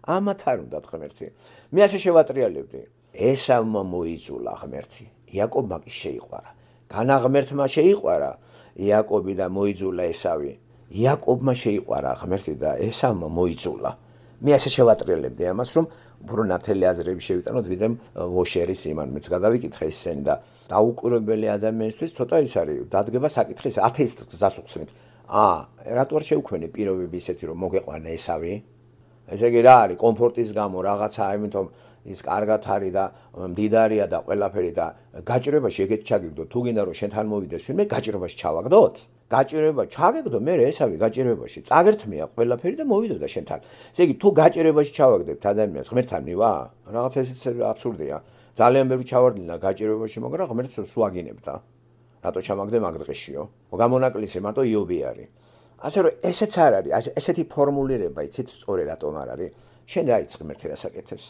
ამათ არ უნდა ღმერთი. მე ასე შევატრიალებდი. ესავმა მოიძულა ღმერთი. იაკობმა კი შეიყვარა. განაღმერთმა შეიყვარა იაკობი და მოიძულა ესავი. იაკობმა შეიყვარა ღმერთი და ესავმა მოიძულა. მე ასე შევატრიალებდი ამას, რომ უფრო ნათელი აზრები შევიტანოთ, ვიდრე ვოშერის იმან მეც გადავიკითხე ისინი და დაუკვირვებელი ადამიანისთვის ცოტა ის არის, დადგება საკითხის ათეისტს გზას უხსნით. რატო არ შევქმნი პირობები ისეთი, რომ მოგეყვანა ესავი? ესე იგი რა არის, კომფორტის გამო რაღაცა, ამიტომ ის კარგად არის და მდიდარია და ყველაფერი და გაჭირვებაში ეგეთ ჩაგიგდო, თუ გინდა რომ შენთან მოვიდეს ვინმე, გაჭირვებაში ჩავაგდოთ? გაჭირვება ჩაგეგდო, მე ესავი გაჭირვებაში, წაგერთმია ყველაფერი და მოვიდოდა შენთან. ესე იგი, თუ გაჭირვებაში ჩავაგდებთ ადამიანს, ღმერთთან მივა? რაღაცა ესეც აბსურდია. ძალიან ბევრი ჩავარდნილა გაჭირვებაში, მაგრამ ღმერთს სუაგინებდა. რატო ჩამაგდე მაგ დღეშიო? გამონაკლისი მარტო იობი არის. ასე რომ ესეც არ არის, ესეთი ფორმულირება იცით სწორი რატომ არ არის? შენ რა იცი ღმერთი რას აკეთებს?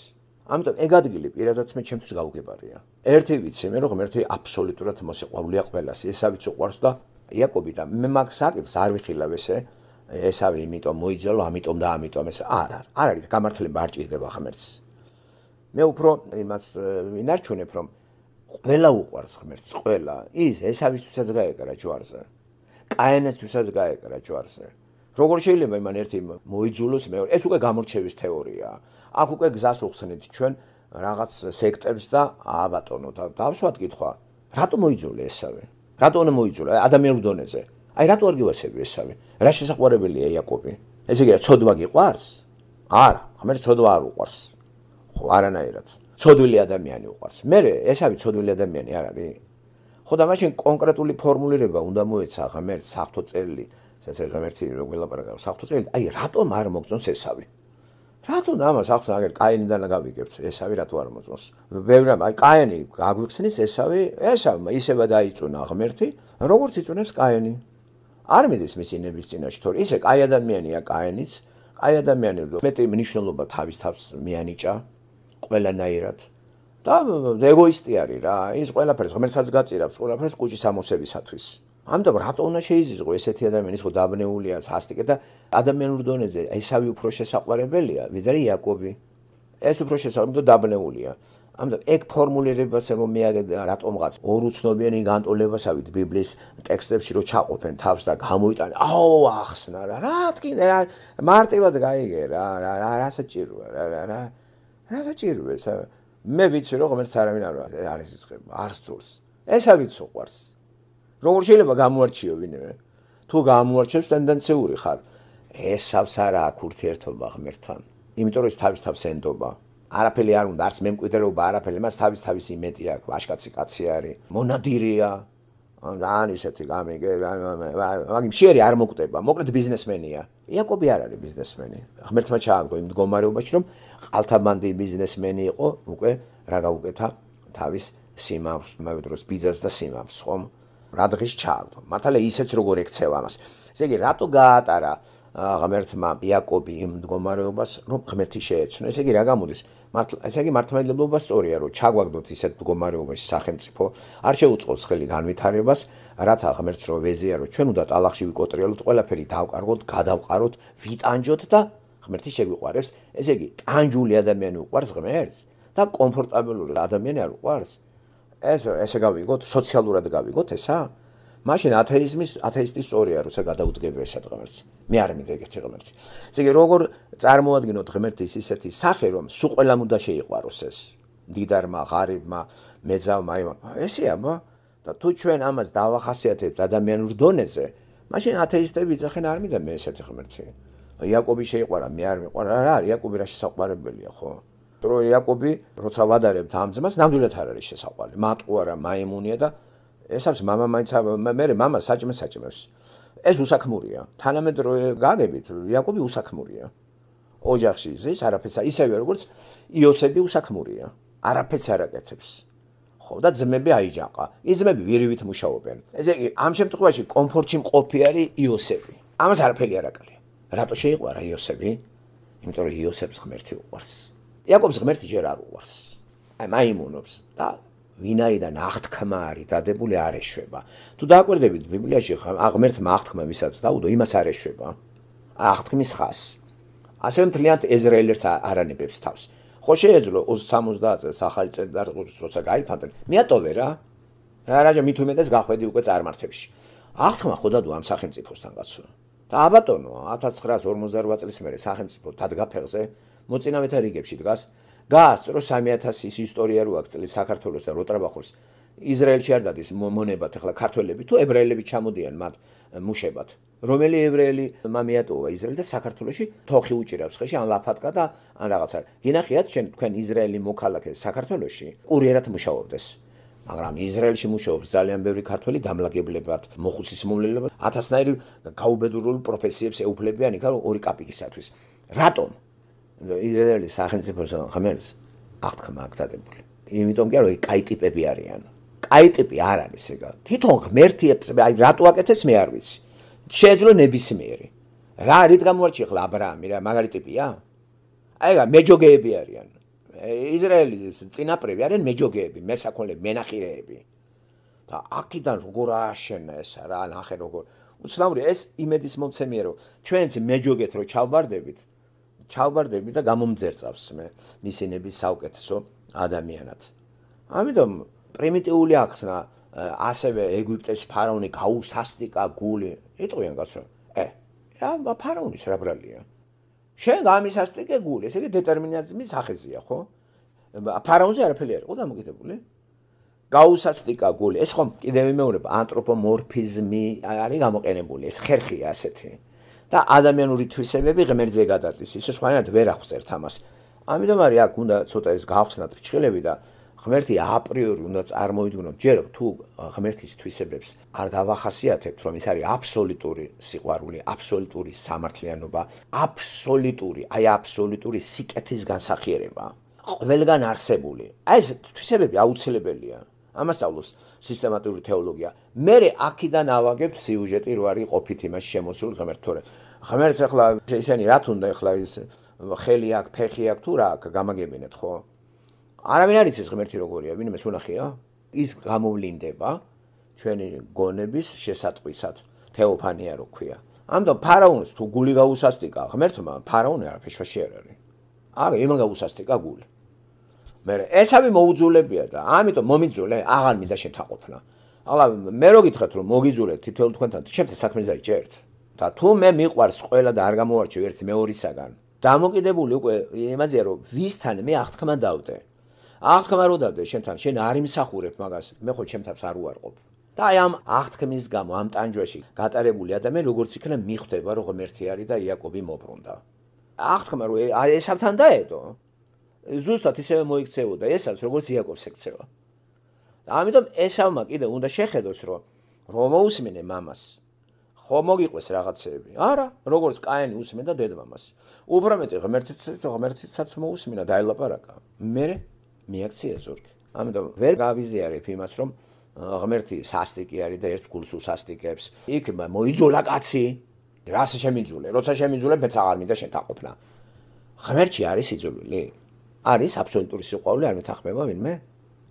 ამიტომ ეგ ადგილი პირადად მე ჩემთვის გაუგებარია. ერთი ვიცი მე რომ ღმერთი აბსოლუტურად მოსიყვარულეა ყველას, ესავიც უყვარს და იაკობი და მე მაგ საკითხს არ ვიხილავ ესავე იმიტომ მოიძალო, ამიტომ და ამიტომ ეს არ არის გამართლება არ ჭირდება ღმერთს. მე უფრო იმას ვინარჩუნებ რომ ყველა უყვარს ღმერთს, ყველა. ის ესავისთვისაც გაეკარა ჯვარზე. კაინისთვისაც გაეკარა ჯვარზე. როგორ შეიძლება იმან ერთი მოიძულოს მეორე? ეს უკვე გამორჩევის თეორიაა. აქ უკვე გზას უხსნით ჩვენ რაღაც სექტებს და აბატონო და დავსვათ კითხვა. რატო მოიძულე ესავე? რატო უნდა მოიძულა ადამიანურ დონეზე? აი რატო არ გივასები ესავე? რა შესაყვარებელია იაკობი? ესე იგი ცოდვა გიყვარს? არა, ღმერთს ცოდვა არ უყვარს. ხო, არანაირად. ცოდვილი ადამიანი უყვარს. მე ესავე ცოდვილი ადამიანი არ არის? ხო და მაშინ კონკრეტული ფორმულირება უნდა მოეცა ღმერთს საფრთხო წერილი, ესე ღმერთი როგორ ლაპარაკობს საფრთხო წერილი, აი რატომ არ მოგწონს ესავე? რატომ ამას ახს აგერ კაინიდან გავიგებთ ესავე რატო არ მოწონს? ბევრამ აი კაინი გაგვიხსნის ესავე ისევა დაიწუნა ღმერთი, როგორც იწუნებს კაინი. არ მიდის მისი ნების წინაშე, თორე ისე კაი ადამიანია კაინიც, კაი ადამიანი მეტი მნიშვნელობა თავის თავს მიანიჭა ყველანაირად. და ეგოისტი არის რა, ის ყველაფერს ღმერთსაც გაწირავს, ყველაფერს კუჭის ამოსებისათვის. ამიტომ რატო უნდა შეიზღო ესეთი ადამიანი, ის ხო დაბნეულია, სასტიკე და ადამიანურ დონეზე ესავე უფრო შესაყვარებელია, ვიდრე იაკობი. ეს უფრო შესაძლოა დაბნეულია. ამიტომ ეგ ფორმულირებას რომ მე რატომღაც ორუცნობიანი განტოლებასავით ბიბლიის ტექსტებში რო ჩაყოფენ თავს და გამოიტანე, აო ახსნა რა თქინდა რა მარტივად გაიგე რა საჭიროა რა საჭიროა ეს მე ვიცი რომ ღმერთს არავინ არ იზღება, არ სწულს. ესავით უყვარს. როგორ შეიძლება გამოარჩიო ვინმე? თუ გამოარჩევს ტენდენციური ხარ. ესავს არა აქვს ურთიერთობა ღმერთთან. იმიტომ რომ ის თავის თავს ენდობა. არაფერი არ უნდა, არც მემკვიდრეობა, არაფერი, მას თავის იმედი აქვს, ვაჟკაცი კაცი არის, მონადირეა. ან ისეთი გამიგე, მაგ მშიერი არ მოკვდება, მოკლედ ბიზნესმენია. იაკობი არ არის ბიზნესმენი. ღმერთმა ჩააგდო იმ მდგომარეობაში, რომ ყალთაბანდი ბიზნესმენი იყო, უკვე რა გაუკეთა თავის სიმავს, მაგ დროს ბიზნეს და სიმავს, ხომ? რა დღეს ჩააგდო. მართალია ისეც როგორ ექცევა ამას. ესე იგი, რატო გაატარა ღმერთმა იაკობი იმ მდგომარეობას, რომ ღმერთი შეეცნო. ესე იგი, რა გამოდის? ესე იგი, მართლმადიდებლობა სწორია, რომ ჩაგვაგდოთ ისეთ მდგომარეობაში სახელმწიფო, არ შეუწყობს ხელი განვითარებას, რათა ღმერთს რო ვეზიარო, ჩვენ უნდა ტალახში ვიკოტრიალოთ, ყველაფერი დავკარგოთ, გადავყაროთ, ვიტანჯოთ და ღმერთი შეგვიყვარებს. ესე იგი, ტანჯული ადამიანი უყვარს ღმერთს და კომფორტაბელური ადამიანი არ უყვარს. ესე გავიგოთ, სოციალურად გავიგოთ ესა? მაშინ ათეისტი სწორია, როცა გადაუდგება ესად ღმერთს. მე არ მინდა ეგეთი ღმერთი. ესე იგი, როგორ წარმოადგინოთ ღმერთის ისეთი სახე, რომ სულ ყველამ უნდა შეიყვაროს ეს. მდიდარმა, ღარიბმა, მეძავმა, ესეა, და თუ ჩვენ ამას დავახასიათებთ ადამიანურ დონეზე, მაშინ ათეისტები იძახენ არ მინდა მე ესეთი ღმერთი. იაკობი შეიყვარა, მე არ მიყვარა. რა არის იაკობი რა შესაყვარებელია, ხო? რომ იაკობი როცა ვადარებთ ამ ძმას, ნამდვილად არ არის შესაყვარებელი. მატყუ არა, მაიმუნია და ესავს მამა მაინც მე მამა საჭმეს. ეს უსაქმურია. თანამედ რო გაგებით, იაკობი უსაქმურია. ოჯახში ზის არაფერს ისევე როგორც იოსები უსაქმურია. არაფერს არ აკეთებს. ხო და ძმები აიჯაყა. ის ძმები ვირივით მუშაობენ. ესე იგი, ამ შემთხვევაში კომფორტში მყოფი არის იოსები. ამას არაფერი არ აკალია. რატო შეიყვარა იოსები? იმიტომ რომ იოსებს ღმერთი უყვარს. იაკობს ღმერთი ჯერ არ უყვარს. აი მაიმუნობს და ვინაიდან აღთქმა არის დადებული არ ეშვება. თუ დააკვირდებით ბიბლიაში ღმერთმა აღთქმა ვისაც დაუდო, იმას არ ეშვება. აღთქმის ხას. ასე მთლიანად ეზრაელს არანებებს თავს. ხო შეეძლო 70 წელს ახალი წელს როცა გაიფანტენ. მიატოვე რა. რაჯა მით უმეტეს გახვედი უკვე წარმართებში. აღთქმა ხო დადო ამ სახელმწიფოსთან კაცო. და აბატონო 1948 წლის მერე სახელმწიფო დადგა ფეხზე, მოწინავეთა რიგებში დგას. გაასწრო 3000 ის ისტორია რო აქვს წლის საქართველოს და როტრაბახოს ისრაელში არ დადის მონებად ახლა ქართველები თუ ებრაელები ჩამოდიან მათ მუშებად. რომელი ებრაელი მიატოვა ისრაელი და საქართველოში თოხი უჭირავს ხეში ან ლაფატკა და ან რაღაცა. გინახიათ თქვენ ისრაელი მოქალაქე საქართველოში კურიერად მუშაობდეს. მაგრამ ისრაელში მუშაობს ძალიან ბევრი ქართველი დამლაგებლებად, მოხუცის მომლელებად, 1000-ნაირი გაუბედურულ პროფესიებს ეუფლებიან იქ ორი კაპიკისათვის. რატომ? ისრაელის სახელმწიფოს ღმერთს აღთქმა აქვს დადებული. იმიტომ კი არა, კაი ტიპები არიან. კაი ტიპი არ არის ეგა. თვითონ ღმერთიებს აი რატო აკეთებს მე არ ვიცი. შეეძლო ნებისმიერი. რა რით გამოარჩია ახლა აბრაამი რა მაგარი ტიპია? აი რა მეჯოგეები არიან. ისრაელის წინაპრები არიან მეჯოგეები, მესაქონლეები, მენახირეები. და აქედან როგორ ააშენა ეს რა ნახე როგორ უცნაური ეს იმედის მომცემია რომ ჩვენც მეჯოგეთ რომ ჩავბარდებით და გამომძერწავს მე მისინების საუკეთესო ადამიანად. ამიტომ პრიმიტიული ახსნა ასევე ეგვიპტეს ფარაონი გაუსასტიკა გული იტყვიან კაცო რა ფარაონის რა ბრალია შენ გამისასტიკე გული ესე იგი დეტერმინიზმის სახეზია ხო ფარაონზე არაფერი არ იყო დამოკიდებული გაუსასტიკა გული ეს ხომ კიდევ იმეორება ანთროპომორფიზმი არის გამოყენებული ეს ხერხია ასეთი და ადამიანური თვისებები ღმერთზე გადადის ისე სხვანაირად ვერ ახსერთ ამას ამიტომ არის აქ უნდა ცოტა ეს გავხსნათ ფრჩხილები და ღმერთი აპრიორი უნდა წარმოიდგინოთ ჯერ თუ ღმერთის თვისებებს არ დავახასიათებთ რომ ის არის აბსოლუტური სიყვარული აბსოლუტური სამართლიანობა აბსოლუტური სიკეთის განსახიერება ყველგან არსებული აი ეს თვისებები აუცილებელია ამას სწავლობს სისტემატური თეოლოგია მე აქედან ავაგებთ სიუჟეტი რო არის ყოფით იმას შემოსული ღმერთს თორე ღმერთს ახლა ისინი რა თუნდა ახლა ის ხელი აქვს ფეხი აქვს თუ რა აქვს გამაგებინეთ ხო არავინ არის ეს ღმერთი როგორია ვინმე უნახია ის გამოვლინდება ჩვენი გონების შესატყვისად თეოფანია რო ქვია ამიტომ ფარაონს თუ გული გაუსასტიკა ღმერთმა ფარაონი არაფერში არ არის არა იმან გაუსასტიკა გული მე ესავი მოუძულებია და ამიტომ მომიძულე აღარ მინდა შეთაყოფნა ახლა მე რო გითხრათ რომ მოგიძულეთ თითოეულ თქვენთან ჩემთან საქმეს დაიჭერთ და თუ მე მიყვარს ყველა და არ გამოვარჩევ ერთს მეორისაგან დამოკიდებული უკვე იმაზეა რომ ვისთან მე აღთქმა დავდე აღთქმა რო დავდე შენთან შენ არ იმსახურებ მაგას მე ხო ჩემთავს არ უარყოფ და აი ამ აღთქმის გამო ამ ტანჯვაში გატარებული ადამიანი როგორც იქნა მიხვდება რომ ღმერთი არის და იაკობი მობრუნდა აღთქმა რომ ესავთან დაედო ზუსტად ისევე მოიქცეოდა ესავს როგორც იაკობს ექცევა ამიტომ ესავმა კიდე უნდა შეხედოს რომ მოусმინე მამას ხო მოგიყვეს რაღაცეები არა როგორც კაენი უსმენდა დედმამას უფრო მეტი ღმერთიცაც მოусმინა დაელაპარაკა მე მიაქცია ზურგი ამიტომ ვერ გავიზიარებ იმას რომ ღმერთი სასტიკი არის და ერთ გულს უსასტიკებს იქ მოიძულა კაცი რას შემიძულე როცა შემიძულე მეც აღარ მინდა შეთაყოფნა ღმერთი არის იძულული არის აბსოლუტური სიყვარული არ მეთანხმება ვინმე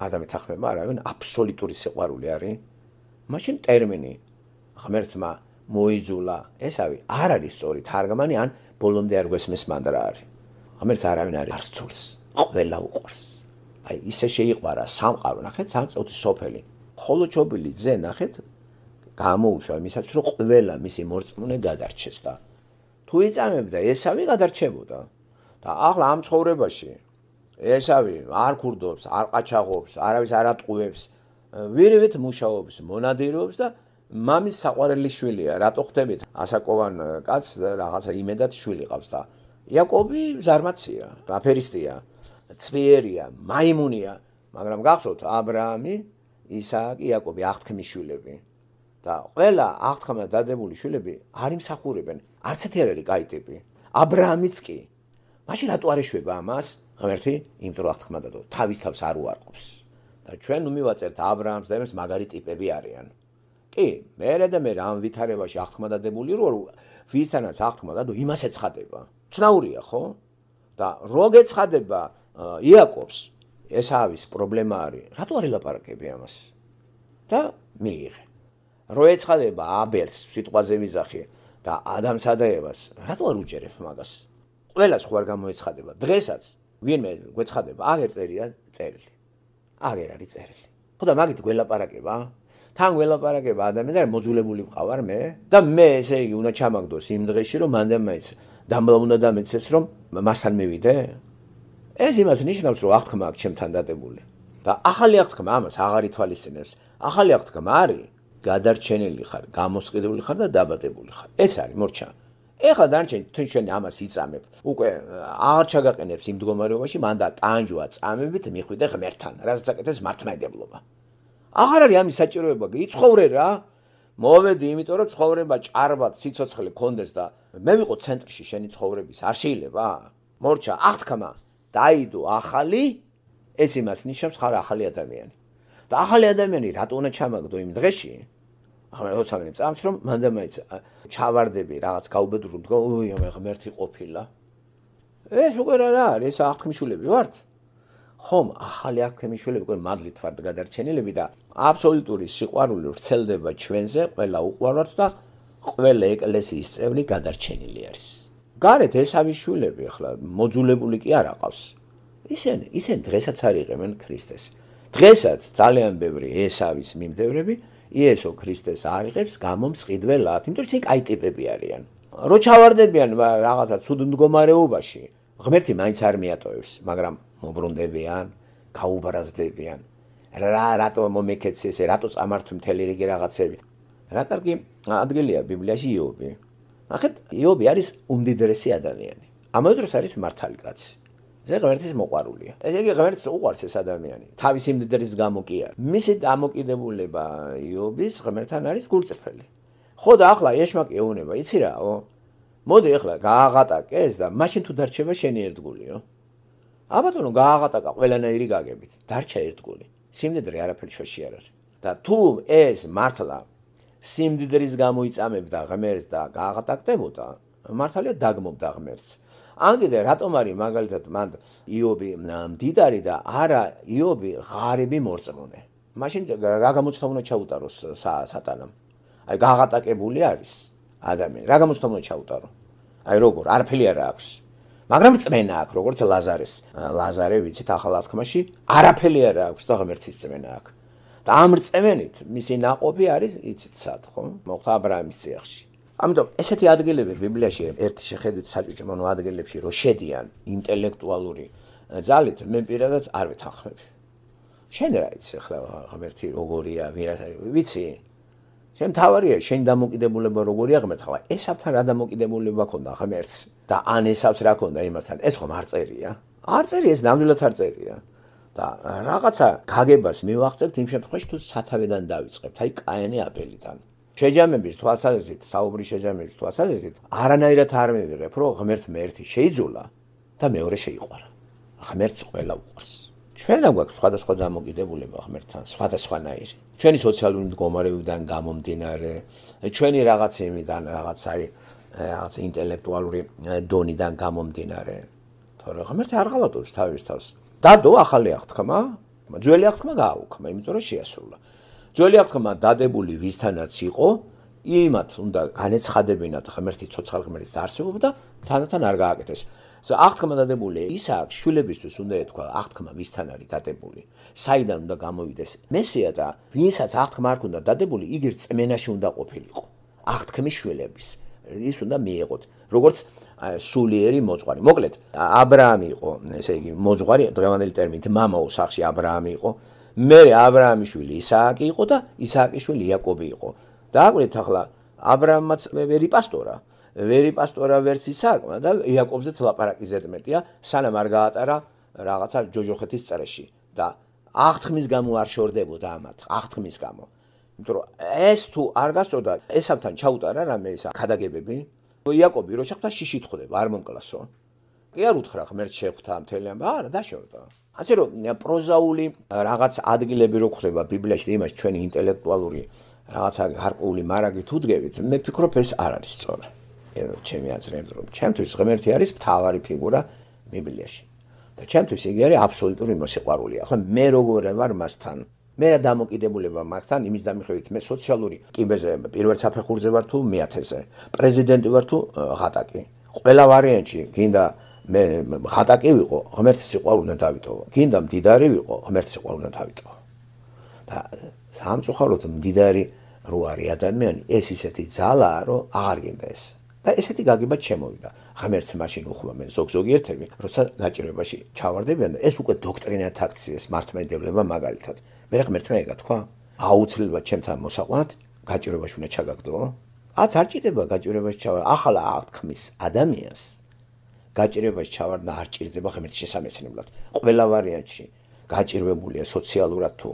არ დამეთანხმება არავინ აბსოლუტური სიყვარული არის მაშინ ტერმინი ღმერთმა მოიძულა ესავი არ არის სწორი თარგმანი ან ბოლომდე არ გვესმის მანდრა არის ღმერთს არავინ არ სცურს ყველა უყვარს აი ისე შეიყვარა სამყარო ნახეთ სამწუთი სოფელი ხოლო ჩობილი ძე ნახეთ გამოუშვა იმისაც რომ ყველა მისი მორწმუნე გადარჩეს და თუ იწამებდა ესავი გადარჩებოდა და ახლა ამ ცხოვრებაში ესავი არ ქურდობს არ ყაჩაღობს არავის არ ატყუებს ვირივით მუშაობს მონადირეობს და მამის საყვარელი შვილია რატო ხდებით ასაკოვან კაცს რაღაცა იმედად შვილი ყავს და იაკობი ზარმაცია აფერისტია ცვიერია მაიმუნია მაგრამ გახსოვთ აბრაამი ისააკი იაკობი აღთქმის შვილები და ყველა აღთქმა დადებული შვილები არ იმსახურებენ არც ერთი არ არის კაი ტიპი აბრაამიც კი მაშინ რატო არ ეშვება ამას ღმერთი იმიტომ რომ აღთქმა დადო თავის თავს არ უარყოფს და ჩვენ ნუ მივაწერთ აბრაამს და იმას მაგარი ტიპები არიან კი მე ამ ვითარებაში აღთქმა დადებული რომ ვისთანაც აღთქმა დადო იმას ეცხადება ცნაურია ხო და რო გეცხადება იაკობს ესავის პრობლემა არის რატო არ ელაპარაკები ამას და მიიღე რო ეცხადება აბელს სიტყვაზე ვიზახი და ადამსა და ევას რატო არ უჭერებ მაგას ყველას ხო არ გამოეცხადება დღესაც ვინმე გვეცხადება აგერ წერია წერილი აგერ არის წერილი ხო და მაგით გველაპარაკება თან გველაპარაკება ადამიანი და მოძულებული ვყავარ მე და მე ესე იგი უნდა ჩამაგდოს იმ დღეში რომ მანდ მაინც დამბლა უნდა დამეცეს რომ მასთან მივიდე ეს იმას ნიშნავს რომ აღთქმა აქვს ჩემთან დადებული და ახალი აღთქმა ამას აღარ ითვალისწინებს ახალი აღთქმა არის გადარჩენილი ხარ გამოსყიდული ხარ და დაბადებული ხარ ეს არის მორჩა ეხლა დარჩენ თუ შენ ამას იწამებ უკვე აღარ ჩაგაყენებს იმ მდგომარეობაში მანდა ტანჯვა წამებით მიხვიდე ღმერთთან რასაც აკეთებს მართლმადიდებლობა აღარ არის ამის საჭიროება იცხოვრე რა მოვედი იმიტომ რომ ცხოვრება ჭარბად სიცოცხლე გქონდეს და მე ვიყო ცენტრში შენი ცხოვრების არ შეიძლება მორჩა აღთქმა დაიდო ახალი ეს იმას ნიშნავს ხარ ახალი ადამიანი. და ახალი ადამიანი რატო უნდა ჩამაგდო იმ დღეში? ახლა როცა მე წამს რომ მანდა მაინც ჩავარდები რაღაც გაუბედურებ თქო, ოი მე ღმერთი ყოფილა. ეს უკვე რა არის, აღთქმიშვილები ვართ. ხომ ახალი აღთქმიშვილები უკვე მადლით ვართ გადარჩენილები და აბსოლუტური სიყვარული ვრცელდება ჩვენზე, ყველა უყვარვართ და ყველა ეკლესიის წევრი გადარჩენილი არის. გარეთ ესავის შვილები ახლა მოძულებული კი არ აყავს. ისინი დღესაც არ იღებენ ქრისტეს. დღესაც ძალიან ბევრი ესავის მიმდევრები იესო ქრისტეს არ იღებს გამომსყიდველად, იმიტომ რომ ისინი კაი ტიპები არიან. რო ჩავარდებიან რაღაცა ცუდ მდგომარეობაში, ღმერთი მაინც არ მიატოვებს, მაგრამ მობრუნდებიან, გაუბრაზდებიან. რატო მომეკეცე ესე, რატო წამართვი მთელი რიგი რაღაცები. რა კარგი ადგილია ბიბლიაში იობი. ნახეთ, იობი არის უმდიდრესი ადამიანი. ამავე დროს არის მართალი კაცი. ეს ღმერთის მოყვარულია. ესე იგი ღმერთს უყვარს ეს ადამიანი. თავისი მდიდრის გამო კი არა. მისი დამოკიდებულება იობის ღმერთთან არის გულწრფელი. ხო და ახლა ეშმაკი ეუნება, იცი რაო? მოდი ახლა გააღატაკე ეს და მაშინ თუ დარჩება შენი ერთგულიო. აბატონო გააღატაკა ყველანაირი გაგებით. დარჩა ერთგული. სიმდიდრე არაფერი შუაში არ არის. და თუ ეს მართლა სიმდიდრის გამო იწამებდა ღმერთს და გააღატაკდებოდა, მართალია დაგმობდა ღმერთს. ან კიდე რატომ არის მაგალითად მან იობი მდიდარი და არა იობი ღარიბი მორწმუნე. მაშინ რა გამოცდა უნდა ჩაუტაროს სატანამ? აი გააღატაკებული არის ადამიანი. რა გამოცდა უნდა ჩაუტარო? აი როგორ? არაფერი არ აქვს. მაგრამ წმენა აქვს, როგორც ლაზარეს. ლაზარე ვიცით ახალ აღთქმაში არაფერი არ აქვს და ღმერთის წმენა აქვს. და ამ რწმენით მისი ნაყოფი არის იცით სად, ხო? მოხდა ა ブラ ამის წიაღში. ამიტომ ესეთი ადგილები ბიბლიაში ერთი შეხედვით საჭუჭმონო ადგილებში რო შედიან ინტელექტუალური ძალით მე პირადად არ ვეთანხმები. შენ რა იცი ახლა ღმერთი როგორია, ვიცი? შენ თავარია შენ დამოკიდებულება როგორია ღმერთს. ახლა ესავთან რა დამოკიდებულება ქონდა ღმერთს და ან ესავს რა ქონდა იმასთან, ეს ხომ არ წერია? არ წერია, ეს ნამდვილად არ წერია. და რაღაცა გაგებას მივახცევთ იმ შემთხვევაში თუ სათავედან დავიწყებთ, აი კაენი აბელიდან. შეჯამების თვალსაზრისით, საუბრის შეჯამების თვალსაზრისით, არანაირად არ მივიღებ, რომ ღმერთმა ერთი შეიძულა და მეორე შეიყვარა. ღმერთს ყველა უყვარს. ჩვენ არ გვაქვს სხვადასხვა დამოკიდებულება ღმერთთან, სხვადასხვანაირი. ჩვენი სოციალური მდგომარეობიდან გამომდინარე, ჩვენი რაღაც იმიდან, რაღაც ინტელექტუალური დონიდან გამომდინარე. თორე ღმერთი არ ღალატობს თავის თავს. დადო ახალი აღთქმა, ძველი აღთქმა გააუქმა, იმიტომ რომ შეასრულა. ძველი აღთქმა დადებული ვისთანაც იყო, იმათ უნდა განეცხადებინათ ღმერთი ცოცხალ ღმერთის არსებობა და თანდათან არ გააკეთეს. აღთქმა დადებული ისააკ შვილებისთვის უნდა ეთქვა აღთქმა ვისთან არის დადებული, საიდან უნდა გამოვიდეს მესია და ვინსაც აღთქმა არ ქონდა დადებული, იგი რწმენაში უნდა ყოფილიყო. აღთქმის შვილების ის უნდა მიეღოთ, როგორც სულიერი მოძღვარი. მოკლედ, ა ブラ ამი იყო, ესე იგი, მოძღვარი, დღევანდელი ტერმინით მამაო სახში ა ブラ ამი იყო. მერე ა ブラ ამის შვილი ისააკი იყო და ისააკის შვილი იაკობი იყო. დააკვირდით ახლა ა ブラ ამაც ვერი პასტორა ვერც ისააკმა და იაკობზეც ლაპარაკი ზედმეტია, სანამ არ გაატარა რაღაცა ჯოჯოხეთის წრეში და აღთქმის გამო არ შორდებოდა ამათ, აღთქმის გამო. იმიტომ რომ ეს თუ არ გასწორდა, ესავთან ჩაუტარა რამე ისა ქადაგებები. იაკობი რო შეხვდა შიშით ხვდება, არ მომკლასო. კი არ უთხრა ღმერთს შეხვდა მთელი ამბა, არა დაშორდა. ასე რომ პროზაული რაღაც ადგილები რო ხვდება ბიბლიაში და იმას ჩვენი ინტელექტუალური რაღაცა გარკვეული მარაგი თუ დგებით, მე ფიქრობ ეს არ არის სწორი. ჩემი აზრით რომ ჩემთვის ღმერთი არის მთავარი ფიგურა ბიბლიაში. და ჩემთვის იგი არის აბსოლუტური მოსიყვარული. ახლა მე როგორ ვარ მასთან? მე რა დამოკიდებულება მაქვს იმის დამიხევით მე სოციალური კიბეზე პირველ საფეხურზე ვარ თუ მეათეზე პრეზიდენტი ვარ თუ ღატაკი ყველა ვარიანტში გინდა მე ღატაკი ვიყო ღმერთის სიყვარული უნდა დავიტოვო გინდა მდიდარი ვიყო ღმერთის სიყვარული უნდა დავიტოვო და სამწუხაროდ მდიდარი რო არის ადამიანი ეს ისეთი ძალაა რომ აღარ გინდა ეს და ესეთი გაგება შემოვიდა ღმერთს მაშინ უხმა მე ზოგიერთები როცა გაჭირვებაში ჩავარდებიან და ეს უკვე დოქტრინათ აქციეს მართლმადიდება მაგალითად მე ღმერთმა ეკითხა აუცილებლად ჩემთან მოსაყვანად გაჭირვებაში უნდა ჩაგაგდო აც არ ჭირდება გაჭირვებაში ჩავარ ახლა აღთქმის ადამიანს გაჭირვებაში ჩავარდა არ ჭირდება ღმერთის შესამეცნებლად ყველა ვარიანტში გაჭირვებულია სოციალურად თუ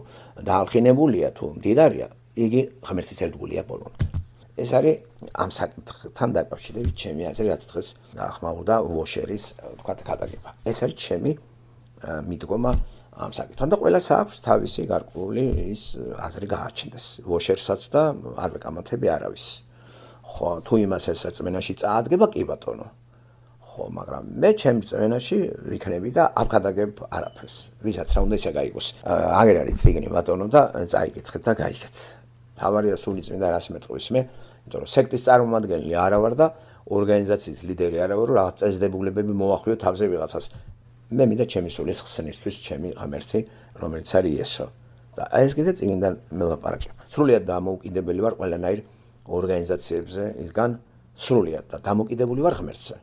დაალხინებულია თუ მდიდარია იგი ღმერთის ერთგულია ბოლომდე ეს არის ამ საკითხთან დაკავშირებით ჩემი აზრი რაც დღეს ახმაურდა ვოშერის თქვა ქადაგება ეს არის ჩემი მიდგომა ამ საკითხთან და ყველას აქვს თავისი გარკვეული ის აზრი გაარჩინდეს ვოშერსაც და არ ვეკამათები არავის ხო თუ იმას ეს წმენაში წაადგება კი ბატონო ხო მაგრამ მე ჩემ წმენაში ვიქნები და არ გადაგებ არაფერს ვისაც რა უნდა ისე გაიგოს აგერ არის წიგნი ბატონო და წაიკითხეთ და გაიგეთ თავარია სული წმინდა რას მეტყვის მე იმიტომ რომ სექტის წარმომადგენელი არა ვარ და ორგანიზაციის ლიდერი არა ვარ რომ რაღაც წესდებულებები მოვახვიო თავზე ვიღაცას მე მინდა ჩემი სულის ხსნისთვის ჩემი ღმერთი რომელიც არის იესო და ეს კიდე წიგნიდან მელაპარაკე სრულიად დამოუკიდებელი ვარ ყველანაირ ორგანიზაციებზე ისგან სრულიად და დამოუკიდებული ვარ ღმერთზე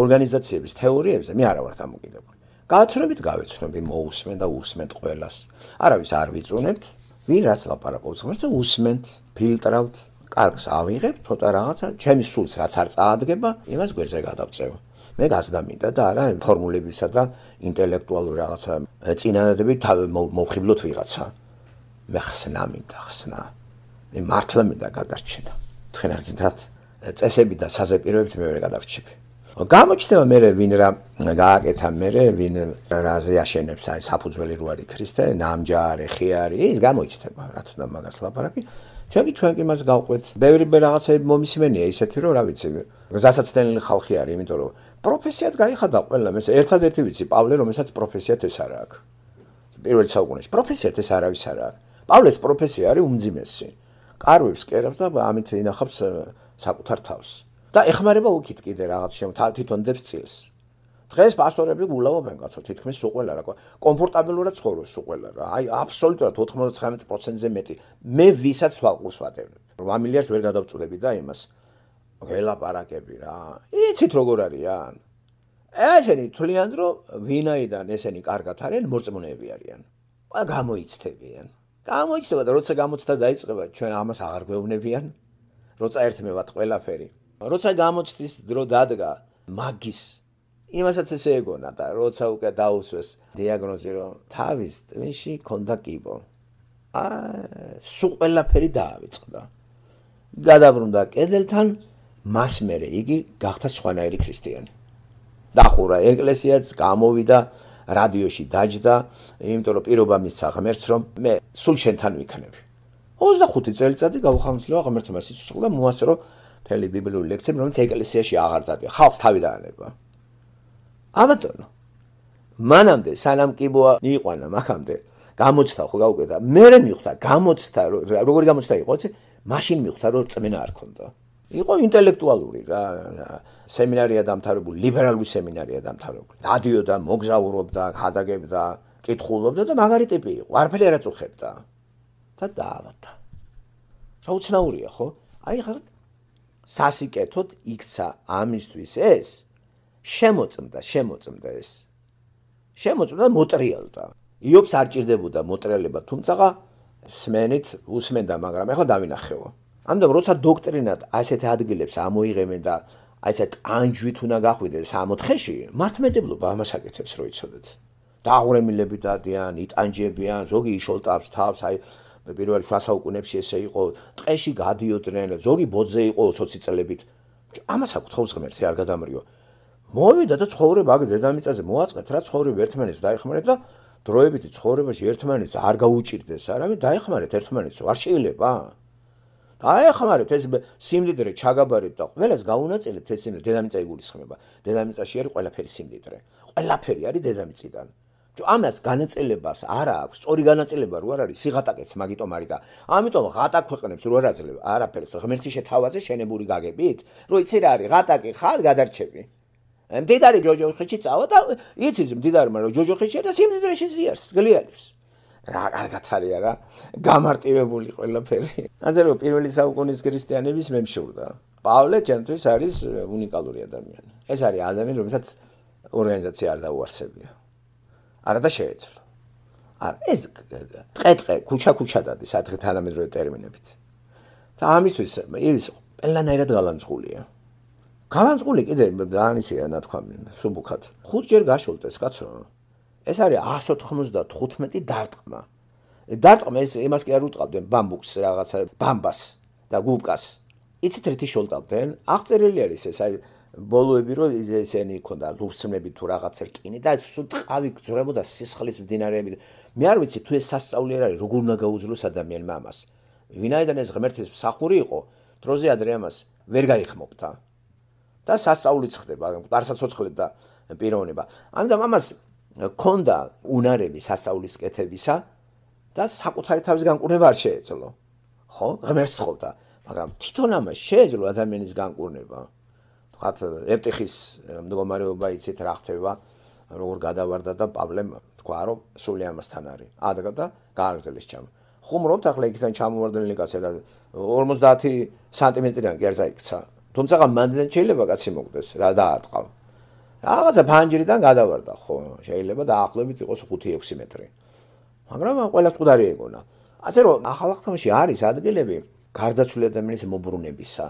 ორგანიზაციების თეორიებზე მე არა ვარ დამოუკიდებული გააცნობით გავეცნობი მოусმენ და უსმენთ ყველას არავის არ ვიწუნებთ ვინ რას ლაპარაკობს ღმერთზე უსმენთ ფილტრავთ კარგს ავიღებ ცოტა რაღაცა ჩემი სულს რაც არ წაადგება იმას გვერდზე გადავწევ მე გასდა მინდა და არა ფორმულებისა და ინტელექტუალური რაღაცა წინანადები მოვხიბლოთ ვიღაცა მე ხსნა მინდა ხსნა მე მართლა მინდა გადარჩენა თქვენ არ გინდათ წესები და საზეპიროებით მეორე გადავრჩები გამოჩნდება მე ვინ რა გააკეთა მე ვინ რაზე აშენებს აი საფუძველი რო არის ქრისტე ნამჯარი ხიარი ის გამოჩნდება რა თქმა მაგას ლაპარაკი ჩვენ კი მას გავყვეთ ბევრი რაღაცები მომისმენია ისეთი რომ რა ვიცი გზასაცდენილი ხალხი არის იმიტომ რომ პროფესიად გაიხადა ყველა მე ერთადერთი ვიცი პავლე რომელსაც პროფესიად ეს არა აქვს პირველ საუკუნეში პროფესიად ეს არავის არა აქვს პავლეს პროფესია არის უმძიმესი კარვებს კერავს და ამით ინახავს საკუთარ თავს და ეხმარება უკით კიდე რაღაც თვითონ დებს წილს დღეს პასტორები გულავობენ კაცო თითქმის სულ ყველა რა კომფორტაბელურად ცხოვრობს სულ ყველა რა აი აბსოლუტურად 99%-ზე მეტი მე ვისაც თვალყურს ვატევებ 8 მილიარდს ვერ გადავწუდები და იმას ველაპარაკები რა იცით როგორ არიან ესენი თვლიან რომ ვინაიდან ესენი კარგად არიან მორწმუნეები არიან გამოიცდებიან გამოიცდება და როცა გამოცდა დაიწყება ჩვენ ამას აღარ გვეუბნებიან როცა ერთმევათ ყველაფერი როცა გამოცდის დრო დადგა მაგის იმასაც ესე ეგონა და როცა უკვე დაუსვეს დიაგნოზი რომ თავის ტვინში ქონდა კიბო სულ ყველაფერი დაავიწყდა გადაბრუნდა კედელთან მას მერე იგი გახდა სხვანაირი ქრისტიანი დახურა ეკლესიაც გამოვიდა რადიოში დაჯდა იმიტომ რომ პირობა მისცა ღმერთს რომ მე სულ შენთან ვიქნები 25 წელიწადი გავხანძლოა ღმერთმა სიცოცხლე და მოასწრო მთელი ბიბლიური ლექციები რომელიც ეკლესიაში აღარ დადია ხალხს თავი დაანება აბატონო მანამდე სანამ კიბოა მიიყვანა მაგამდე გამოცდა ხო გაუკვირდა მერე მიხვდა გამოცდა როგორი გამოცდა იყო იცი მაშინ მიხვდა რომ წმენა არ ქონდა იყო ინტელექტუალური რა სემინარია დამთავრებული ლიბერალური სემინარია დამთავრებული დადიოდა მოგზაურობდა ხადაგებდა კითხულობდა და მაგარი ტიპი იყო არაფერი არ აწუხებდა და დაავადდა რა უცნაურია ხო აი ხარ სასიკეთოდ იქცა ამისთვის ეს შემოწმდა ეს შემოწმდა მოტრიალდა იობს არ ჭირდებოდა მოტრიალება თუმცა სმენით უსმენდა მაგრამ ახლა დავინახეო ამიტომ როცა დოქტრინად ასეთ ადგილებს ამოიღებენ და აი ესეთ ტანჯვით უნდა გახვიდეს 64-ში მართლმადიდებლობა ამას აკეთებს რო იცოდეთ დააღრემილები დადიან იტანჯებიან ზოგი იშოლტავს თავს აი პირველ შუა საუკუნეებში ესე იყო ტყეში გადიოდნენ ზოგი ბოძე იყო 20 წელებით ამას აკუთხოვს ღმერთი არ გადამრიო მოვიდა და ცხოვრება აგ დედამიწაზე მოაწყეთ რა ცხოვრება ერთმანეთს დაეხმარეთ და დროებითი ცხოვრებაში ერთმანეთს არ გაუჭირდეს არამედ დაეხმარეთ ერთმანეთს არ შეიძლება დაეხმარეთ ეს სიმდიდრე ჩაგაბარეთ და ყველას გაუნაწილეთ ეს დედამიწა იგულისხმება დედამიწაში არის ყველაფერი სიმდიდრე ყველაფერი არის დედამიწიდან ამას განაწილებას არ აქვს სწორი განაწილება რო არ არის სიღატაკეც მაგიტომ არის და ამიტომ ღატაკ ქვეყნებს რო არ აძლევ არაფერს ღმერთის შეთავაზე შენებური გაგებით რო იცი რა არის ღატაკი ხარ გადარჩები მდიდარი ჯოჯოხეთში წავა და იცის მდიდარმა რომ ჯოჯოხეთში და სიმდიდრეში ზიარს გლიალებს რა კარგად არის რა გამარტივებული ყველაფერი ასე რომ პირველი საუკუნის ქრისტიანების მემშურდა პავლე ჩემთვის არის უნიკალური ადამიანი ეს არის ადამიანი რომელსაც ორგანიზაცია არ დაუარსებია არა და შეეძლო არა ეს ტყე ქუჩა დადის ადრე თანამედროვე ტერმინებით და ამისთვის ის ყველანაირად გალანძღულია გალანძღული კიდე დაანისია ნათქვამი სუბუქად 5 ჯერ გაშოლტეს კაცო ეს არის 195 დარტყმა დარტყმა ეს იმას კი არ უტყავდნენ ბამბუქს რაღაცა ბამბას და გუბკას იცით რითი შოლტავდნენ აღწერილი არის ეს აი ბოლოები რომ ესენი ქონდა ლურსმნები თუ რაღაცა რკინი და სულ ტყავი გძრებოდა სისხლის მდინარეები. მე არ ვიცი თუ ეს სასწაული არ არის, როგორ უნდა გაუძლოს ადამიანმა ამას. ვინაიდან ეს ღმერთის მსახური იყო, დროზე ადრე ამას ვერ გაიხმობდა. და სასწაულიც ხდება, მყარსაც ოცხლებდა პიროვნება. ამიტომ ამას ქონდა უნარები სასწაულის კეთებისა და საკუთარი თავის განკურნება არ შეეძლო. ხო? ღმერთს თხოვდა, მაგრამ თვითონ ამას შეეძლო ადამიანის განკურნება. თქვათ ეპტიხის მდგომარეობა იცით რა ხდება, როგორ გადავარდა და პავლემ თქვა რომ სული ამასთან არის. ადგა და გააგრძელეს ჩამ. ხუმრობთ ახლა იქიდან ჩამოვარდნილი კაცი და 50 სანტიმეტრიდან კი არ წაიქცა. თუმცა მანდიდან შეიძლება კაცი მოგდეს რა დაარტყავ. რაღაცა ფანჯრიდან გადავარდა ხო, შეიძლება დაახლოებით იყოს 5-6 მეტრი. მაგრამ ყველა წუდარი ეგონა. ასე რომ ახალ აღთქმაში არის ადგილები გარდაცვლილი ადამიანის მობრუნებისა.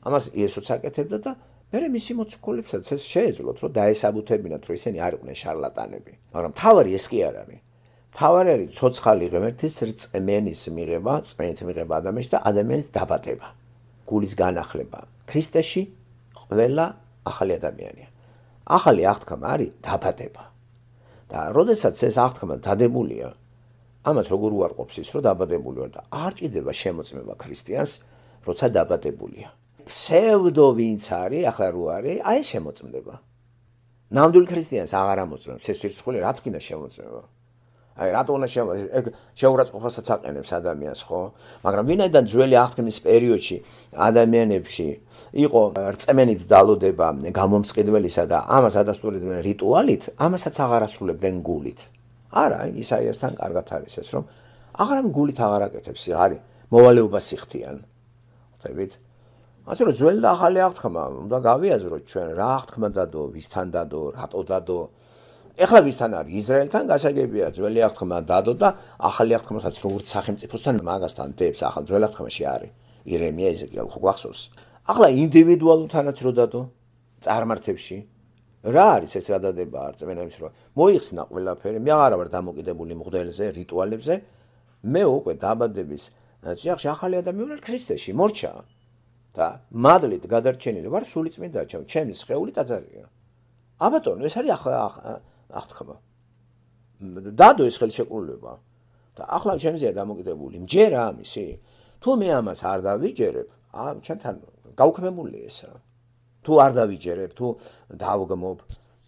ამას იესოც აკეთებდა და მერე მისი მოციქულებსაც ეს შეეძლოთ რომ დაესაბუთებინათ რომ ისინი არ იყვნენ შარლატანები. მაგრამ თავარი ეს კი არ არის. თავარი არის ცოცხალი ღმერთის რწმენის მიღება, წმენით მიღება ადამიანში და ადამიანის დაბადება. გულის განახლება. ქრისტეში ყველა ახალი ადამიანია. ახალი აღთქმა არის დაბადება. და როდესაც ეს აღთქმა დადებულია, ამას როგორ უარყოფს ის, რომ დაბადებული ვარ და არ ჭირდება შემოწმება ქრისტიანს, როცა დაბადებულია. ფსევდო ვინც არის, ახლა რო არის, აი ეს შემოწმდება. ნამდვილ ქრისტიანს აღარ ამოწმებს ეს სირცხული, რა თქმა უნდა შემოწმება. აი რატო უნდა შეურაცხყოფასაც აყენებს ადამიანს, ხო? მაგრამ ვინაიდან ძველი აღთქმის პერიოდში ადამიანებში იყო რწმენით დალოდება გამომსყიდველისა და ამას ადასტურებდნენ რიტუალით, ამასაც აღარ ასრულებდნენ გულით. არა, ისაიასთან კარგად არის ეს, რომ აღარამ გულით აღარ აკეთებს, არის მოვალეობა სიხთიან. ხვდებით? ასე რომ ძველი და ახალი აღთქმა უნდა გავიაზროთ ჩვენ რა აღთქმა დადო, ვისთან დადო, რატო დადო. ეხლა ვისთან არის ისრაელთან გასაგებია ძველი აღთქმა დადო და ახალი აღთქმასაც როგორც სახელმწიფოსთან მაგასთან დებს ახალ ძველ აღთქმაში არის ირემია ეზეკიელ ხო გვახსოვს ახლა ინდივიდუალურთანაც რო დადო წარმართებში რა არის ეს რა დადება არწმენების რო მოიხსნა ყველაფერი მე აღარ ვარ დამოკიდებული მღვდელზე რიტუალებზე მე უკვე დაბადების წიაღში ახალი ადამიანი ვარ ქრისტეში მორჩა და მადლით გადარჩენილი ვარ სულიწმინდა ჩემი სხეული ტაძარია აბატონო ეს არის აღთქმა დადო ეს ხელშეკრულება და ახლა ჩემზეა დამოკიდებული მჯერა ამისი თუ მე ამას არ დავიჯერებ ჩემთან გაუქმებული ესა თუ არ დავიჯერებ თუ დავგმობ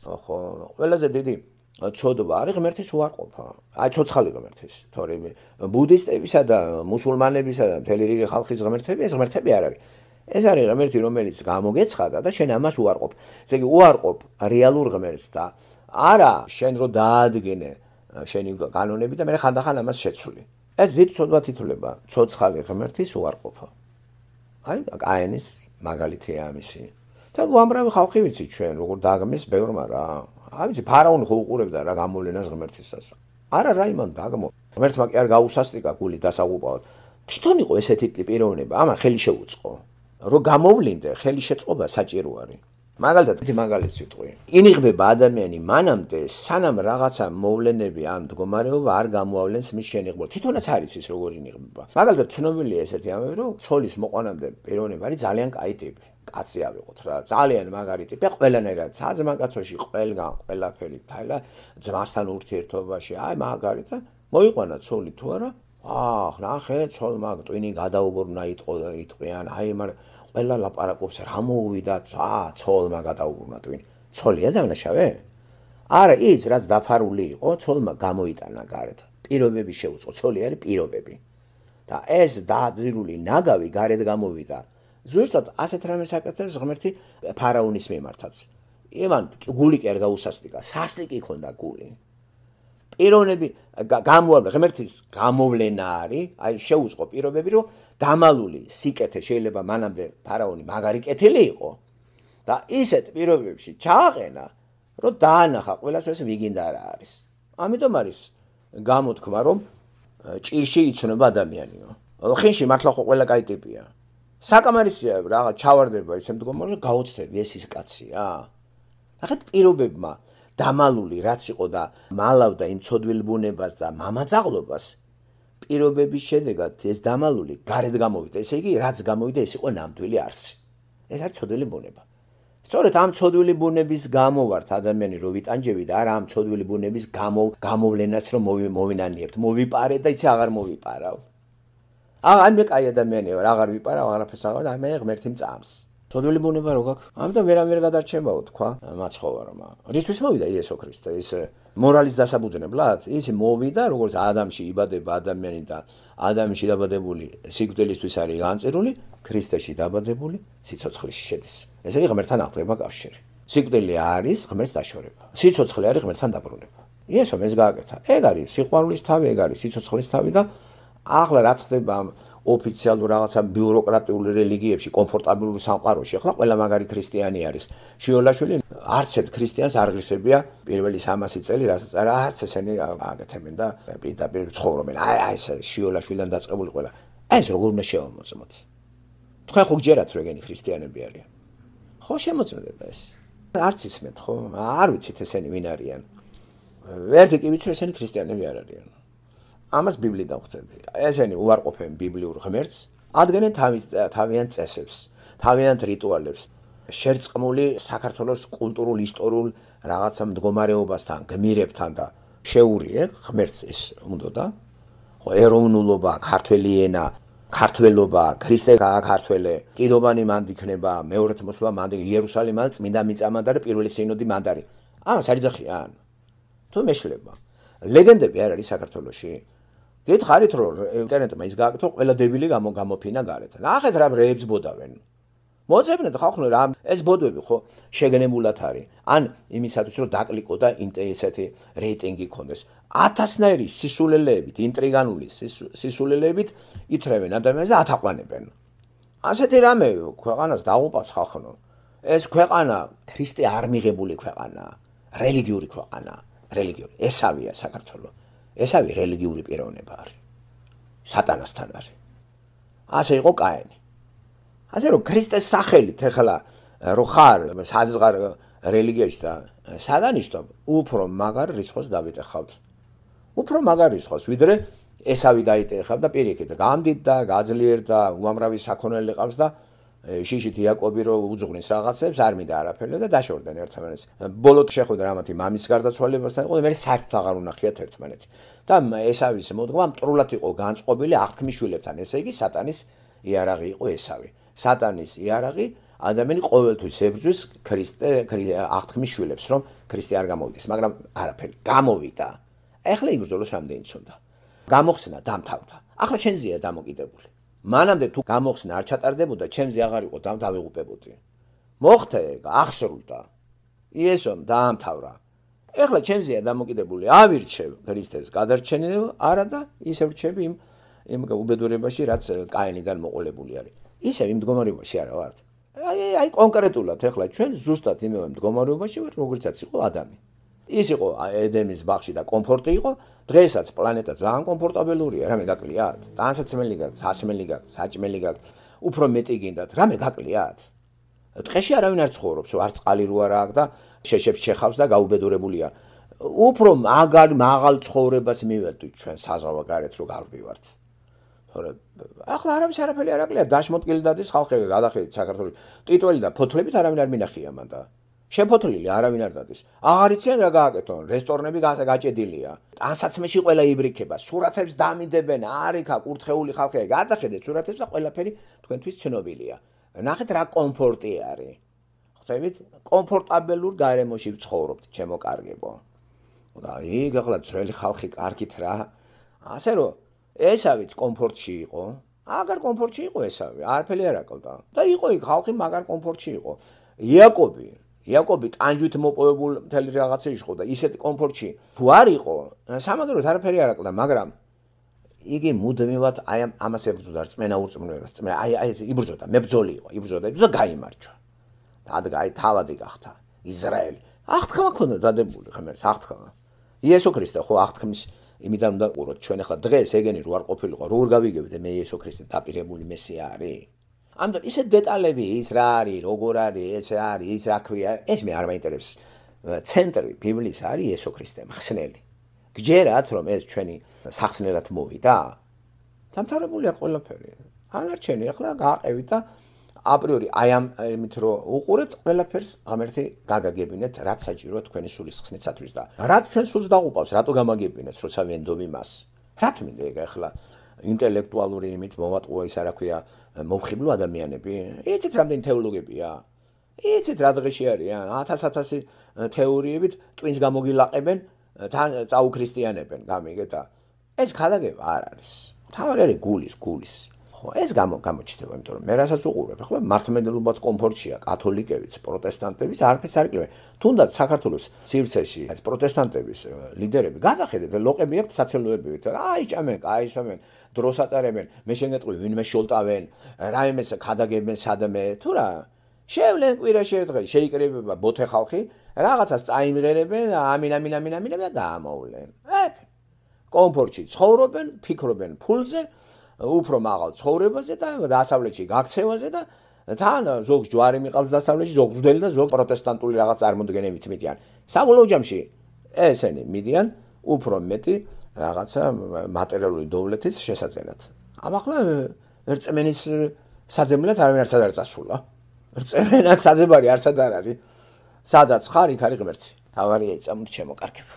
ხო ყველაზე დიდი ცოდვა არის ღმერთის უარყოფა აი ცოცხალი ღმერთის თორემ ბუდისტებისა და მუსულმანებისა და მთელი რიგი ხალხის ღმერთები ეს ღმერთები არ არის ეს არის ღმერთი რომელიც გამოგეცხადა და შენ ამას უარყოფ ესე იგი უარყოფ რეალურ ღმერთს და არა შენ რო დაადგენე შენი კანონები და მე ხანდახან ამას შეცვლი ეს დიდ ცოდვად ითვლება ცოცხალი ღმერთის უარყოფა აი კაენის მაგალითია ამისი და უამრავი ხალხი ვიცი ჩვენ როგორ დაგმეს ბევრმა რა აი ვიცი ფარაონი ხო უყურებდა რა გამოვლენას ღმერთისას არა რა იმან დაგმო ღმერთმა კი არ გაუსასტიკა გული დასაღუპავად თვითონ იყო ესეთი პიროვნება ამან ხელი შეუწყო რო გამოვლინდე ხელი შეწყობა საჭირო არის მაგალითად ერთი მაგალითი სიტყვი ინიღბება ადამიანი მანამდე სანამ რაღაცა მოვლენები ან მდგომარეობა არ გამოავლენს მის შენიღბურებას თვითონაც არის ის როგორ ინიღბება მაგალითად ცნობილია ესეთი ამბავი რომ ცოლის მოყვანამდე პიროვნება არის ძალიან კაი ტიპი კაცი ავიღოთ რა ძალიან მაგარი ტიპი ყველანაირად საძმაკაცოში ყველგან ყველაფერი თაილა ძმასთან ურთიერთობაში აი მაგარი და მოიყვანა ცოლი თუ არა ნახე ცოლმა ტვინი გადაუბრუნა იტყვიან აი მაგრამ ყველა ლაპარაკობს რა მოუვიდა ცოლმა გადაუბრუნა ტვინი ცოლია დამნაშავე არა ის რაც დაფარული იყო ცოლმა გამოიტანა გარეთ პირობები შეუწყო ცოლი არის პირობები და ეს დაძირული ნაგავი გარეთ გამოვიდა ზუსტად ასეთ რამეს აკეთებს ღმერთი ფარაონის მიმართაც იმან გული კი არ გაუსასტიკა სასტიკი ქონდა გული პიროვნები გამოავლენ ღმერთის გამოვლენა არის აი შეუწყო პირობები რომ დამალული სიკეთე შეიძლება მანამდე ფარაონი მაგარი კეთილი იყო და ისეთ პირობებში ჩააყენა რომ დაანახა ყველას ეს ვიგინდა რა არის ამიტომ არის გამოთქმა რომ ჭირში იცნობა ადამიანიო ხინში მართლა ხო ყველა კაი ტიპია საკამარისია რაღაც ჩავარდება ისე მდგომარეობა გაოცდები ეს ის კაცია ნახეთ პირობებმა დამალული რაც იყო და მალავდა იმ ცოდვილ ბუნებას და მამაძაღლობას პირობების შედეგად ეს დამალული გარეთ გამოვიდა ესე იგი რაც გამოვიდა ეს იყო ნამდვილი არსი ეს არის ცოდვილი ბუნება სწორედ ამ ცოდვილი ბუნების გამო ვართ ადამიანი რო ვიტანჯები და არა ამ ცოდვილი ბუნების გამოვლენას რომ მოვინანიებთ, მოვიპარეთ და იცი აღარ მოვიპარავ. მე კაი ადამიანი ვარ, აღარ ვიპარავ, აღარაფერს აღარ და მე ღმერთი მწამს. ცოდვილი ბუნება რო გაქვს? ამიტომ ვერ გადარჩებაო თქვა მაცხოვარმა. რისთვის მოვიდა იესო ქრისტე? ის მორალის დასაბუძნებლად? ის მოვიდა როგორც ადამიანში იბადება ადამიანი და ადამიანში დაბადებული სიკვდილისთვის არის განწერული, ქრისტეში დაბადებული სიცოცხლეში შედის. ეს არის ღმერთთან აღწევა კავშირი. სიკვდილი არის ღმერთს დაშორება. სიცოცხლე არის ღმერთთან დაბრუნება. იესომ ეს გააკეთა. ეგ არის სიყვარულის თავი, ეგ არის სიცოცხლის თავი და ახლა რაც ხდება ოფიციალურ რაღაცა ბიუროკრატიული რელიგიებში, კომფორტაბილურ სამყაროში, ახლა ყველა მაგარი ქრისტიანი არის. შიოლაშვილი არც ერთ ქრისტიანს არ ღირსებია პირველი 300 წელი, რასაც არც ესენი აკეთებენ და პირდაპირ ცხოვრობენ. ეს შიოლაშვილიდან დაწყებული ყველა. ეს როგორ უნდა შევამოწმოთ? თქვენ ხო გჯერათ რომ ეგენი ქრისტიანები არიან? ხო შემოწმდება ეს. არც ისმენთ ხო? არ ვიცით ესენი ვინ არიან. ვერთი კი ვიცი ესენი ქრისტიანები არ არიან. ამას ბიბლიიდან ხვდები. ესენი უარყოფენ ბიბლიურ ღმერთს, ადგენენ თავიანთ წესებს, თავიანთ რიტუალებს, შერწყმული საქართველოს კულტურულ ისტორიულ რაღაცა მდგომარეობასთან, გმირებთან და შეურიე ღმერთს ეს უნდოდა. ხო, ეროვნულობა, ქართველი ენა, ქართველობა, ქრისტე გააქართველე, კიდობანი მანდ იქნება, მეორეთ მოსვლა მანდ, იერუსალიმიდან წმინდა მიწამანდა და პირველი სინოდი მანდ არის. ამას არ იძახიან. თუ მეშლება. ლეგენდები არ არის საქართველოში? გითხარით რომ ინტერნეტმა ის გააკეთო, ყველა დებილი გამოფინა გარეთ. ნახეთ რა რეებს ბოდავენ. მოძებნეთ ხალხო რა ეს ბოდვები ხო შეგნებულად არის. ან იმისათვის რომ დაკლიკო და ესეთი რეიტინგი ქონდეს. 1000-ნაირი სისულელეებით, ინტრიგანული სისულელეებით ითრევენ ადამიანებს და ათაყვანებენ. ასეთი რამე ქვეყანას დაუყავს ხალხო. ეს ქვეყანა ქრისტე არ მიღებული ქვეყანაა, რელიგიური ქვეყანაა, რელიგიური. ესავია საქართველო. ესავი რელიგიური პიროვნება არის. სატანასთან არის. ასე იყო კაენი. ასე რომ ქრისტეს სახელით ეხლა რო ხარ საზღარ რელიგიაში და საგანიშნო უფრო მაგარ რისხოს დავიტეხავთ. უფრო მაგარ რისხოს ვიდრე ესავი დაიტეხავ და პირიქით გამდიდ და გაძლიერდა უამრავი საქონელი ყავს და შიშით იაკობი რო უძღვნის რაღაცებს არ მინდა არაფერი და დაშორდნენ ერთმანეთს. ბოლოდ შეხვდა რამათი მამის გარდაცვალებასთან იყო და მე საერთოდ აღარ უნახიათ ერთმანეთი. და ესავის მოდგმა მტრულად იყო განწყობილი აღთქმის შვილებთან, ესე იგი სატანის იარაღი იყო ესავი. სატანის იარაღი ადამიანი ყოველთვის ებრძვის ქრისტე აღთქმის შვილებს, რომ ქრისტე არ გამოვიდეს, მაგრამ არაფერი გამოვიდა. ეხლა იბრძოლოს რამდენიც უნდა. გამოხსნა დამთავრდა. ახლა შენზეა დამოკიდებული. მანამდე თუ გამოხსნა არ ჩატარდებოდა, ჩემზე აღარ იყო დავიღუპებოდი. მოხდა ეგ, აღსრულდა. იესომ დაამთავრა. ეხლა ჩემზეა დამოკიდებული, ავირჩევ ქრისტეს გადარჩენება, არა და ისე ვრჩები იმ უბედურებაში, რაც კაენიდან მოყოლებული არის. ისე იმ მდგომარეობაში არა ვართ. აი კონკრეტულად ეხლა ჩვენ ზუსტად იმავე მდგომარეობაში ვართ, როგორიცაც იყო ადამი. ის იყო ედემის ბაღში და კომფორტი იყო, დღესაც პლანეტა ძალიან კომფორტაბელურია, რამე გაკლიათ? ტანსაცმელი გაქვთ, სასმელი გაქვთ, საჭმელი გაქვთ, უფრო მეტი გინდათ, რამე გაკლიათ? ტყეში არავინ არ ცხოვრობს, არ წყალი რო არა აქვს და შეშებს შეხავს და გაუბედურებულია. უფრო მაღალ ცხოვრებას მივედით ჩვენ საზღავა გარეთ რო გავდივართ. თორე ახლა არავის არაფერი არ აკლია, დაშმოთკილი დადის ხალხი გადახედით საქართველოს. ტიტველი და ფოთლებით არავინ არ მინახია მან და შეფოთლილი არავინ არ დადის. აღარ იციან რა გააკეთონ, რესტორნები გაჭედილია. ტანსაცმეში ყველა იბრიქება, სურათებს დამიდებენ, არიქა კურთხეული ხალხია. გადახედეთ სურათებს და ყველაფერი თქვენთვის ცნობილია. ნახეთ რა კომფორტი არის. ხვდებით? კომფორტაბელურ გარემოში ვცხოვრობთ, ჩემო კარგებო. და იქ ახლა ძველი ხალხი კარგით რა. ასე რომ ესავიც კომფორტში იყო. აგარ კომფორტში იყო ესავი, არაფერი არ აკლდა. და იყო იქ ხალხი მაგარ კომფორტში იყო. იაკობი ტანჯვით მოპოვებულ მთელი რაღაცეში ხო და ისეთ კომფორტში თუ არ იყო, სამაგეროდ არაფერი არ აკლდა, მაგრამ იგი მუდმივად აი ამას ებრძოდა რწმენა ურწმუნოებას, აი ეს იბრძოდა, მებრძოლი იყო, იბრძოდა და გაიმარჯვა. და აი თავადი გახდა ისრაელი. აღთქმა ქონდა დადებული ღმერთს, აღთქმა. იესო ქრისტე ხო აღთქმის იმიდან უნდა ყუროთ ჩვენ ახლა დღეს ეგენი რო არ ყოფილიყო, რო არ გავიგებთ მე იესო ქრისტე დაპირებული მესია არის. ამიტომ ისე დეტალები ის რა არის, როგორ არის, ეს რა არის, ის რა ქვია, ეს მე არ მაინტერესებს. ცენტრი ბიბლიის არის იესო ქრისტე, მხსნელი. გჯერათ რომ ეს ჩვენი სახსნელად მოვიდა? დამთავრებულია ყველაფერი. ანარჩენი ახლა გააყევით და აპრიორი აი ამით რომ უყურებთ ყველაფერს ღამერთი გაგაგებინეთ რაც საჭიროა თქვენი სულის ხსნისათვის და რაც ჩვენ სულს დაღუპავს რატო გამაგებინეთ როცა ვენდობ იმას რა თმინდა ეგ ახლა ინტელექტუალური იმით მოვატყუა ის არა ქვია მომხიბლო ადამიანები იცით რამდენი თეოლოგებია იცით რა დღეში არიან 1000 თეორიებით ტვინს გამოგილაყებენ თან წაუქრისტიანებენ გამიგეთ და ეს ხალაგება არ არის თავი არის გულის ხო ეს გამოჩნდება იმიტომ რომ მე რასაც უყურებ ახლა მართლმადიდებლობაც კომფორტშია კათოლიკებიც პროტესტანტებიც არაფერს არ იკლებენ თუნდაც საქართველოს სივრცეში ეს პროტესტანტების ლიდერები გადახედეთ ლოყები აქვთ საცელოებივით აი ჭამენ აი სვამენ დროს ატარებენ მე შეგეტყვი ვინმე შოლტავენ რაიმეს ხადაგებენ სადმე თუ რა შევლენ კვირაში ერთხელ შეიკრიბება ბოთე ხალხი რაღაცას წაიმღერებენ ამინ და გამოვლენ კომფორტში ცხოვრობენ ფიქრობენ ფულზე უფრო მაღალ ცხოვრებაზე და დასავლეთში გაქცევაზე და თან ზოგს ჯვარი მიყავს დასავლეთში ზოგს ღვთელი და ზოგ პროტესტანტული რაღაც წარმოდგენებით მიდიან საბოლოო ჯამში ესენი მიდიან უფრო მეტი რაღაცა მატერიალური დოვლეთის შესაძენად ახლა ერწმენის საძებნელად არავინ არც არ წასულა ერწმენას საძებარი არცად არ არის სადაც ხარ იქ არის ღმერთი თავარია იწამოთ შემოკარგებ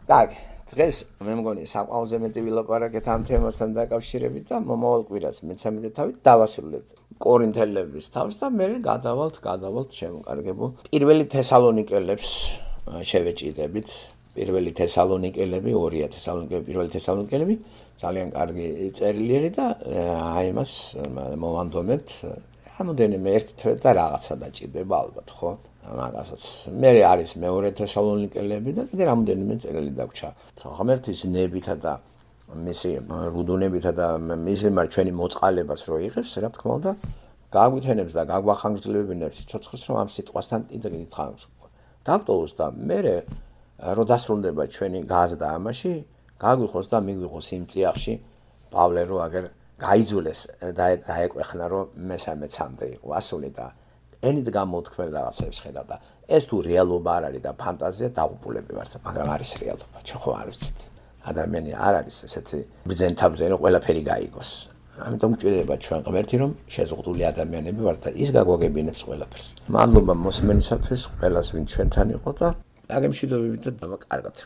კარგი დღეს მე მგონი საკმაოზე მეტი ვილაპარაკეთ ამ თემასთან დაკავშირებით და მომავალ კვირას მე-13 თავით დავასრულებთ კორინთელების თავს და მე გადავალთ შემოკარგებულ პირველი თესალონიკელებს შევეჭიდებით პირველი თესალონიკელები 2 თესალონიკელები პირველი თესალონიკელები ძალიან კარგი წერილი და აი მას მოვანდომებთ რამოდენიმე ერთ თვე და რაღაცა დაჭირდება ალბათ ხო მაგასაც მე არის მეორე თესალონიკელები და კიდე რამოდენიმე წერილი დაგვრჩა ღმერთის ნებითა და მისი რუდუნებითა და მის მიმართ ჩვენი მოწყალებას რო იღებს რა თქმა უნდა გაგვithენებს და გაგვახანგრძლივებინებს სიცოცხლეს რომ ამ სიტყვასთან იდრგით დაგტოვოს და მე რო დასრულდება ჩვენი გაზდა ამაში გაგვიხოს და მიგვიხოს იმ წიაღში პავლე რო აგერ გაიძულეს და დაეკვეხნა რომ მესამეცამდე იყო ასული და ენით გამოთქმელ რაღაცებს ხედავ და ეს თუ რეალობა არ არის და ფანტაზია დაღუპულები ვართ მაგრამ არის რეალობა ჩვენ ხო არ ვიცით ადამიანი არ არის ესეთი ბრძენთაბზე რომ ყველაფერი გაიგოს ამიტომ გვჭირდება ჩვენ ღმერთი რომ შეზღუდული ადამიანები ვართ და ის გაგვაგებინებს ყველაფერს მადლობა მოსმენისათვის ყველას ვინ ჩვენთან იყო და აგემშვიდობებით და დავაკარგოთ